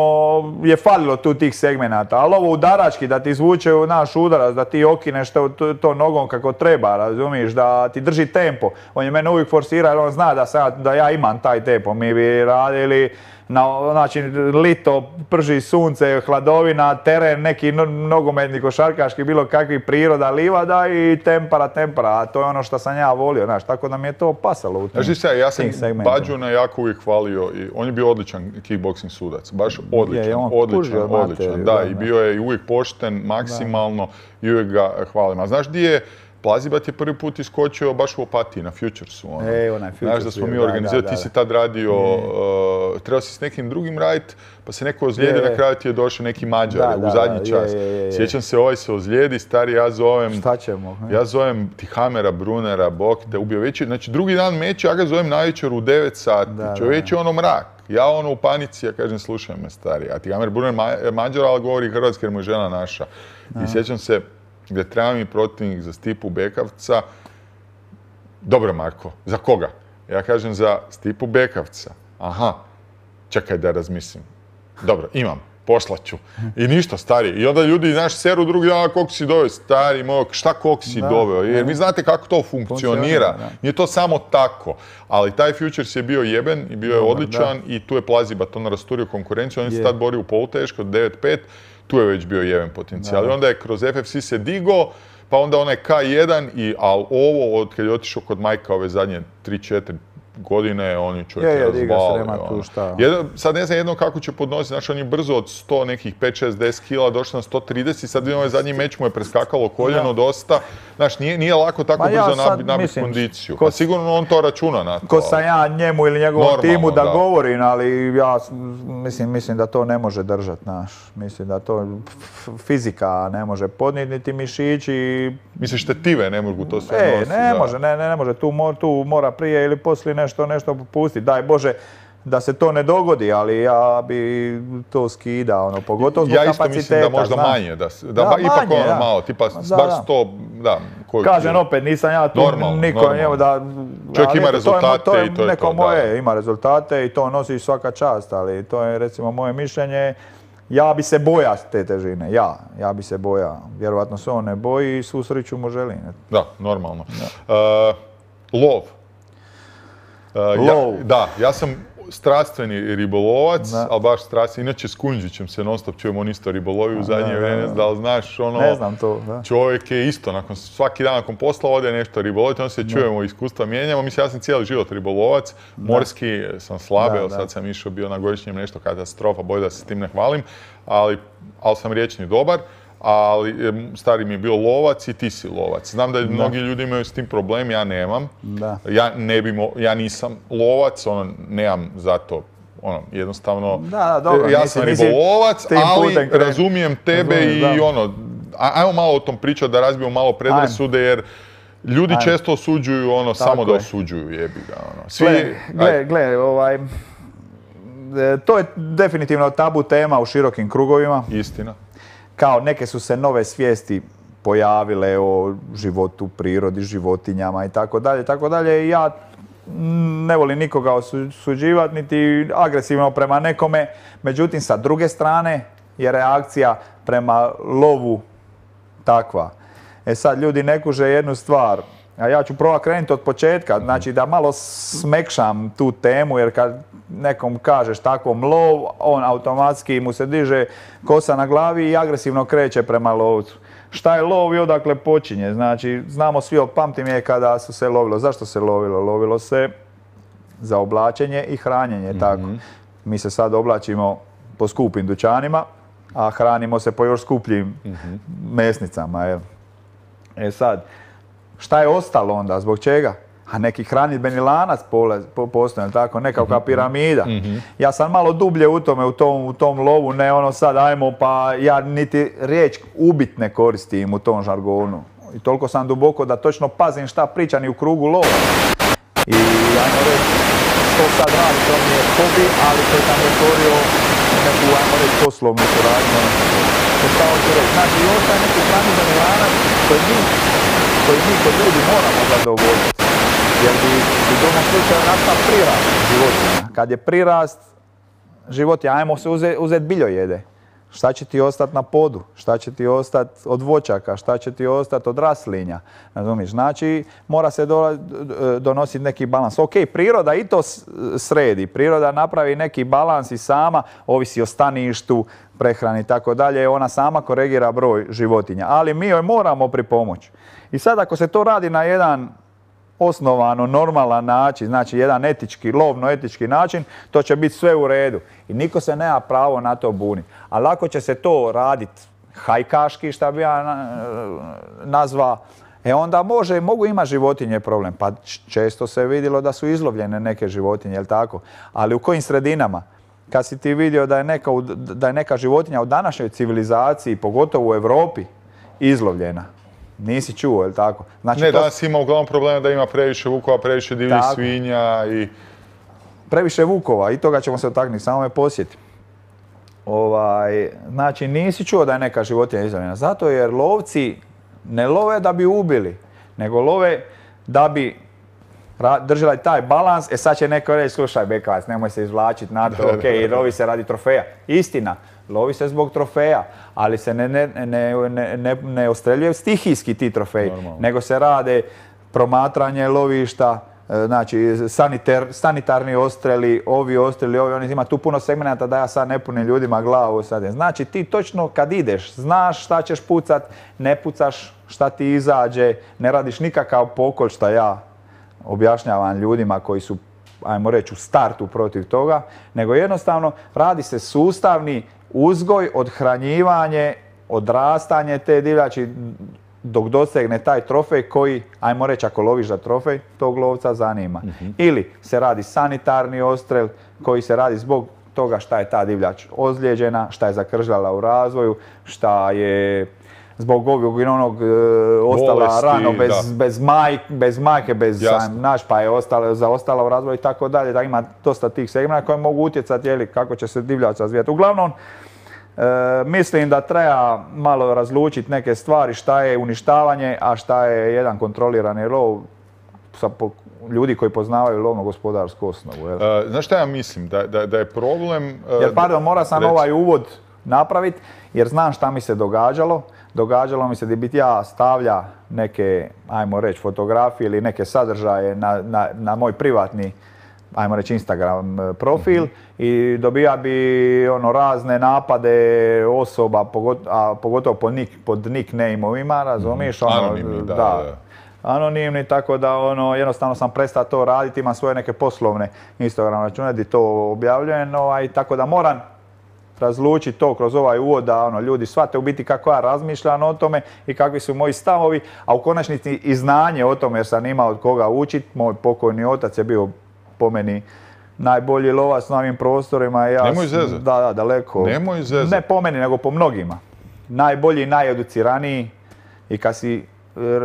je falilo tu tih segmenata, ali ovo udarački, da ti izvuče naš udarac, da ti okineš to, to, to nogom kako treba, razumiješ, da ti drži tempo. On je mene uvijek forsirao jer on zna da, sam, da ja imam taj tempo. Mi bi radili, na, znači, lito, prži sunce, hladovina, teren, neki nogometni, košarkaški, bilo kakvi priroda, livada i tempera, tempera, a to je ono što sam ja volio, znaš, tako da mi je to pasalo u tim segmentima. Znači, ja sam Bađuna jako uvijek hvalio i on je bio odličan kickboxing sudac, baš odličan, je, odličan, odličan, materiju, da, da, i bio je uvijek pošten, maksimalno da. I uvijek ga hvalim. A znaš di je Plazibat je prvi put iskočio baš u Opatiji, na Futuresu. Ono. E, onaj Futures. Znaš da smo mi organizirali, ti si tad radio, uh, trebao si s nekim drugim raditi, pa se neko ozlijedi, na kraju ti je došao neki Mađar da, u zadnji da, čas. Je, je, je. Sjećam se, ovaj se ozlijedi, stari, ja zovem... Šta ćemo? He? Ja zovem Tihamera, Brunera, Bog te ubio večer. Znači, drugi dan meća, ja ga zovem navečer u devet sati. Čovječ je ono mrak. Ja ono u panici, ja kažem, slušaj me, stari. A Tihamer Bruner Mađar, ali govori hrvatski jer mu je žena naša. I sjećam se, gdje treba mi protivnik za Stipu Bekavca. Dobro, Marko, za koga? Ja kažem za Stipu Bekavca. Aha, čekaj da razmislim. Dobro, imam, poslaću. I ništa, stari. I onda ljudi, znaš, seru drugi dan, koliko si doveo, stari moj, šta koliko si doveo? Jer vi znate kako to funkcionira. Nije to samo tako. Ali taj Futures je bio jeben i bio je odličan i tu je Plazibat on rasturio konkurenciju. On se tad borio u poluteško, devet pet. Tu je već bio jeben potencijal. I onda je kroz F F C se digo, pa onda onaj K jedan, i, ali ovo, od kad je otišao kod Majka ove zadnje tri četiri godine, on je čovjek Je, je, diga se, razvalio. nema tu ono. šta. Jedan- sad ne znam jedno kako će podnositi, znači on je brzo od sto nekih pet šest deset kila došao na sto trideset, sad vidim ovaj zadnji meč mu je preskakalo koljeno dosta. Znaš, nije, nije lako tako Ma ja brzo sad nabiti nabi mislim, kondiciju. ko- Pa sigurno on to računa na to. Ko sam ja njemu ili njegovom Normalno, timu da, da. govorim, ali ja s- mislim, mislim da to ne može držati, znaš. Mislim da to f- fizika ne može podnijeti, niti mišići. Misliš tetive ne mogu to sve E, nositi? ne da. može, ne, ne, ne može. Tu, mo- tu mora prije ili poslije nešto, nešto popustiti. Daj Bože da se to ne dogodi, ali ja bi to skidao, ono, pogotovo zbog Ja isto kapaciteta. mislim da možda znaš. manje, da, se- da, Da, ba- ipak manje, ono da. malo, tipa Da, baš da. sto, da. koju Kažem kilo. opet, nisam ja tu Normalno, niko, normalno. evo da... Čovjek ali ima eto, to je mo- rezultate to je i to je neko to, da. moje, ima rezultate i to nosi svaka čast, ali to je recimo moje mišljenje. Ja bi se bojao te težine, ja, ja bi se bojao. Vjerojatno se on ne boji i svu sreću mu želim. Da, normalno. Uh, lov. Uh, Lov. Ja, da, ja sam strastveni ribolovac, Da. ali baš strastveni. Inače s Kunđićem se non stop čujemo, on isto ribolovi u zadnje da, vrijeme, da. da li znaš ono... Ne znam to, da. Čovjek je isto, nakon, svaki dan nakon posla ode nešto ribolovati, onda se čujemo, iskustva mijenjamo. Mislim, ja sam cijeli život ribolovac, morski sam slab, Da, evo da. sad sam išao bio na godišnjem nešto katastrofa, bolje da se s tim ne hvalim, ali, ali sam riječni dobar. Ali em, stari mi je bio lovac i ti si lovac. Znam da, mnogi ljudi imaju s tim problem, ja nemam. Da. Ja, ne bi mo- ja nisam lovac, ono, nemam zato, ono, jednostavno, Da, da, dobro, ja nisi- sam nisi ribolovac, tim ali putem krenut. razumijem tebe Razumijem, i da. ono, a- ajmo malo o tom pričati, da razbijemo malo predrasude, jer ljudi Ajmo. često osuđuju ono, samo da je. osuđuju, jebi ga, ono. Svi, Gle, aj, gle, gle, ovaj... e, To je definitivno tabu tema u širokim krugovima. istina. Kao neke su se nove svijesti pojavile o životu, prirodi, životinjama i tako dalje, tako dalje. I ja mm, ne volim nikoga osuđivati, niti agresivno prema nekome. Međutim, sa druge strane je reakcija prema lovu takva. E sad, ljudi ne kuže jednu stvar, a ja ću probati krenuti od početka, znači da malo smekšam tu temu, jer kad nekom kažeš takvom lov, on automatski mu se diže kosa na glavi i agresivno kreće prema lovcu. Šta je lov i odakle počinje? Znači, znamo svi, od pamtim je kada su se lovilo. Zašto se lovilo? Lovilo se za oblačenje i hranjenje, tako. Mi se sad oblačimo po skupim dućanima, a hranimo se po još skupljim mesnicama, jel? E sad, šta je ostalo onda? Zbog čega? A neki hranidbeni lanac pole- po- postoji, tako, nekakva piramida. Ja sam malo dublje u tome, u tom, u tom lovu, ne ono sad, ajmo, pa ja niti riječ ubit ne koristim u tom žargonu. I toliko sam duboko da točno pazim šta pričam i u krugu lova. I ajmo reći, što sad radi, to mi je hobi, ali to sam otvorio neku, ajmo reći, poslovnu suradnju. To šta hoću reći? Znači, ostaje neki hranidbeni lanac koji mi, koji mi kod ljudi moramo zadovoljiti. Jer bi u drugom slučaju nastao prirast životinja. Kad je prirast životinja, ajmo se uzeti uzet biljojede. Šta će ti ostati na podu? Šta će ti ostati od voćaka? Šta će ti ostati od raslinja? Razumiješ? Znači, mora se do, donositi neki balans. Ok, priroda i to s- sredi. Priroda napravi neki balans i sama, ovisi o staništu, prehrani i tako dalje. Ona sama koregira broj životinja. Ali mi joj moramo pripomoći. I sad ako se to radi na jedan osnovano, normalan način, znači jedan etički, lovno-etički način, to će biti sve u redu. I niko se nema pravo na to buniti. Ali ako će se to raditi hajkaški, šta bi ja na- nazvao, e onda može, mogu imati životinje problem. Pa č- često se vidjelo da su izlovljene neke životinje, jel tako? Ali u kojim sredinama? Kad si ti vidio da je neka, u- da je neka životinja u današnjoj civilizaciji, pogotovo u Europi, izlovljena. Nisi čuo, jel tako? Znači, Ne, to- danas ima uglavnom problema da ima previše vukova, previše divljih Tako. svinja i... previše vukova i toga ćemo se dotaknuti, samo me posjeti. Ovaj, znači, nisi čuo da je neka životinja izlovljena. Zato jer lovci ne love da bi ubili, nego love da bi ra- držali taj balans. E sad će neko reći, slušaj Bekavac, nemoj se izvlačiti na to, ok, lovi se radi trofeja. Istina, lovi se zbog trofeja, ali se ne, ne, ne, ne, ne, ne ostreljuje stihijski ti trofeji, Normalno. nego se rade promatranje lovišta, e, znači sanitar, sanitarni ostreli, ovi ostreli, ovi, oni, ima tu puno segmenata da ja sad ne punim ljudima glavu sad. Znači ti točno kad ideš, znaš šta ćeš pucat, ne pucaš šta ti izađe, ne radiš nikakav pokolj šta ja objašnjavam ljudima koji su ajmo reći, u startu protiv toga, nego jednostavno radi se sustavni uzgoj, odhranjivanje, odrastanje te divljači dok dosegne taj trofej koji, ajmo reći, ako loviš za trofej, tog lovca zanima. Mm-hmm. Ili se radi sanitarni odstrel koji se radi zbog toga šta je ta divljač ozlijeđena, šta je zakržljala u razvoju, šta je zbog ovog i onog e, ostala bolesti, rano bez, bez, maj, bez majke, bez naš, pa je ostala, zaostala u razvoju i tako dalje. Da ima dosta tih segmenta koji mogu utjecati jeli, kako će se divljač razvijati. Uglavnom, e, mislim da treba malo razlučiti neke stvari, šta je uništavanje, a šta je jedan kontrolirani lov sa po, ljudi koji poznavaju lovno-gospodarsku osnovu. Jel? E, znaš šta ja mislim? Da, da, da je problem... E, jer, pardon, mora sam reći. ovaj uvod napraviti, jer znam šta mi se događalo. Događalo mi se da bi ja stavlja neke, ajmo reći, fotografije ili neke sadržaje na, na, na moj privatni, ajmo reći, Instagram profil mm-hmm. i dobija bi ono razne napade osoba, pogotovo, a pogotovo pod, nik, pod nickname-ovima, razumiješ? Mm-hmm. Ono, Anonimni, da, da. da. Anonimni, tako da ono, jednostavno sam prestao to raditi, imam svoje neke poslovne Instagram račune gdje to objavljujem, ovaj, tako da moram razlučiti to kroz ovaj uvod da ono, ljudi shvate u biti kako ja razmišljam o tome i kakvi su moji stavovi, a u konačnici i znanje o tome jer sam imao od koga učiti. Moj pokojni otac je bio po meni najbolji lovac na ovim prostorima. Ja, Nemoj zezati. Da, da, daleko. Nemoj zezati. Ne po meni, nego po mnogima. Najbolji, najeduciraniji i kad si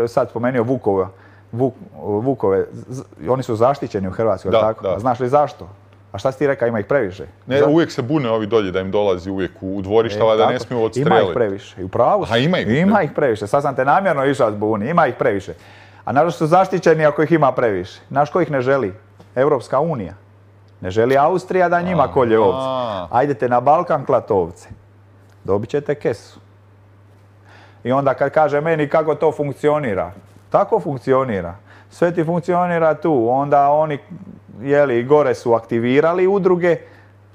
sad spomenuo Vukova, Vuk, Vukove, oni su zaštićeni u Hrvatskoj, da, tako? Da. A znaš li zašto? A šta si ti rekao, ima ih previše? Ne, Zato? Uvijek se bune ovi dolje da im dolazi uvijek u dvorišta, e, da ne smiju odstreliti. Ima ih previše. I u pravu A ima ih, ima ih previše. Sad sam te namjerno išao zbuni. Ima ih previše. A naravno su zaštićeni ako ih ima previše. Znaš ko ih ne želi? Europska unija. Ne želi Austrija da njima kolje ovce. Ajdete na Balkan klat ovce. Dobit ćete kesu. I onda kad kaže meni kako to funkcionira. Tako funkcionira. Sve ti funkcionira tu. Onda oni jeli, gore su aktivirali udruge,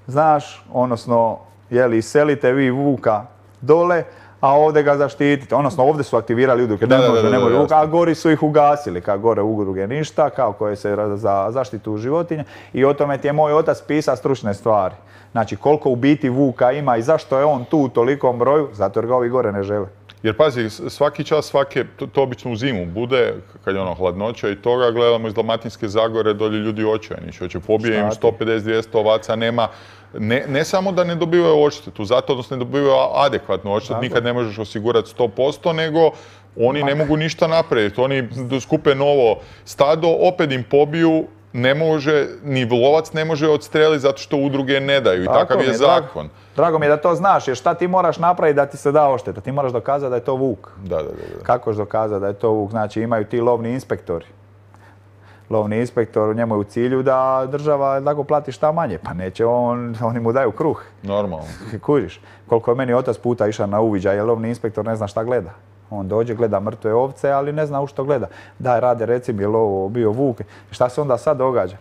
znaš, odnosno, jeli, selite vi vuka dole, a ovdje ga zaštitite. Odnosno, ovdje su aktivirali udruge, ne može, ne može vuka, a gori su ih ugasili, kao gore udruge ništa, kao koje se za zaštitu životinja. I o tome ti je moj otac pisao stručne stvari. Znači, koliko u biti vuka ima i zašto je on tu u tolikom broju, zato jer ga ovi gore ne žele. Jer pazi, svaki čas, svake, to, to obično u zimu bude, kad je ono hladnoća i toga, gledamo iz Dalmatinske Zagore, dolje ljudi očajni, hoće pobije im sto pedeset do dvjesto ovaca, nema, ne, ne samo da ne dobivaju odštetu, zato odnosno ne dobivaju adekvatnu odštetu, nikad ne možeš osigurati sto posto, nego oni ne mogu ništa napraviti, oni skupe novo stado, opet im pobiju, ne može, ni lovac ne može odstreliti zato što udruge ne daju i takav je zakon. Drago mi je da to znaš, jer šta ti moraš napraviti da ti se da odšteta? Ti moraš dokazati da je to vuk. Da, da, da. Kako ćeš dokazati da je to vuk? Znači imaju ti lovni inspektori. Lovni inspektor, njemu je u cilju da država tako plati šta manje. Pa neće on, oni mu daju kruh. Normalno. Kužiš. Koliko je meni otac puta išao na uviđaj, jer lovni inspektor ne zna šta gleda. On dođe, gleda mrtve ovce, ali ne zna u što gleda. Daj, rade, reci mi, je li ovo bio vuk? Šta se onda sad događa?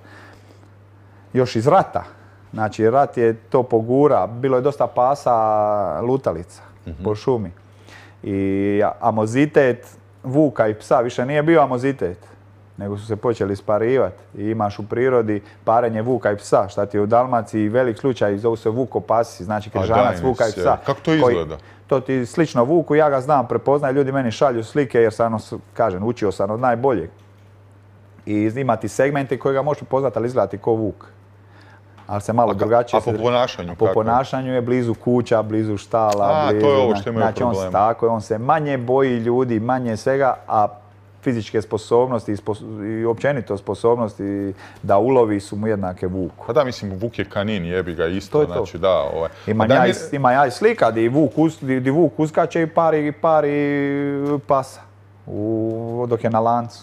Još iz rata. Znači, rat je to pogura. Bilo je dosta pasa lutalica mm-hmm. po šumi. I amozitet vuka i psa više nije bio amozitet, nego su se počeli sparivati. I imaš u prirodi parenje vuka i psa, šta ti je u Dalmaciji velik slučaj, zovu se vukopasi, znači križanac vuka i psa. Kako to izgleda? Koji, to ti slično vuku, ja ga znam, prepoznajem, ljudi meni šalju slike jer sam, kažem, učio sam od najboljeg. I ima ti segmenti koji ga možeš poznati, ali izgledati ko vuk. Ali se malo a, drugačije... A po ponašanju a po kako? ponašanju je blizu kuća, blizu štala, a, blizu... to je ovo što imaju znači, problema. On, tako, on se manje boji ljudi, manje svega, a fizičke sposobnosti i, spos i općenito sposobnosti da ulovi su mu jednake vuku. Pa da, mislim, vuk je kanin, jebi ga isto, to znači to. Da, ovaj. Ima ja, mi... ima ja i slika di vuk, us, di, di vuk uskače i pari, pari pasa, u, dok je na lancu.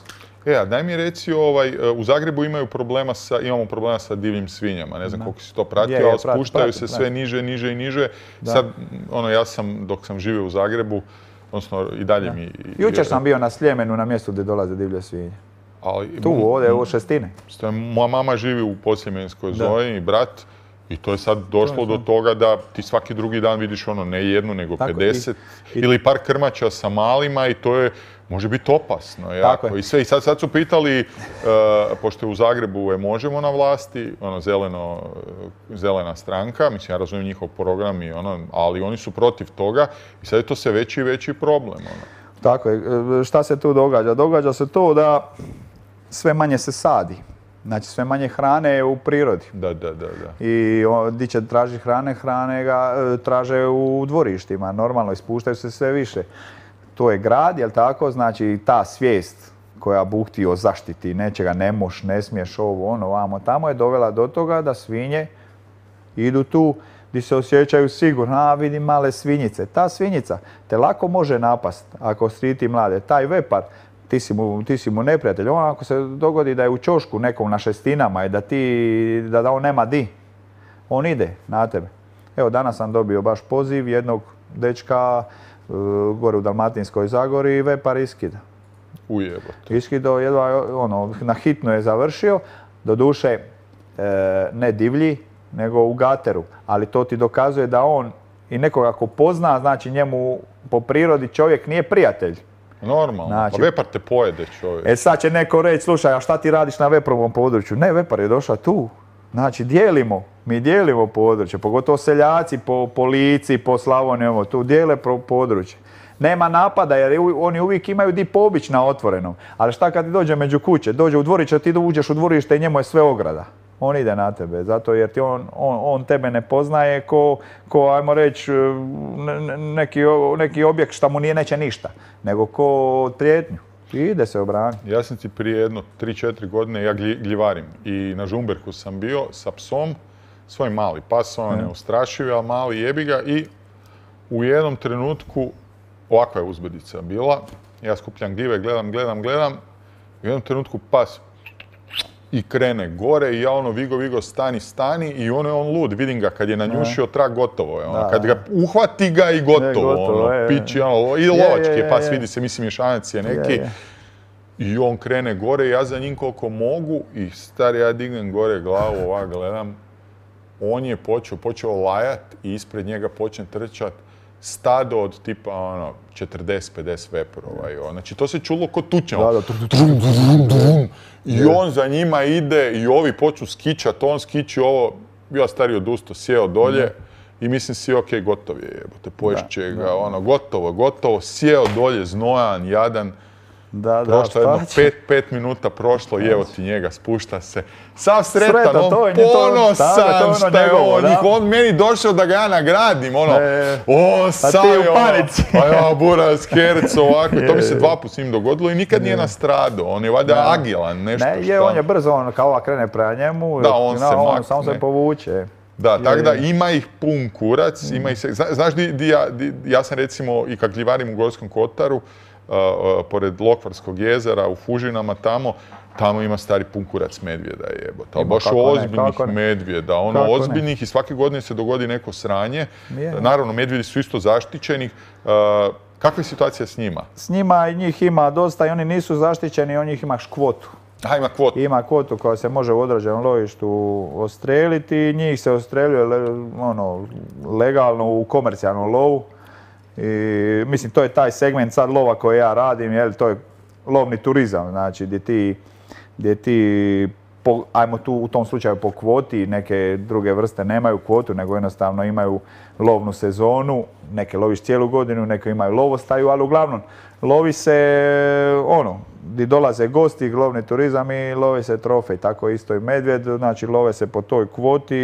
E, a daj mi reci, ovaj, u Zagrebu imaju problema sa, imamo problema sa divljim svinjama, ne znam da. Koliko si to pratio, je, je, ali spuštaju prati, se prati. sve niže, niže i niže. Da. Sad, ono, ja sam, dok sam živio u Zagrebu, odnosno i dalje da. mi... Jučer sam bio na Sljemenu, na mjestu gdje dolaze divlje svinje. Ali, tu, ovdje, ovo Šestine. Moja mama živi u Podsljemenskoj zoni, brat, I to je sad došlo do toga da ti svaki drugi dan vidiš ono ne jednu nego pedeset ili par krmača sa malima i to je, može biti opasno jako. I sve, i sad, sad su pitali, uh, pošto je u Zagrebu je Možemo na vlasti, ono zeleno, zelena stranka, mislim ja razumijem njihov program i ono, ali oni su protiv toga i sad je to sve veći i veći problem. Ono. Tako je, šta se tu događa? Događa se to da sve manje se sadi. Znači sve manje hrane je u prirodi. Da, da, da, da. I di će traži hrane, hrane ga traže u dvorištima. Normalno, ispuštaju se sve više. To je grad, jel tako? Znači ta svijest koja buhti o zaštiti nečega, ne moš, ne smiješ ovo, ono, vamo, tamo je dovela do toga da svinje idu tu gdje se osjećaju sigurno. A, vidim male svinjice. Ta svinjica te lako može napast ako striti mlade. Taj vepar, Ti si, mu, ti si mu neprijatelj. On ako se dogodi da je u ćošku nekom na šestinama i da, ti, da, da on nema di, on ide na tebe. Evo, danas sam dobio baš poziv jednog dečka uh, gore u Dalmatinskoj Zagori i vepar iskida. Ujebote. Iskido, jedva, ono, na hitno je završio, doduše e, ne divlji, nego u gateru. Ali to ti dokazuje da on i nekoga ko pozna, znači njemu po prirodi čovjek nije prijatelj. Normalno, znači, pa vepar te pojede čovjek. E sad će neko reći, slušaj, a šta ti radiš na veprovom području? Ne, vepar je došao tu. Znači, dijelimo, mi dijelimo područje, pogotovo seljaci po, po Lici, po Slavoniji, tu dijele područje. Nema napada jer oni uvijek imaju di pobić na otvorenom. Ali šta kad ti dođe među kuće, dođe u dvorište, ti uđeš u dvorište i njemu je sve ograda. On ide na tebe, zato jer ti on, on, on tebe ne poznaje ko, ko ajmo reći, neki, neki objekt šta mu nije neće ništa, nego ko prijetnju. I ide se obraniti. Ja sam ti prije jedno tri četiri godine, ja gljivarim i na Žumberku sam bio sa psom, svoj mali pas, on je neustrašiv, ali mali jebi ga i u jednom trenutku, ovakva je uzbedica bila, ja skupljam gljive, gledam, gledam, gledam, u jednom trenutku pas i krene gore i ja ono Vigo, Vigo, stani, stani i ono je on lud, vidim ga kad je nanjušio trak, gotovo je. Ono. Da, kad ga uhvati ga i gotovo, ne, gotovo ono, je, pići, ono, i lovački je pas, vidi se, mislim mješanac je neki. Je, je. I on krene gore, ja za njim koliko mogu i stari, ja dignem gore glavu, ovak gledam. On je počeo, počeo lajat i ispred njega počne trčat stado od tipa ono, četrdeset pedeset veprova. Znači to se čulo ko tučnja. Da, da, I on za njima ide i ovi počnu skičat, on skiči ovo, ja stari odusto, sjeo dolje i mislim si ok, gotov je jebote, poješće ga, ono, gotovo, gotovo, sjeo dolje, znojan, jadan. Da, prošlo da, jedno pet, pet minuta prošlo, jevo ti njega, spušta se. Sav sretan, Sretan, on ponosan šta je on, on meni došao da ga ja nagradim, ono, e, on sam je ono, pa ja buraz, kerc, ovako, i to mi se dva put s njim dogodilo i nikad nije nastradao, on je valjda agilan, nešto ne, je, on je brzo, on kao ova krene prema njemu, da, on, no, se, on samo se povuče. Da, tako da ima ih pun kurac, ima ih se, znaš di, di, ja, di, ja sam recimo i kad gljivarim u Gorskom kotaru, Uh, uh, pored Lokvarskog jezera, u Fužinama tamo, tamo ima stari pun kurac medvjeda jebote. Ali baš ozbiljnih ne, medvjeda, ono kako ozbiljnih ne. I svake godine se dogodi neko sranje. Je. Naravno, medvjedi su isto zaštićeni. Uh, kakva je situacija s njima? S njima njih ima dosta i oni nisu zaštićeni, on njih imaš kvotu. A, ima kvotu? Ima kvotu koja se može u određenom lovištu odstreliti i njih se odstreljuje ono, legalno u komercijalnom lovu. I, mislim, to je taj segment sad lova koji ja radim, jel, to je lovni turizam, znači gdje ti, gdje ti po, ajmo tu u tom slučaju po kvoti, neke druge vrste nemaju kvotu, nego jednostavno imaju lovnu sezonu, neke loviš cijelu godinu, neke imaju lovostaju, ali uglavnom lovi se ono, gdje dolaze gosti, lovni turizam i lovi se trofej, tako isto i medvjed, znači love se po toj kvoti,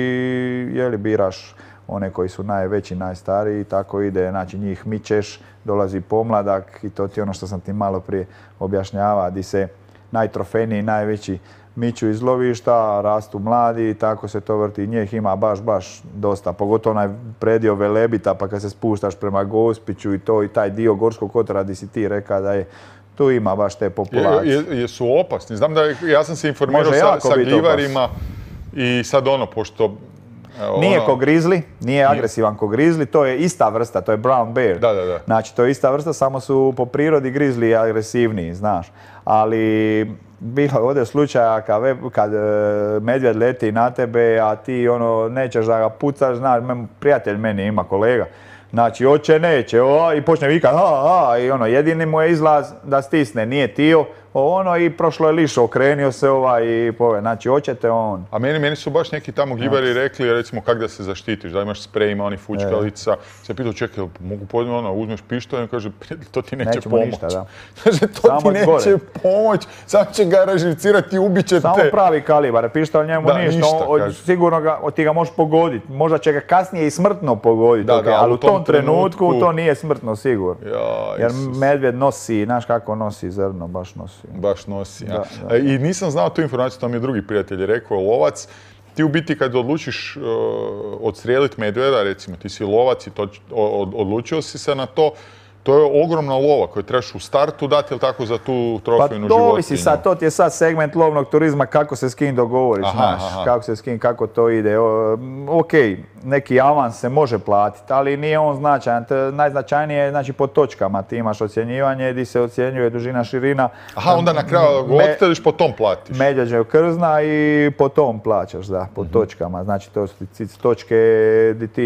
jeli biraš one koji su najveći, najstariji, tako ide, znači njih mičeš, dolazi pomladak i to ti ono što sam ti malo prije objašnjava, di se najtrofejniji, najveći miču iz lovišta, rastu mladi i tako se to vrti. Njih ima baš, baš dosta, pogotovo onaj predio Velebita, pa kad se spuštaš prema Gospiću i to i taj dio Gorskog kotara di si ti reka da je, tu ima baš te populacije. Je, jesu opasni? Znam da ja sam se informirao sa, sa gljivarima i sad ono, pošto nije ko grizli, nije agresivan ko grizli, to je ista vrsta, to je brown bear. Da, da, da. Znači, to je ista vrsta, samo su po prirodi grizli agresivniji, znaš. Ali bilo je ovdje slučaja kad, kad medvjed leti na tebe, a ti ono, nećeš da ga pucaš, znaš, prijatelj meni ima, kolega. Znači, oće, neće, o, i počne vikat, a, a, i ono, jedini mu je izlaz da stisne, nije tio, ono, i prošlo je lišo, okrenio se ovaj i pove, znači, oćete on. A meni, meni su baš neki tamo gibari rekli, recimo, kak da se zaštitiš, da imaš sprej, ima oni fučkalica, se pitao, čekaj, mogu podne, ono, uzmeš pištolj i kaže, to ti neće Nećemo pomoć. Ništa, da. Kaže, to Samo ti neće gore. pomoć, samo će ga raživcirati i ubit će te. Samo pravi kalibar, pištolj njemu Da, ništa, ništa, on- kaže. sigurno ga, ti ga možeš pogoditi, možda će ga kasnije i smrtno pogoditi, Da, ok, da, ali u u tom tom trenutku trenutku- to nije smrtno sigurno. Ja, Jer Isus. medvjed nosi, znaš kako nosi zrno, baš nosi. Baš nosi, ja. Da, da. E, I nisam znao tu informaciju, to mi je drugi prijatelj rekao, lovac. Ti u biti kad odlučiš uh, odstrijeliti medvjeda, recimo ti si lovac i to, od, odlučio si se na to, to je ogromna lova koju trebaš u startu dati, ili tako, za tu Pa trofejnu to životinju. ovisi sad, to ti je sad segment lovnog turizma, kako se s kim dogovoriš, Aha, znaš, aha. kako se s kim, kako to ide. O, ok, neki avans se može platiti, ali nije on značajan. T- Najznačajnije je, znači, po točkama. Ti imaš ocjenjivanje, gdje se ocjenjuje dužina, širina. Aha, onda na kraju Me- odstreliš, po tom platiš. Medvjeđe krzna i po tom plaćaš, da, po točkama. Znači, to su ti točke gdje ti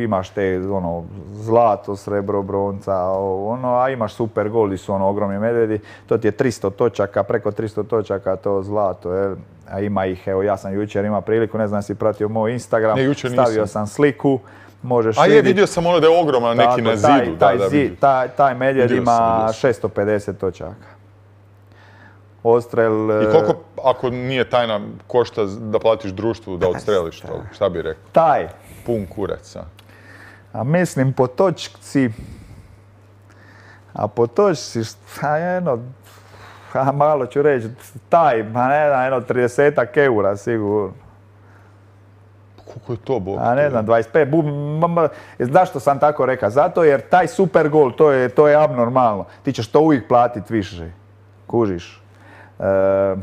imaš te, ono, zlato, srebro, bronca, ono, a imaš super gol, gdje su ono ogromni medvjedi. To ti je tristo točaka, preko tristo točaka to zlato, jel? A ima ih, evo, ja sam jučer imao priliku, ne znam si pratio moj Instagram, Ne, jučer stavio nisam. sam sliku, možeš A je, vidjeti. vidio sam ono da je ogroman neki Tako, na taj- zidu. Taj, da, da, zid- vidio. taj, taj medvjed Vidio sam, ima vidio sam. šesto pedeset točaka. Odstrel... I e, koliko, ako nije tajna, košta da platiš društvu da odstreliš to? Šta bi rekao? Taj, Pun kurac, a? a mislim po točci, a po točci, šta jedno, a malo ću reći, taj, ma ne znam, jedno tridesetak eura sigurno. Koliko je to, Bog? A ne znam, dvadeset pet, bu, m, m, zašto sam tako rekao? Zato jer taj super gol, to je, to je abnormalno. Ti ćeš to uvijek platiti više, kužiš. E,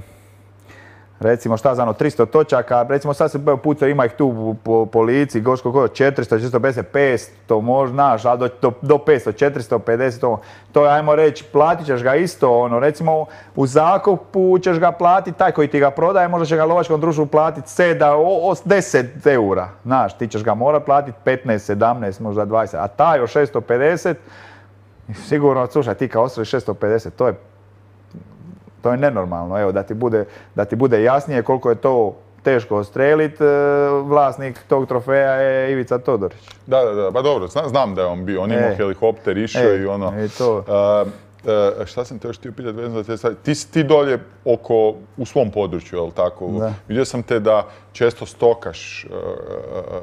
recimo šta znam, tristo točaka, recimo sad se puca, ima ih tu po, po lici, Goško Kojo, četiristo, četiristo pedeset, petsto, možda, znaš, ali do, do, do petsto, četiristo pedeset, to, to je, ajmo reći, platit ćeš ga isto, ono, recimo u zakupu ćeš ga platiti, taj koji ti ga prodaje, možda će ga lovačkom društvu platiti sedam, deset eura, znaš, ti ćeš ga morat platiti petnaest, sedamnaest, možda dvadeset, a taj od šesto pedeset, sigurno, slušaj, ti kao ostali šesto pedeset, to je To je nenormalno, evo, da ti bude, da ti bude jasnije koliko je to teško odstreliti, vlasnik tog trofeja je Ivica Todorić. Da, da, da, pa dobro, zna- znam da je on bio, on je imao E. helikopter, išao E, i ono... i to. Uh, uh, šta sam te još htio pitati vezano za te stvari? Ti si ti dolje oko, u svom području, jel tako? Da. Vidio sam te da često stokaš uh,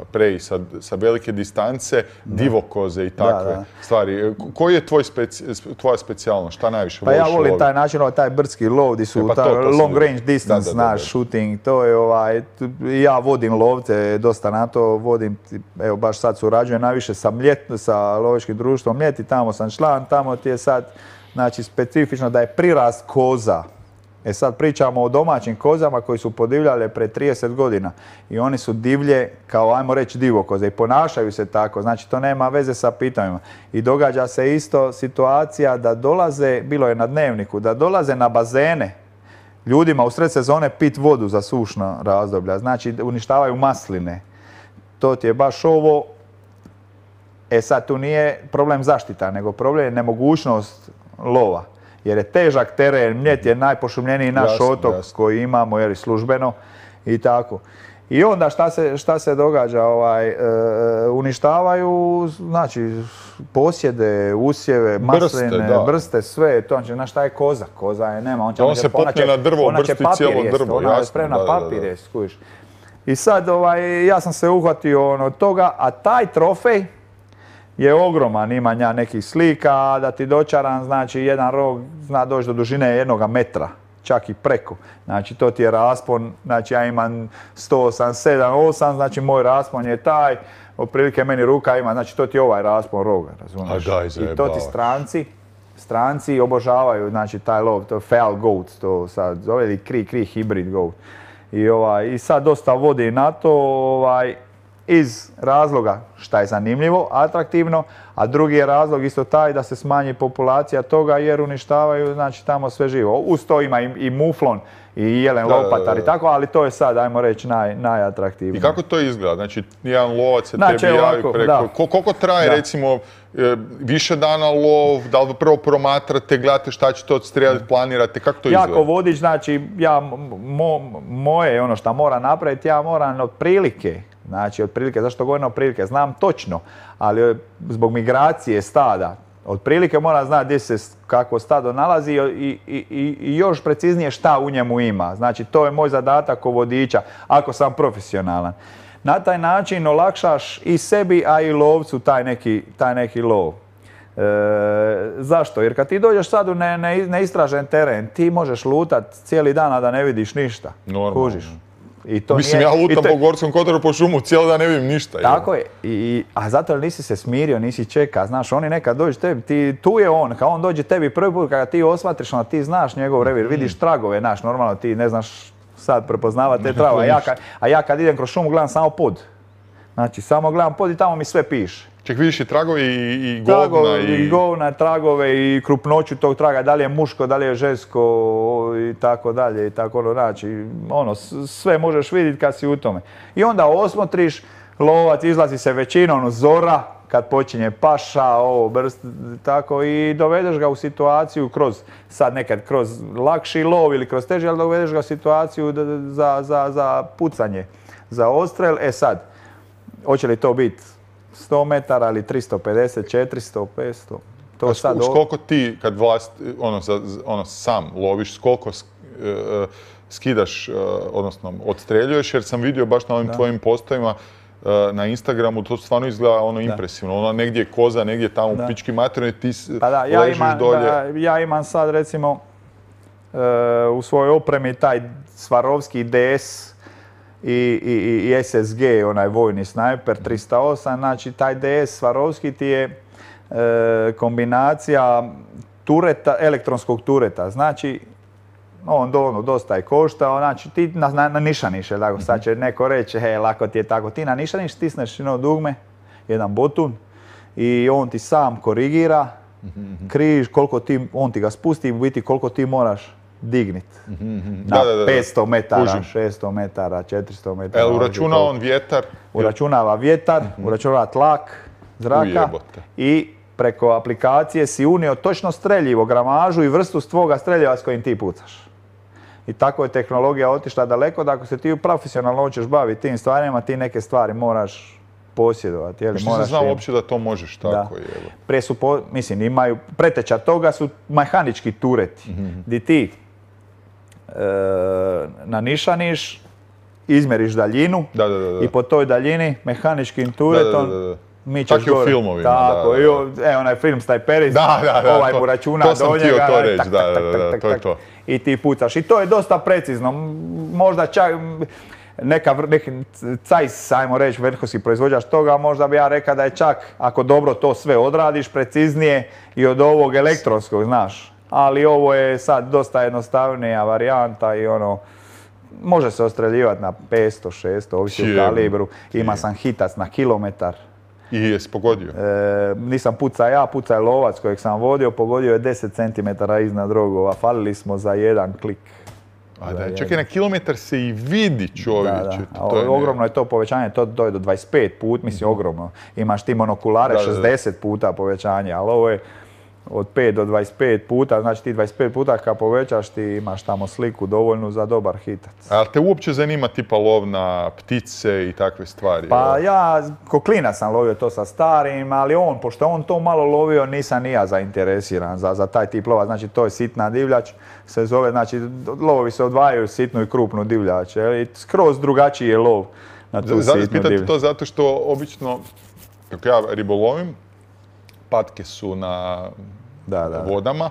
prej sa, sa velike distance, divokoze i takve da. stvari. K- Koji je tvoj speci, tvoja specijalnost? Šta najviše Pa voliš ja volim loviti? taj način, ovaj, taj brdski lov, gdje su E, pa to- taj to sam long vidio. range distance, Da, da, da, naš da. shooting, to je ovaj, tu- ja vodim lovce, dosta na to vodim, evo baš sad surađujem najviše sa Mljet, sa lovačkim društvom Mljet i tamo sam član, tamo ti je sad, znači specifično da je prirast koza. E sad pričamo o domaćim kozama koji su podivljale pre trideset godina i oni su divlje kao, ajmo reći, divokoze i ponašaju se tako, znači to nema veze sa pitanjima. I događa se isto situacija da dolaze, bilo je na Dnevniku, da dolaze na bazene ljudima u sred sezone pit vodu za sušna razdoblja, znači uništavaju masline. To ti je baš ovo. E sad tu nije problem zaštita, nego problem je nemogućnost lova. Jer je težak teren, Mljet je najpošumljeniji naš Jasno, otok jasno. koji imamo, jer je službeno i tako. I onda šta se, šta se događa? Ovaj, e, uništavaju, znači, posjede, usjeve, masline, da. brste, sve. To, znači, znaš šta je koza? Koza je nema. On, će, Da on ona će- se ona popne će- na drvo, ona će brsti papir cijelo jest, drvo, ona je jasno, spremna da, da, da. papir jest, skužiš. I sad ovaj, ja sam se uhvatio ono, od toga, a taj trofej je ogroman, imam ja nekih slika, da ti dočaram, znači jedan rog zna doći do dužine jednoga metra, čak i preko. Znači to ti je raspon, znači ja imam sto osamdeset sedam, osam, znači moj raspon je taj, otprilike meni ruka ima, znači to ti je ovaj raspon roga, razumiješ? A daj, I to zajebavaš. ti stranci, stranci obožavaju, znači taj lov, to je feral goat, to sad zove, ili kri, kri hybrid goat. I, ovaj, I sad dosta vodi na to, ovaj, iz razloga šta je zanimljivo, atraktivno, a drugi je razlog isto taj da se smanji populacija toga jer uništavaju znači tamo sve živo. Uz to ima i, i muflon i jelen da, lopatar da, da. i tako, ali to je sad, ajmo reći, naj, najatraktivnije. I kako to izgleda? Znači, jedan lovac se Znači, tebi javi ovako, preko... da. Ko, koliko traje, Da. recimo, e, više dana lov, da li prvo promatrate, gledate šta ćete odstrijeliti, planirate, kako to izgleda? Jako vodič, znači, ja, mo, moje ono što moram napraviti, ja moram otprilike, znači otprilike, zašto govorim otprilike, znam točno, ali zbog migracije stada, otprilike moram znati gdje se kako stado nalazi i, i, i, i još preciznije šta u njemu ima. Znači, to je moj zadatak ko vodiča, ako sam profesionalan. Na taj način olakšaš i sebi, a i lovcu taj neki, taj neki lov. E, zašto? Jer kad ti dođeš sad u ne, ne, neistražen teren, ti možeš lutat cijeli dan, a da ne vidiš ništa. Normalno. Kužiš. I to Mislim, nije, ja lutam to, po Gorskom kotaru po šumu, cijeli dan ne vidim ništa. Tako je. I, a zato jer nisi se smirio, nisi čeka. Znaš, oni nekad dođu tebi, ti, tu je on, kad on dođe tebi prvi put, kada ti osmatriš, onda ti znaš njegov revir, vidiš tragove, znaš, normalno ti ne znaš sad prepoznavati te tragove. A ja, kad, a ja kad idem kroz šumu gledam samo pod. Znači, samo gledam pod i tamo mi sve piše. Ček, vidiš i tragovi i, i govna Tragove, i... i govna, tragove i krupnoću tog traga, da li je muško, da li je žensko i tako dalje i tako ono, znači, ono, sve možeš vidjeti kad si u tome. I onda osmotriš, lovac izlazi se većinom zora, kad počinje paša, ovo, brst, tako, i dovedeš ga u situaciju kroz, sad nekad kroz lakši lov ili kroz teži, ali dovedeš ga u situaciju za, za, za pucanje, za odstrel. E sad, hoće li to biti sto metara ili tristo pedeset, četiristo, petsto. To A sad s koliko ti, kad vlast, ono, za, ono sam loviš, s koliko sk, uh, skidaš, uh, odnosno odstreljuješ, jer sam vidio baš na ovim da. tvojim postovima uh, na Instagramu, to stvarno izgleda ono impresivno. Ono, negdje je koza, negdje tamo u pički materiju, ti pa da, ja ležiš imam, dolje. Da, ja imam sad recimo uh, u svojoj opremi taj Svarovski D S I, i, i S S G, onaj vojni snajper tristo osam, znači taj D S Svarovski ti je e, kombinacija tureta, elektronskog tureta, znači on do, ono, dosta je koštao, znači ti na, na, na nišaniš, je tako, sad će neko reći, he, lako ti je tako, ti na nišaniš, stisneš jedno dugme, jedan botun i on ti sam korigira križ, koliko ti, on ti ga spusti, u biti koliko ti moraš dignit. Mm-hmm. Na da, da, da. petsto metara, Kužim. šesto metara, četiristo metara. El, uračuna on vjetar? Uračunava vjetar, mm-hmm. uračunava tlak zraka Ujebote. I preko aplikacije si unio točno streljivo, gramažu i vrstu tvoga streljiva s kojim ti pucaš. I tako je tehnologija otišla daleko da ako se ti profesionalno hoćeš baviti tim stvarima, ti neke stvari moraš posjedovati. Jeli, što moraš se znao im... uopće da to možeš tako? Da. Jel? Pre su, po... mislim, imaju, preteča toga su mehanički tureti, mm-hmm. di ti e, nanišaniš, izmjeriš daljinu da, da, da, da. i po toj daljini mehaničkim turetom da, da, da, da. mičeš Čak i u gore. filmovima. Tako, da, da, da. e, onaj film Snajperis, da, da, da, ovaj to, mu računa to sam do njega, htio to reći, tak, da, tak, da, da, tak, to je tak, to. I ti pucaš. I to je dosta precizno. Možda čak neka, neki cajs, ajmo reći, vrhunski proizvođač toga, možda bi ja rekao da je čak, ako dobro to sve odradiš, preciznije i od ovog elektronskog, znaš. Ali ovo je sad dosta jednostavnija varijanta i ono, može se ostreljivati na petsto, šesto, ovisi o kalibru. Ima sam hitac na kilometar. I jesi pogodio? E, nisam pucao ja, pucao je lovac kojeg sam vodio, pogodio je deset centimetara iznad rogova. Falili smo za jedan klik. A da, čekaj, na kilometar se i vidi, čovječe. Da, da. To je ogromno je to povećanje, to je do dvadeset pet put, mislim ogromno. Imaš ti monokulare da, da, da. šezdeset puta povećanje, ali ovo je od pet do dvadeset pet puta, znači ti dvadeset pet puta kad povećaš ti imaš tamo sliku dovoljnu za dobar hitac. A te uopće zanima tipa lov na ptice i takve stvari? Pa ja, ko klinac sam lovio to sa starim, ali on, pošto on to malo lovio, nisam ni ja zainteresiran za, za taj tip lova. Znači to je sitna divljač, se zove, znači lovovi se odvajaju sitnu i krupnu divljač. I skroz drugačiji je lov na tu Zato sitnu pitate divljač. to zato što obično, kako ja ribolovim, patke su na da, da, vodama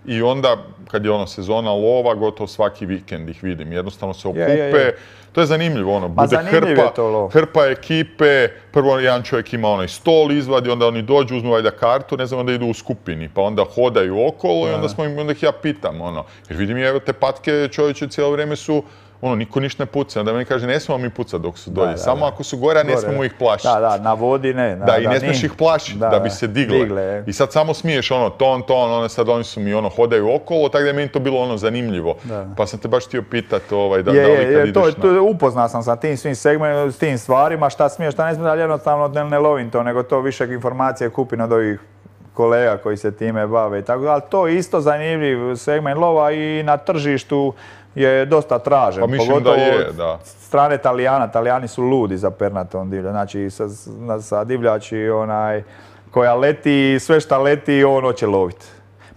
i onda kad je ono sezona lova, gotovo svaki vikend ih vidim. Jednostavno se okupe. Je, je, je. To je zanimljivo, ono, bude hrpa, hrpa ekipe, prvo jedan čovjek ima onaj stol izvadi, onda oni dođu, uzmu valjda kartu, ne znam, onda idu u skupini, pa onda hodaju okolo i onda, smo im, onda ih ja pitam, ono, jer vidim, evo te patke čovječe cijelo vrijeme su ono, niko ništa ne puca. Onda meni kaže, ne smijemo mi pucati dok su dolje. Da, da, samo da. Ako su gore, ne smijemo ih plašiti. Da, da, na vodi ne. Da, da i ne smiješ ih plašiti, da, da bi se digle. digle I sad samo smiješ ono, ton, ton, one sad oni su mi ono, hodaju okolo, tako da je meni to bilo ono zanimljivo. Da. Pa sam te baš htio pitati ovaj, da, je, da li kad je, ideš to, na... To, upoznao sam sa tim svim segmentima, s tim stvarima, šta smiješ, šta ne smiješ, ali jednostavno ne, ne lovim to, nego to više informacije kupim od ovih kolega koji se time bave i tako, ali to je isto zanimljiv segment lova i na tržištu je dosta tražen. Pa mislim pogotovo da je, da. Od strane Talijana, Talijani su ludi za pernatom divlja, znači sa, sa divljači onaj, koja leti, sve šta leti on hoće loviti.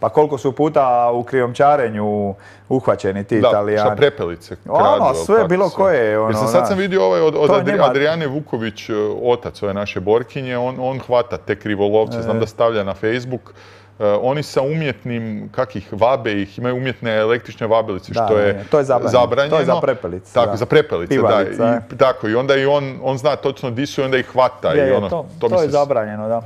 Pa koliko su puta u krijumčarenju uhvaćeni ti da, Talijani. Da, prepelice kradu. Ono, sve bilo sve. Koje. Ono, Jer sam, sad sam vidio ovaj od, od Adri, Adriane Vuković, otac ove naše borkinje, on, on hvata te krivolovce, e. znam da stavlja na Facebook. Uh, oni sa umjetnim, kak ih vabe, ih imaju umjetne električne vabelice, da, što je, je to je zabranjeno. zabranjeno. To je za prepelice. Tako, da. za prepelice, Pivalica, da. I, tako, i onda i on, on zna točno di su i onda ih hvata. Je, i ono, to to, to je se... zabranjeno, da.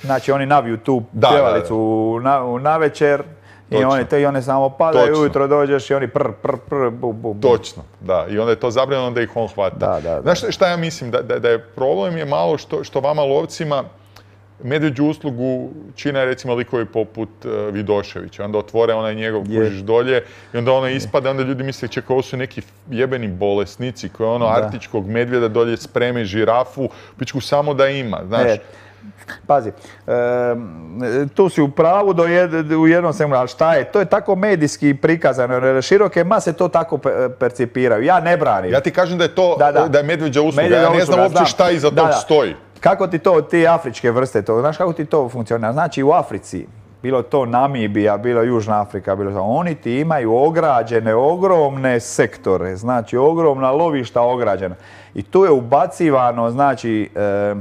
Znači oni naviju tu pjevalicu da, da, da. Na, na večer i oni, te, i one samo padaju, ujutro dođeš i oni prr, prr, prr, bu, bu, bu. Točno, da. I onda je to zabranjeno, onda ih on hvata. Da, da, da. Znaš šta ja mislim? Da, da, da je problem je malo što, što vama lovcima medvjeđu uslugu čine recimo likovi poput uh, Vidoševića. Onda otvore onaj njegov kužiš dolje i onda ono ispada, onda ljudi misle čekaj, ovo su neki jebeni bolesnici koji ono da. Arktičkog medvjeda dolje spreme žirafu, pičku samo da ima, znaš. E. Pazi, e, tu si u pravu do jed, u jednom segmentu, ali šta je? To je tako medijski prikazano, široke mase to tako percipiraju. Ja ne branim. Ja ti kažem da je to, da, da. Da je medvjeđa usluga, medvjeđa ja ne znam usluga, uopće šta iza da, tog da. stoji. Kako ti to, ti afričke vrste, to, znaš kako ti to funkcionira? Znači u Africi, bilo to Namibija, bilo Južna Afrika, bilo to, oni ti imaju ograđene, ogromne sektore, znači ogromna lovišta ograđena. I tu je ubacivano, znači, e,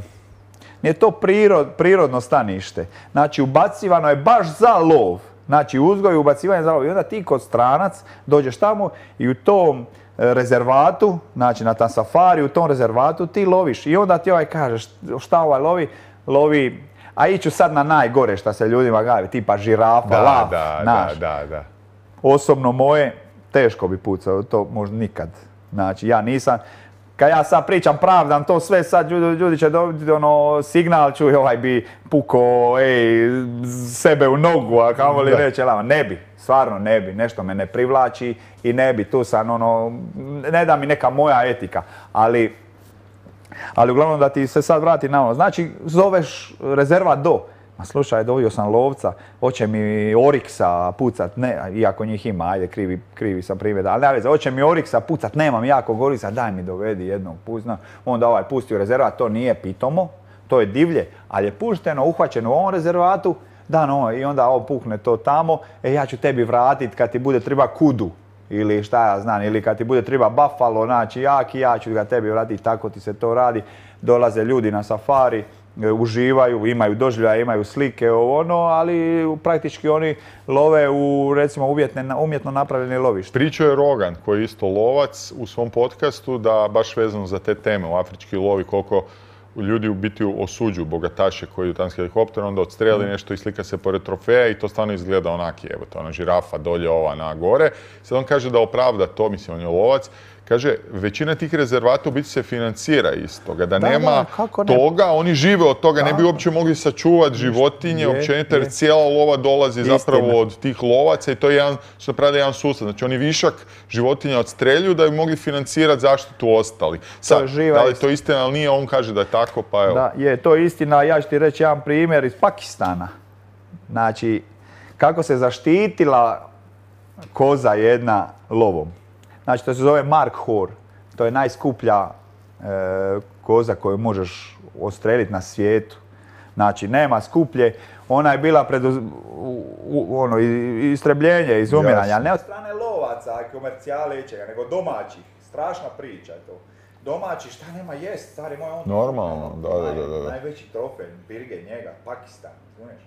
nije to prirod, prirodno stanište. Znači, ubacivano je baš za lov. Znači, uzgoj i ubacivanje za lov. I onda ti kod stranac dođeš tamo i u tom rezervatu, znači na tam safari, u tom rezervatu ti loviš. I onda ti ovaj kažeš šta ovaj lovi? Lovi, a iću sad na najgore šta se ljudima gavi, tipa žirafa, da, lav, da, naš. Da, da, da. Osobno moje, teško bi pucao, to možda nikad. Znači, ja nisam... Kad ja sad pričam pravdam to sve, sad ljudi, ljudi će dobiti ono signal, čuj ovaj bi pukao, ej, sebe u nogu, a kamo li reći, lama, ne bi, stvarno ne bi, nešto me ne privlači i ne bi, tu sam ono, ne da mi neka moja etika, ali, ali uglavnom da ti se sad vrati na ono, znači zoveš rezervat do, ma slušaj, dovio sam lovca, hoće mi Oriksa pucat, ne, iako njih ima, ajde, krivi, krivi sam primjer, ali ne veze, hoće mi Oriksa pucat, nemam jakog Oriksa, daj mi dovedi jednog puzna, onda ovaj pusti u rezervat, to nije pitomo, to je divlje, ali je pušteno, uhvaćeno u ovom rezervatu, da no, i onda ovo pukne to tamo, e ja ću tebi vratit kad ti bude treba kudu, ili šta ja znam, ili kad ti bude treba buffalo, znači jaki, ja ću ga tebi vratiti, tako ti se to radi, dolaze ljudi na safari, uživaju, imaju doživljaje, imaju slike, ovo ono, ali praktički oni love u, recimo, uvjetne, umjetno napravljeni lovište. Pričao je Rogan, koji je isto lovac, u svom podcastu, da baš vezano za te teme u afrički lovi, koliko ljudi u biti osuđuju bogataše koji u tam s helikopterom, onda odstreli nešto i slika se pored trofeja i to stvarno izgleda onaki, evo to, ona žirafa dolje, ova na gore. Sad on kaže da opravda to, mislim, on je lovac. Kaže, većina tih rezervata u biti se financira iz toga, da, da nema da, toga, oni žive od toga, da. Ne bi uopće mogli sačuvati životinje, općenito, jer cijela lova dolazi Istina. Zapravo od tih lovaca i to je jedan, su napravili jedan sustav. Znači oni višak životinja odstreljuju da bi mogli financirati zaštitu ostali. Sad, da li to istina, ali nije, on kaže da je tako, pa evo. Da, je, to je istina, ja ću ti reći jedan primjer iz Pakistana. Znači, kako se zaštitila koza jedna lovom. Znači, to se zove Markhor. To je najskuplja e, koza koju možeš odstreliti na svijetu. Znači, nema skuplje. Ona je bila pred u, u, ono, istrebljenje, izumiranje, ali ne od strane lovaca, komercijale ičega, nego domaćih. Strašna priča je to. Domaći, šta nema jest, stari moj on... Normalno, da, da, da, da. Najveći trofej, birge njega, Pakistan, razumiješ?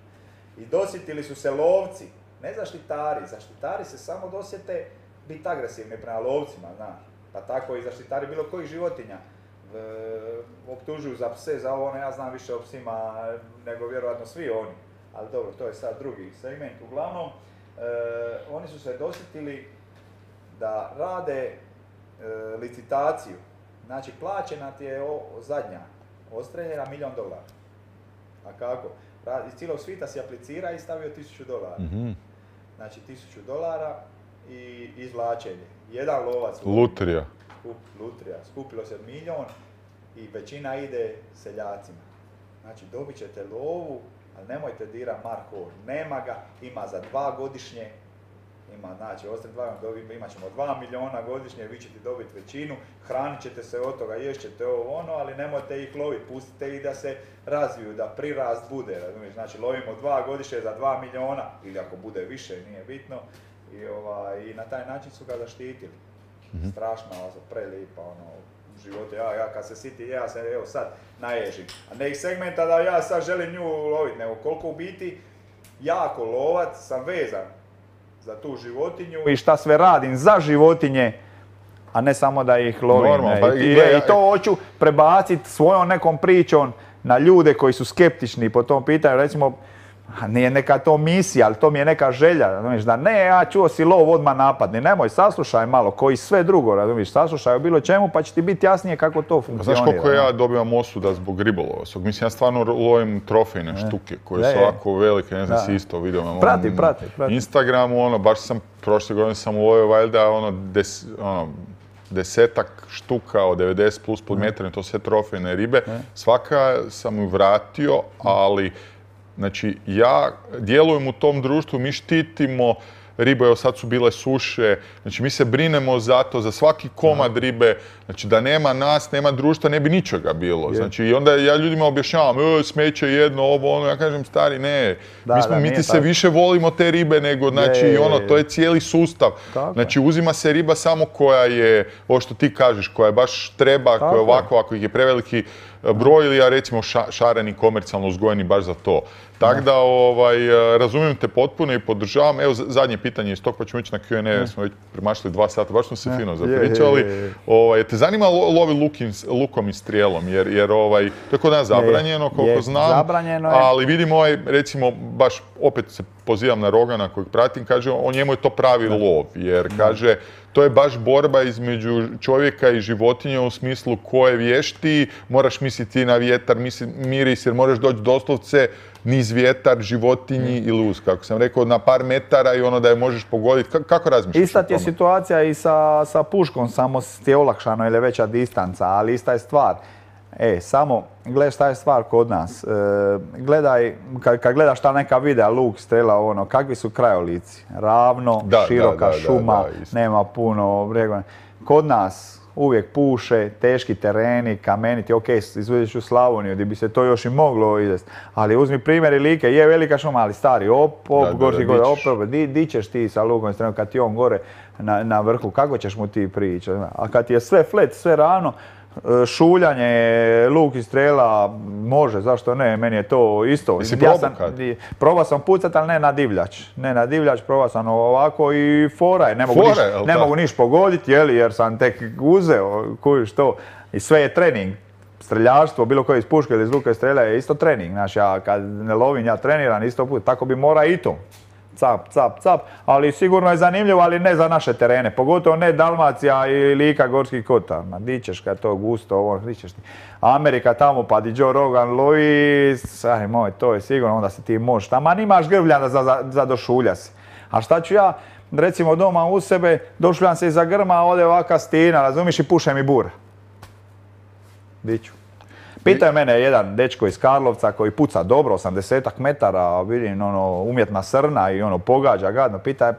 I dosjetili su se lovci, ne zaštitari. Zaštitari se samo dosjete biti agresivni prema lovcima, znaš. Pa tako i zaštitari bilo kojih životinja. E, optužuju za pse, za ovo, ono, ja znam više o psima nego vjerojatno svi oni. Ali dobro, to je sad drugi segment. Uglavnom, e, oni su se dosjetili da rade licitaciju. Znači, plaćena ti je o, zadnja ostreljena milijon dolara. A kako? Iz cijelog svita si aplicira i stavio tisuću dolara. Mm-hmm. Znači, tisuću dolara i izvlačenje. Jedan lovac. Lutrija. Skup, lutrija. Skupilo se milijon i većina ide seljacima. Znači, dobit ćete lovu, ali nemojte dira Marko, nema ga, ima za dva godišnje, ima, znači, ostali dva, imat ćemo dva milijuna godišnje, vi ćete dobiti većinu, hranit ćete se od toga, ješćete ovo ono, ali nemojte ih loviti, pustite ih da se razviju, da prirast bude, razumiješ, znači lovimo dva godišnje za dva milijuna, ili ako bude više, nije bitno, i, ovaj, i na taj način su ga zaštitili. Mm-hmm. Strašno, prelipa, ono, živote, ja, ja kad se siti, ja se evo sad naježim. A ne iz segmenta da ja sad želim nju loviti, nego koliko u biti jako lovac sam vezan za tu životinju i šta sve radim za životinje, a ne samo da ih lovim. Normal, pa, I, i, ja, I to hoću prebaciti svojom nekom pričom na ljude koji su skeptični po tom pitanju, recimo, nije neka to misija, ali to mi je neka želja, razumiješ, da ne, ja čuo si lov, odmah napadni, nemoj, saslušaj malo, koji sve drugo, razumiješ, saslušaj o bilo čemu, pa će ti biti jasnije kako to funkcionira. Znaš koliko ja dobivam osuda zbog ribolova? Mislim, ja stvarno lovim trofejne štuke, koje su ovako velike, ne znam si isto vidio na prati, prati, prati. Instagramu, ono, baš sam, prošle godine sam ulovio valjda, ono, des, ono, desetak štuka od devedeset plus pod metrom, to sve trofejne ribe. Svaka sam ju vratio, ali znači, ja djelujem u tom društvu, mi štitimo ribe, evo sad su bile suše, znači mi se brinemo za to, za svaki komad ribe, znači da nema nas, nema društva, ne bi ničega bilo. Znači i onda ja ljudima objašnjavam, e, smeće jedno, ovo, ono, ja kažem, stari, ne, da, mi, smo, da, mi ti se tako. Više volimo te ribe nego, znači, je, ono, to je cijeli sustav. Tako. Znači, uzima se riba samo koja je, ovo što ti kažeš, koja je baš treba, tako. Koja je ovako, ako ih je preveliki broj ili ja recimo ša, šareni, komercijalno uzgojeni baš za to. Tako da, ovaj, razumijem te potpuno i podržavam. Evo, zadnje pitanje iz tog, pa ćemo ići na Q and A, jer smo već premašili dva sata, baš smo se fino zapričali. Je, je, je. Ovaj, te zanima lovi lukim, lukom i strijelom, jer, jer ovaj, to je kod nas zabranjeno, koliko je, znam, zabranjeno je. Ali vidim ovaj, recimo, baš opet se pozivam na Rogana kojeg pratim, kaže, o njemu je to pravi da. Lov, jer da. Kaže, to je baš borba između čovjeka i životinje u smislu ko je vještiji, moraš misliti na vjetar, misli, miris, jer moraš doći doslovce niz vjetar, životinji mm. i luz, kako sam rekao, na par metara i ono da je možeš pogoditi. K- kako razmišljaš? Ista ti je situacija i sa, sa puškom, samo ti je olakšano ili veća distanca, ali ista je stvar. E, samo, gledaj šta je stvar kod nas. E, gledaj, kad, kad gledaš ta neka videa, luk, strela, ono, kakvi su krajolici? Ravno, da, široka da, da, šuma, da, da, nema puno bregova. Kod nas uvijek puše, teški tereni, kameniti, ok, izvediš u Slavoniju gdje bi se to još i moglo izvesti. Ali uzmi primjer Like, je velika šuma, ali stari, op, op, da, gorski gore, op, op, di, di ćeš ti sa lukom i strelom kad ti on gore na, na vrhu, kako ćeš mu ti prići? A kad ti je sve flet, sve ravno, šuljanje, luk i strela, može, zašto ne, meni je to isto. Jesi ja sam, probao sam pucat, ali ne na divljač. Ne na divljač, probao sam ovako i fora je, ne mogu, niš, ne mogu niš pogoditi, jeli, jer sam tek uzeo, kužiš to. I sve je trening. Streljaštvo, bilo koje iz puške ili iz luka i strela je isto trening. Znači, ja kad ne lovim, ja treniram isto put, tako bi mora i to. Cap, cap, cap, ali sigurno je zanimljivo, ali ne za naše terene, pogotovo ne Dalmacija i Lika, Gorski kotar. Ma di ćeš kad to gusto, ovo, di ćeš ti. Amerika tamo, pa di Joe Rogan lovi, aj moj, to je sigurno, onda se ti možeš. Tamo nimaš grvljana za, za, za došulja se. A šta ću ja, recimo doma u sebe, došuljam se iza grma, ode ovaka stina, razumiš, i puše mi bura. Di ću. Pitao je mene jedan dečko iz Karlovca koji puca dobro, osamdesetak metara, vidim, ono, umjetna srna i ono, pogađa gadno. Pita je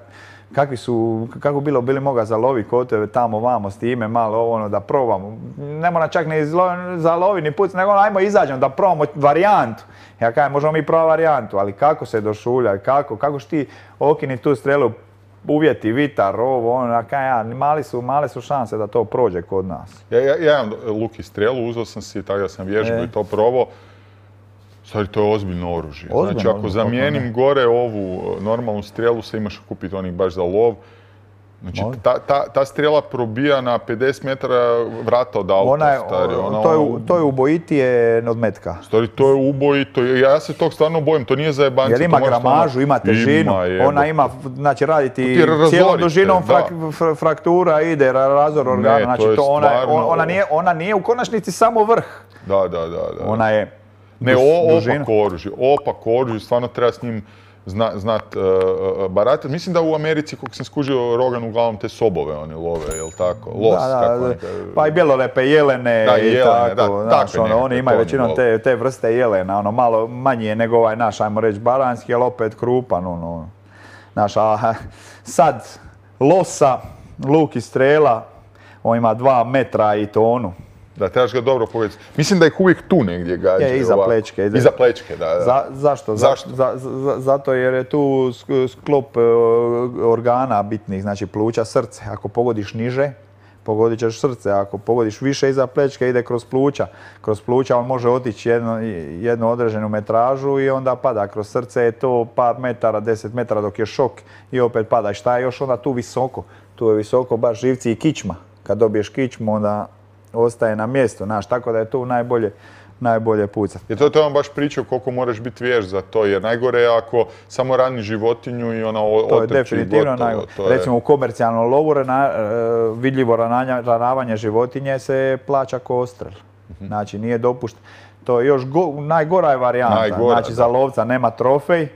kakvi su, kako bilo bili moga zalovi kod tebe tamo vamo s time malo ono da probamo. Ne mora čak ni zalovi ni puc, nego ajmo izađemo da probamo varijantu. Ja kažem, možemo mi probati varijantu, ali kako se došulja, kako, kako što ti okini tu strelu, uvjeti, vitar, ovo, ono, ja, mali su, male su šanse da to prođe kod nas. Ja, ja, ja imam luk i strelu, uzeo sam si, tako da sam vježbao e. i to probao. Stvari, to je ozbiljno oružje. Ozbiljno, znači, ako zamijenim gore ovu normalnu strelu, se imaš kupiti onih baš za lov, Znači, ta, ta, ta strela probija na pedeset metara vrata od auta. Ona je, stari, ona, to, je, ono, to je ubojitije od metka. Stari, to je ubojito. Ja se tog stvarno bojim, to nije za jebanci. Jer ima gramažu, ima težinu, ima, ona ima, znači raditi cijelom dužinom frak, fraktura, ide razor organa, ne, znači to, to ona, stvarno... ona, nije, ona nije u konačnici samo vrh. Da, da, da. da. Ona je Ne, o, opak oružje, opak oružje, stvarno treba s njim zna, znat uh, baratati. Mislim da u Americi, kako sam skužio, Rogan uglavnom te sobove oni love, jel tako? Los, da, da, kako da. Pa i bjelolepe, jelene da, i jelene, tako. Da, znaš, ono, oni imaju većinom te, te vrste jelena, ono, malo manje je nego ovaj naš, ajmo reći, baranski, ali opet krupan, ono. Znaš, a sad, losa, luk i strela, on ima dva metra i tonu. Da, trebaš ga dobro pogledati. Mislim da ih uvijek tu negdje gađaju. Je, iza plečke. Iza plečke, da. da. Za, zašto? Zašto? Za, za, zato jer je tu sklop organa bitnih, znači pluća, srce. Ako pogodiš niže, pogodit ćeš srce. Ako pogodiš više iza plečke, ide kroz pluća. Kroz pluća on može otići jednu, jednu određenu metražu i onda pada. Kroz srce je to par metara, deset metara dok je šok i opet pada. I šta je još onda tu visoko? Tu je visoko baš živci i kičma. Kad dobiješ kičmu, onda ostaje na mjestu, znaš, tako da je tu najbolje, najbolje pucati. I to je on baš pričao koliko moraš biti vješ za to, jer najgore je ako samo rani životinju i ona otrči. To je definitivno najgore. Recimo u komercijalnom lovu rana, vidljivo ranavanje životinje se plaća ko odstrel. Uh-huh. Znači nije dopušteno. To je još go, najgora je varijanta. Najgora, znači da. Za lovca nema trofej,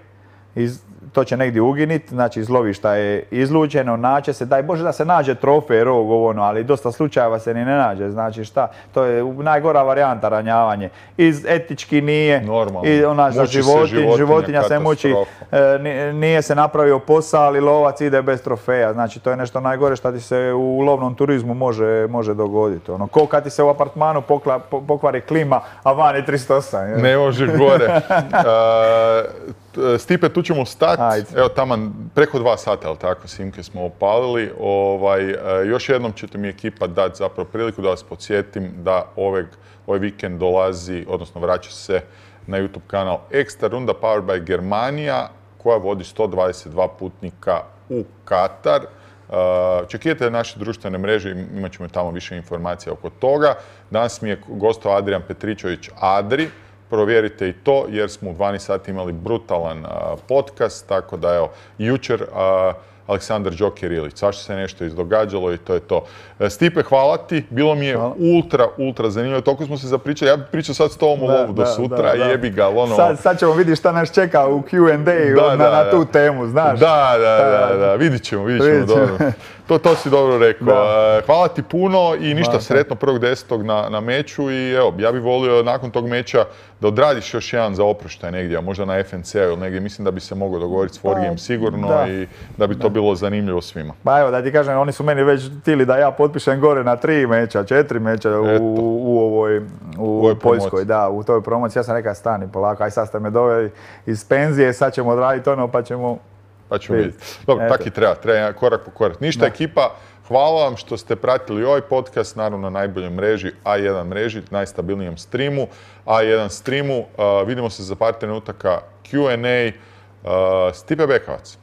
iz, to će negdje uginit, znači iz lovišta je izlučeno, naće se, daj Bože da se nađe trofej, rog, ono, ali dosta slučajeva se ni ne nađe, znači šta, to je najgora varijanta ranjavanje. Iz etički nije, normalno. I ona za životinj, životinja, životinja se muči, e, nije se napravio posao, ali lovac ide bez trofeja, znači to je nešto najgore što ti se u lovnom turizmu može, može dogoditi. Ono, ko kad ti se u apartmanu pokla, pokvari klima, a van je tristo osam. Je. Ne može gore. uh, Stipe, tu ćemo stati. Evo taman preko dva sata, ali tako, Simke smo opalili. Ovaj, još jednom ćete mi ekipa dati zapravo priliku da vas podsjetim da ovaj, ovaj vikend dolazi, odnosno vraća se na YouTube kanal Ekstra runda Powered by Germania, koja vodi sto dvadeset dva putnika u Katar. Čekajte naše društvene mreže, imat ćemo tamo više informacija oko toga. Danas mi je gostao Adrian Petričević Adri. Provjerite i to jer smo u dvanaest sati imali brutalan uh, podcast, tako da evo, jučer uh, Aleksandar Joker Ilić, svašta se nešto izdogađalo i to je to. Stipe, hvala ti, bilo mi je hvala. ultra, ultra zanimljivo, toliko smo se zapričali, ja bih pričao sad s tobom o lovu do sutra, da, da. Jebi ga, ono... Sad, sad ćemo vidjeti šta nas čeka u Q and A da, na, da, na tu temu, znaš. Da, da, da, da, vidit ćemo, vidit ćemo, vidit ćemo. Dobro. To, to si dobro rekao. Da. Hvala ti puno i ništa, da, sretno prvog desetog na, na meču i evo, ja bih volio nakon tog meča da odradiš još jedan za oproštaj negdje, možda na F N C ili negdje, mislim da bi se moglo dogovoriti s Forgijem pa, sigurno da. I da bi to da. bilo zanimljivo svima. Pa evo, da ti kažem, oni su meni već htjeli da ja potpišem gore na tri meča, četiri meča u, u ovoj, u, u ovoj Poljskoj, da, u toj promociji. Ja sam rekao, stani polako, aj sad ste me doveli iz penzije, sad ćemo odraditi ono pa ćemo... Pa ćemo vidjeti. Dobro, tako i treba, treba korak po korak. Ništa, da. Ekipa, hvala vam što ste pratili ovaj podcast, naravno na najboljoj mreži, A jedan mreži, najstabilnijem streamu, A jedan streamu. Uh, vidimo se za par trenutaka Q and A. Uh, Stipe Bekavac.